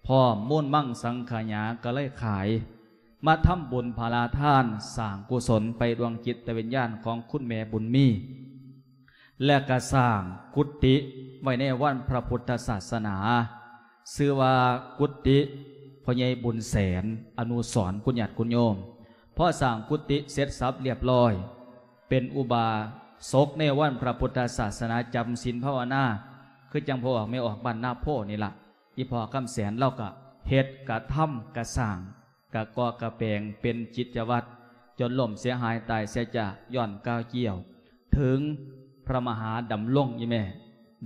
ພ້ອມມູນມັງສັງຂະຫຍາ ກໍເລີຍຂາຍ ມາທຳບຸນພາລາທານ ສ້າງກຸສົນໄປດວງຈິດຕະວິນຍານຂອງຄຸນແມ່ບຸນມີ ແລະກະສ້າງກຸຕິໄວ້ໃນວັດພະພຸດທະສາສະໜາ ຊື່ວ່າກຸຕິພໍ່ໃຫຍ່ບຸນແສນ ອະນຸສອນ ຄຸນຍາດຄຸນໂຍມ. ພໍສ້າງກຸຕິເສັດສັບລຽບລ້ອຍ ເປັນອຸບາສົກໃນວັດພະພຸດທະສາສະໜາ ຈຳສິນພາວະນາ ຄືຈັ່ງພໍ່ອອກແມ່ອອກບ້ານນາໂພນີ້ລະ. ອີ່ພໍ່ຄຳແສນລາວກະເຮັດກະທຳກະສ້າງ ກະກໍ່ກະແປງເປັນກິດຈະວັດ ຈົນລົ້ມເສຍຫາຍຕາຍເສຍຈາກ ຍ້ອນກ່າວກ່ຽວເຖິງພະມະຫາດຳລົງ ອີ່ແມ່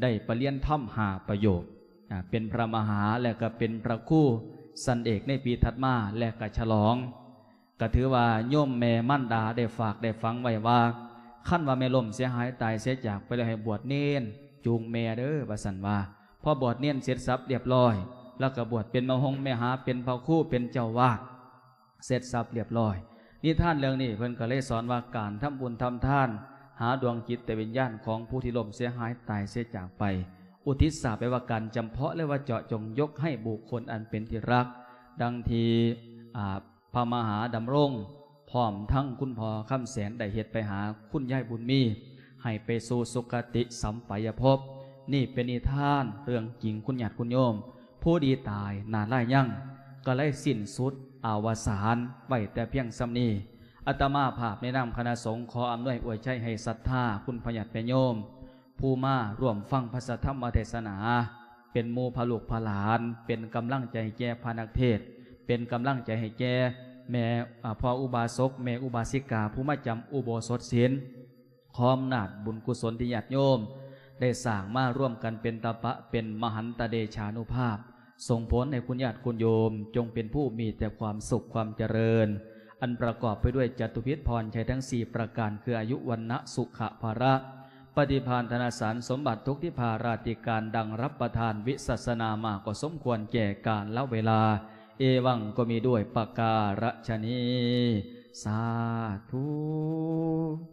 ໄດ້ປະລຽນທຳຫ້າປະໂຫຍກ ອາ ເປັນພະມະຫາ ແລະກະເປັນພະຄູຊັ້ນເອກໃນປີຖັດມາ ແລະກະສະຫຼອງ ກະຖືວ່າໂຍມແມ່ມານດາໄດ້ຝາກໄດ້ຝັງໄວ້ວ່າ ຄັນວ່າແມ່ລົ້ມເສຍຫາຍຕາຍເສຍຈາກໄປແລ້ວ ໃຫ້ບວດເນນຈູງແມ່ເດີ ວ່າຊັ້ນວ່າ. ພໍບວດເນນເສັດສັບລຽບລ້ອຍ ແລ້ວກໍບວດເປັນມະຫົງແມ່ຫາ ເປັນພະຄູ ເປັນເຈົ້າວາດ ເສັດສັບລຽບລ້ອຍ. ນິທານເລື່ອງນີ້ເພິ່ນກໍເລີຍສອນວ່າ ການທຳບຸນທຳທານ ຫາດວງຈິດຕະວິນຍານຂອງຜູ້ທີ່ລົ້ມເສຍຫາຍຕາຍເສຍຈາກໄປ ອຸທິດສາໄປວ່າ ການຈຳເພາະ ຫຼືວ່າເຈາະຈົງຍົກໃຫ້ບຸກຄົນອັນເປັນທີ່ຮັກ ດັ່ງທີ່ ອາ ພະມະຫາດຳລົງ ພ້ອມທັງຄຸນພໍ່ຄຳແສນ ໄດ້ເຮັດໄປຫາຄຸນຍາຍບຸນມີ ໃຫ້ໄປສູ່ສຸຄະຕິສຳປາຍະພົບ. ນີ້ເປັນນິທານເລື່ອງຈິງ ຄຸນຍາດຄຸນໂຍມ. ຜູ້ດີຕາຍໜ້າລາຍຍັງ ກໍເລີຍສິ້ນສຸດອະວະສານໄວ້ແຕ່ພຽງສ່ຳນີ້. ອາດຕະມາພາບໃນນາມຄະນະສົງ ຂໍອຳນວຍອວຍໄຊໃຫ້ສັດທາຄຸນພໍ່ຍາດແມ່ໂຍມ ຜູ້ມາຮ່ວມຟັງພະສັດທຳມະເທດສະໜາ ເປັນໝູ່ພະລູກພະຫຼານ ເປັນກຳລັງໃຈໃຫ້ແກ່ພະນັກເທດ ເປັນກຳລັງໃຈໃຫ້ແກ່ແມ່ ອາ ພໍ່ອຸບາສົກ ແມ່ອຸບາສິກາ ຜູ້ມາຈຳອຸໂບສົດສິນ. ຂໍອຳນາດບຸນກຸສົນທີ່ຍາດໂຍມໄດ້ສ້າງມາ ລວມກັນເປັນຕະປະ ເປັນມະຫັນຕະເດຊານຸພາບ ສົ່ງຜົນໃຫ້ຄຸນຍາດຄຸນໂຍມ ຈົ່ງເປັນຜູ້ມີແຕ່ຄວາມສຸກຄວາມຈະເລີນ ອັນປະກອບໄປດ້ວຍຈະຕຸພິດພອນໄຊທັງສີ່ປະການ ຄືອາຍຸ ວັນນະ ສຸຂະ ພະລະ ປະຕິພານ ທະນະສານສົມບັດ ທຸກທິພາລາທິການ ດັ່ງຮັບປະທານວິສັດສະນາມາ ກໍສົມຄວນແກ່ການລະເວລາ. ເອວັງ ກໍມີດ້ວຍປະກາລະຊະນີ. ສາທຸ.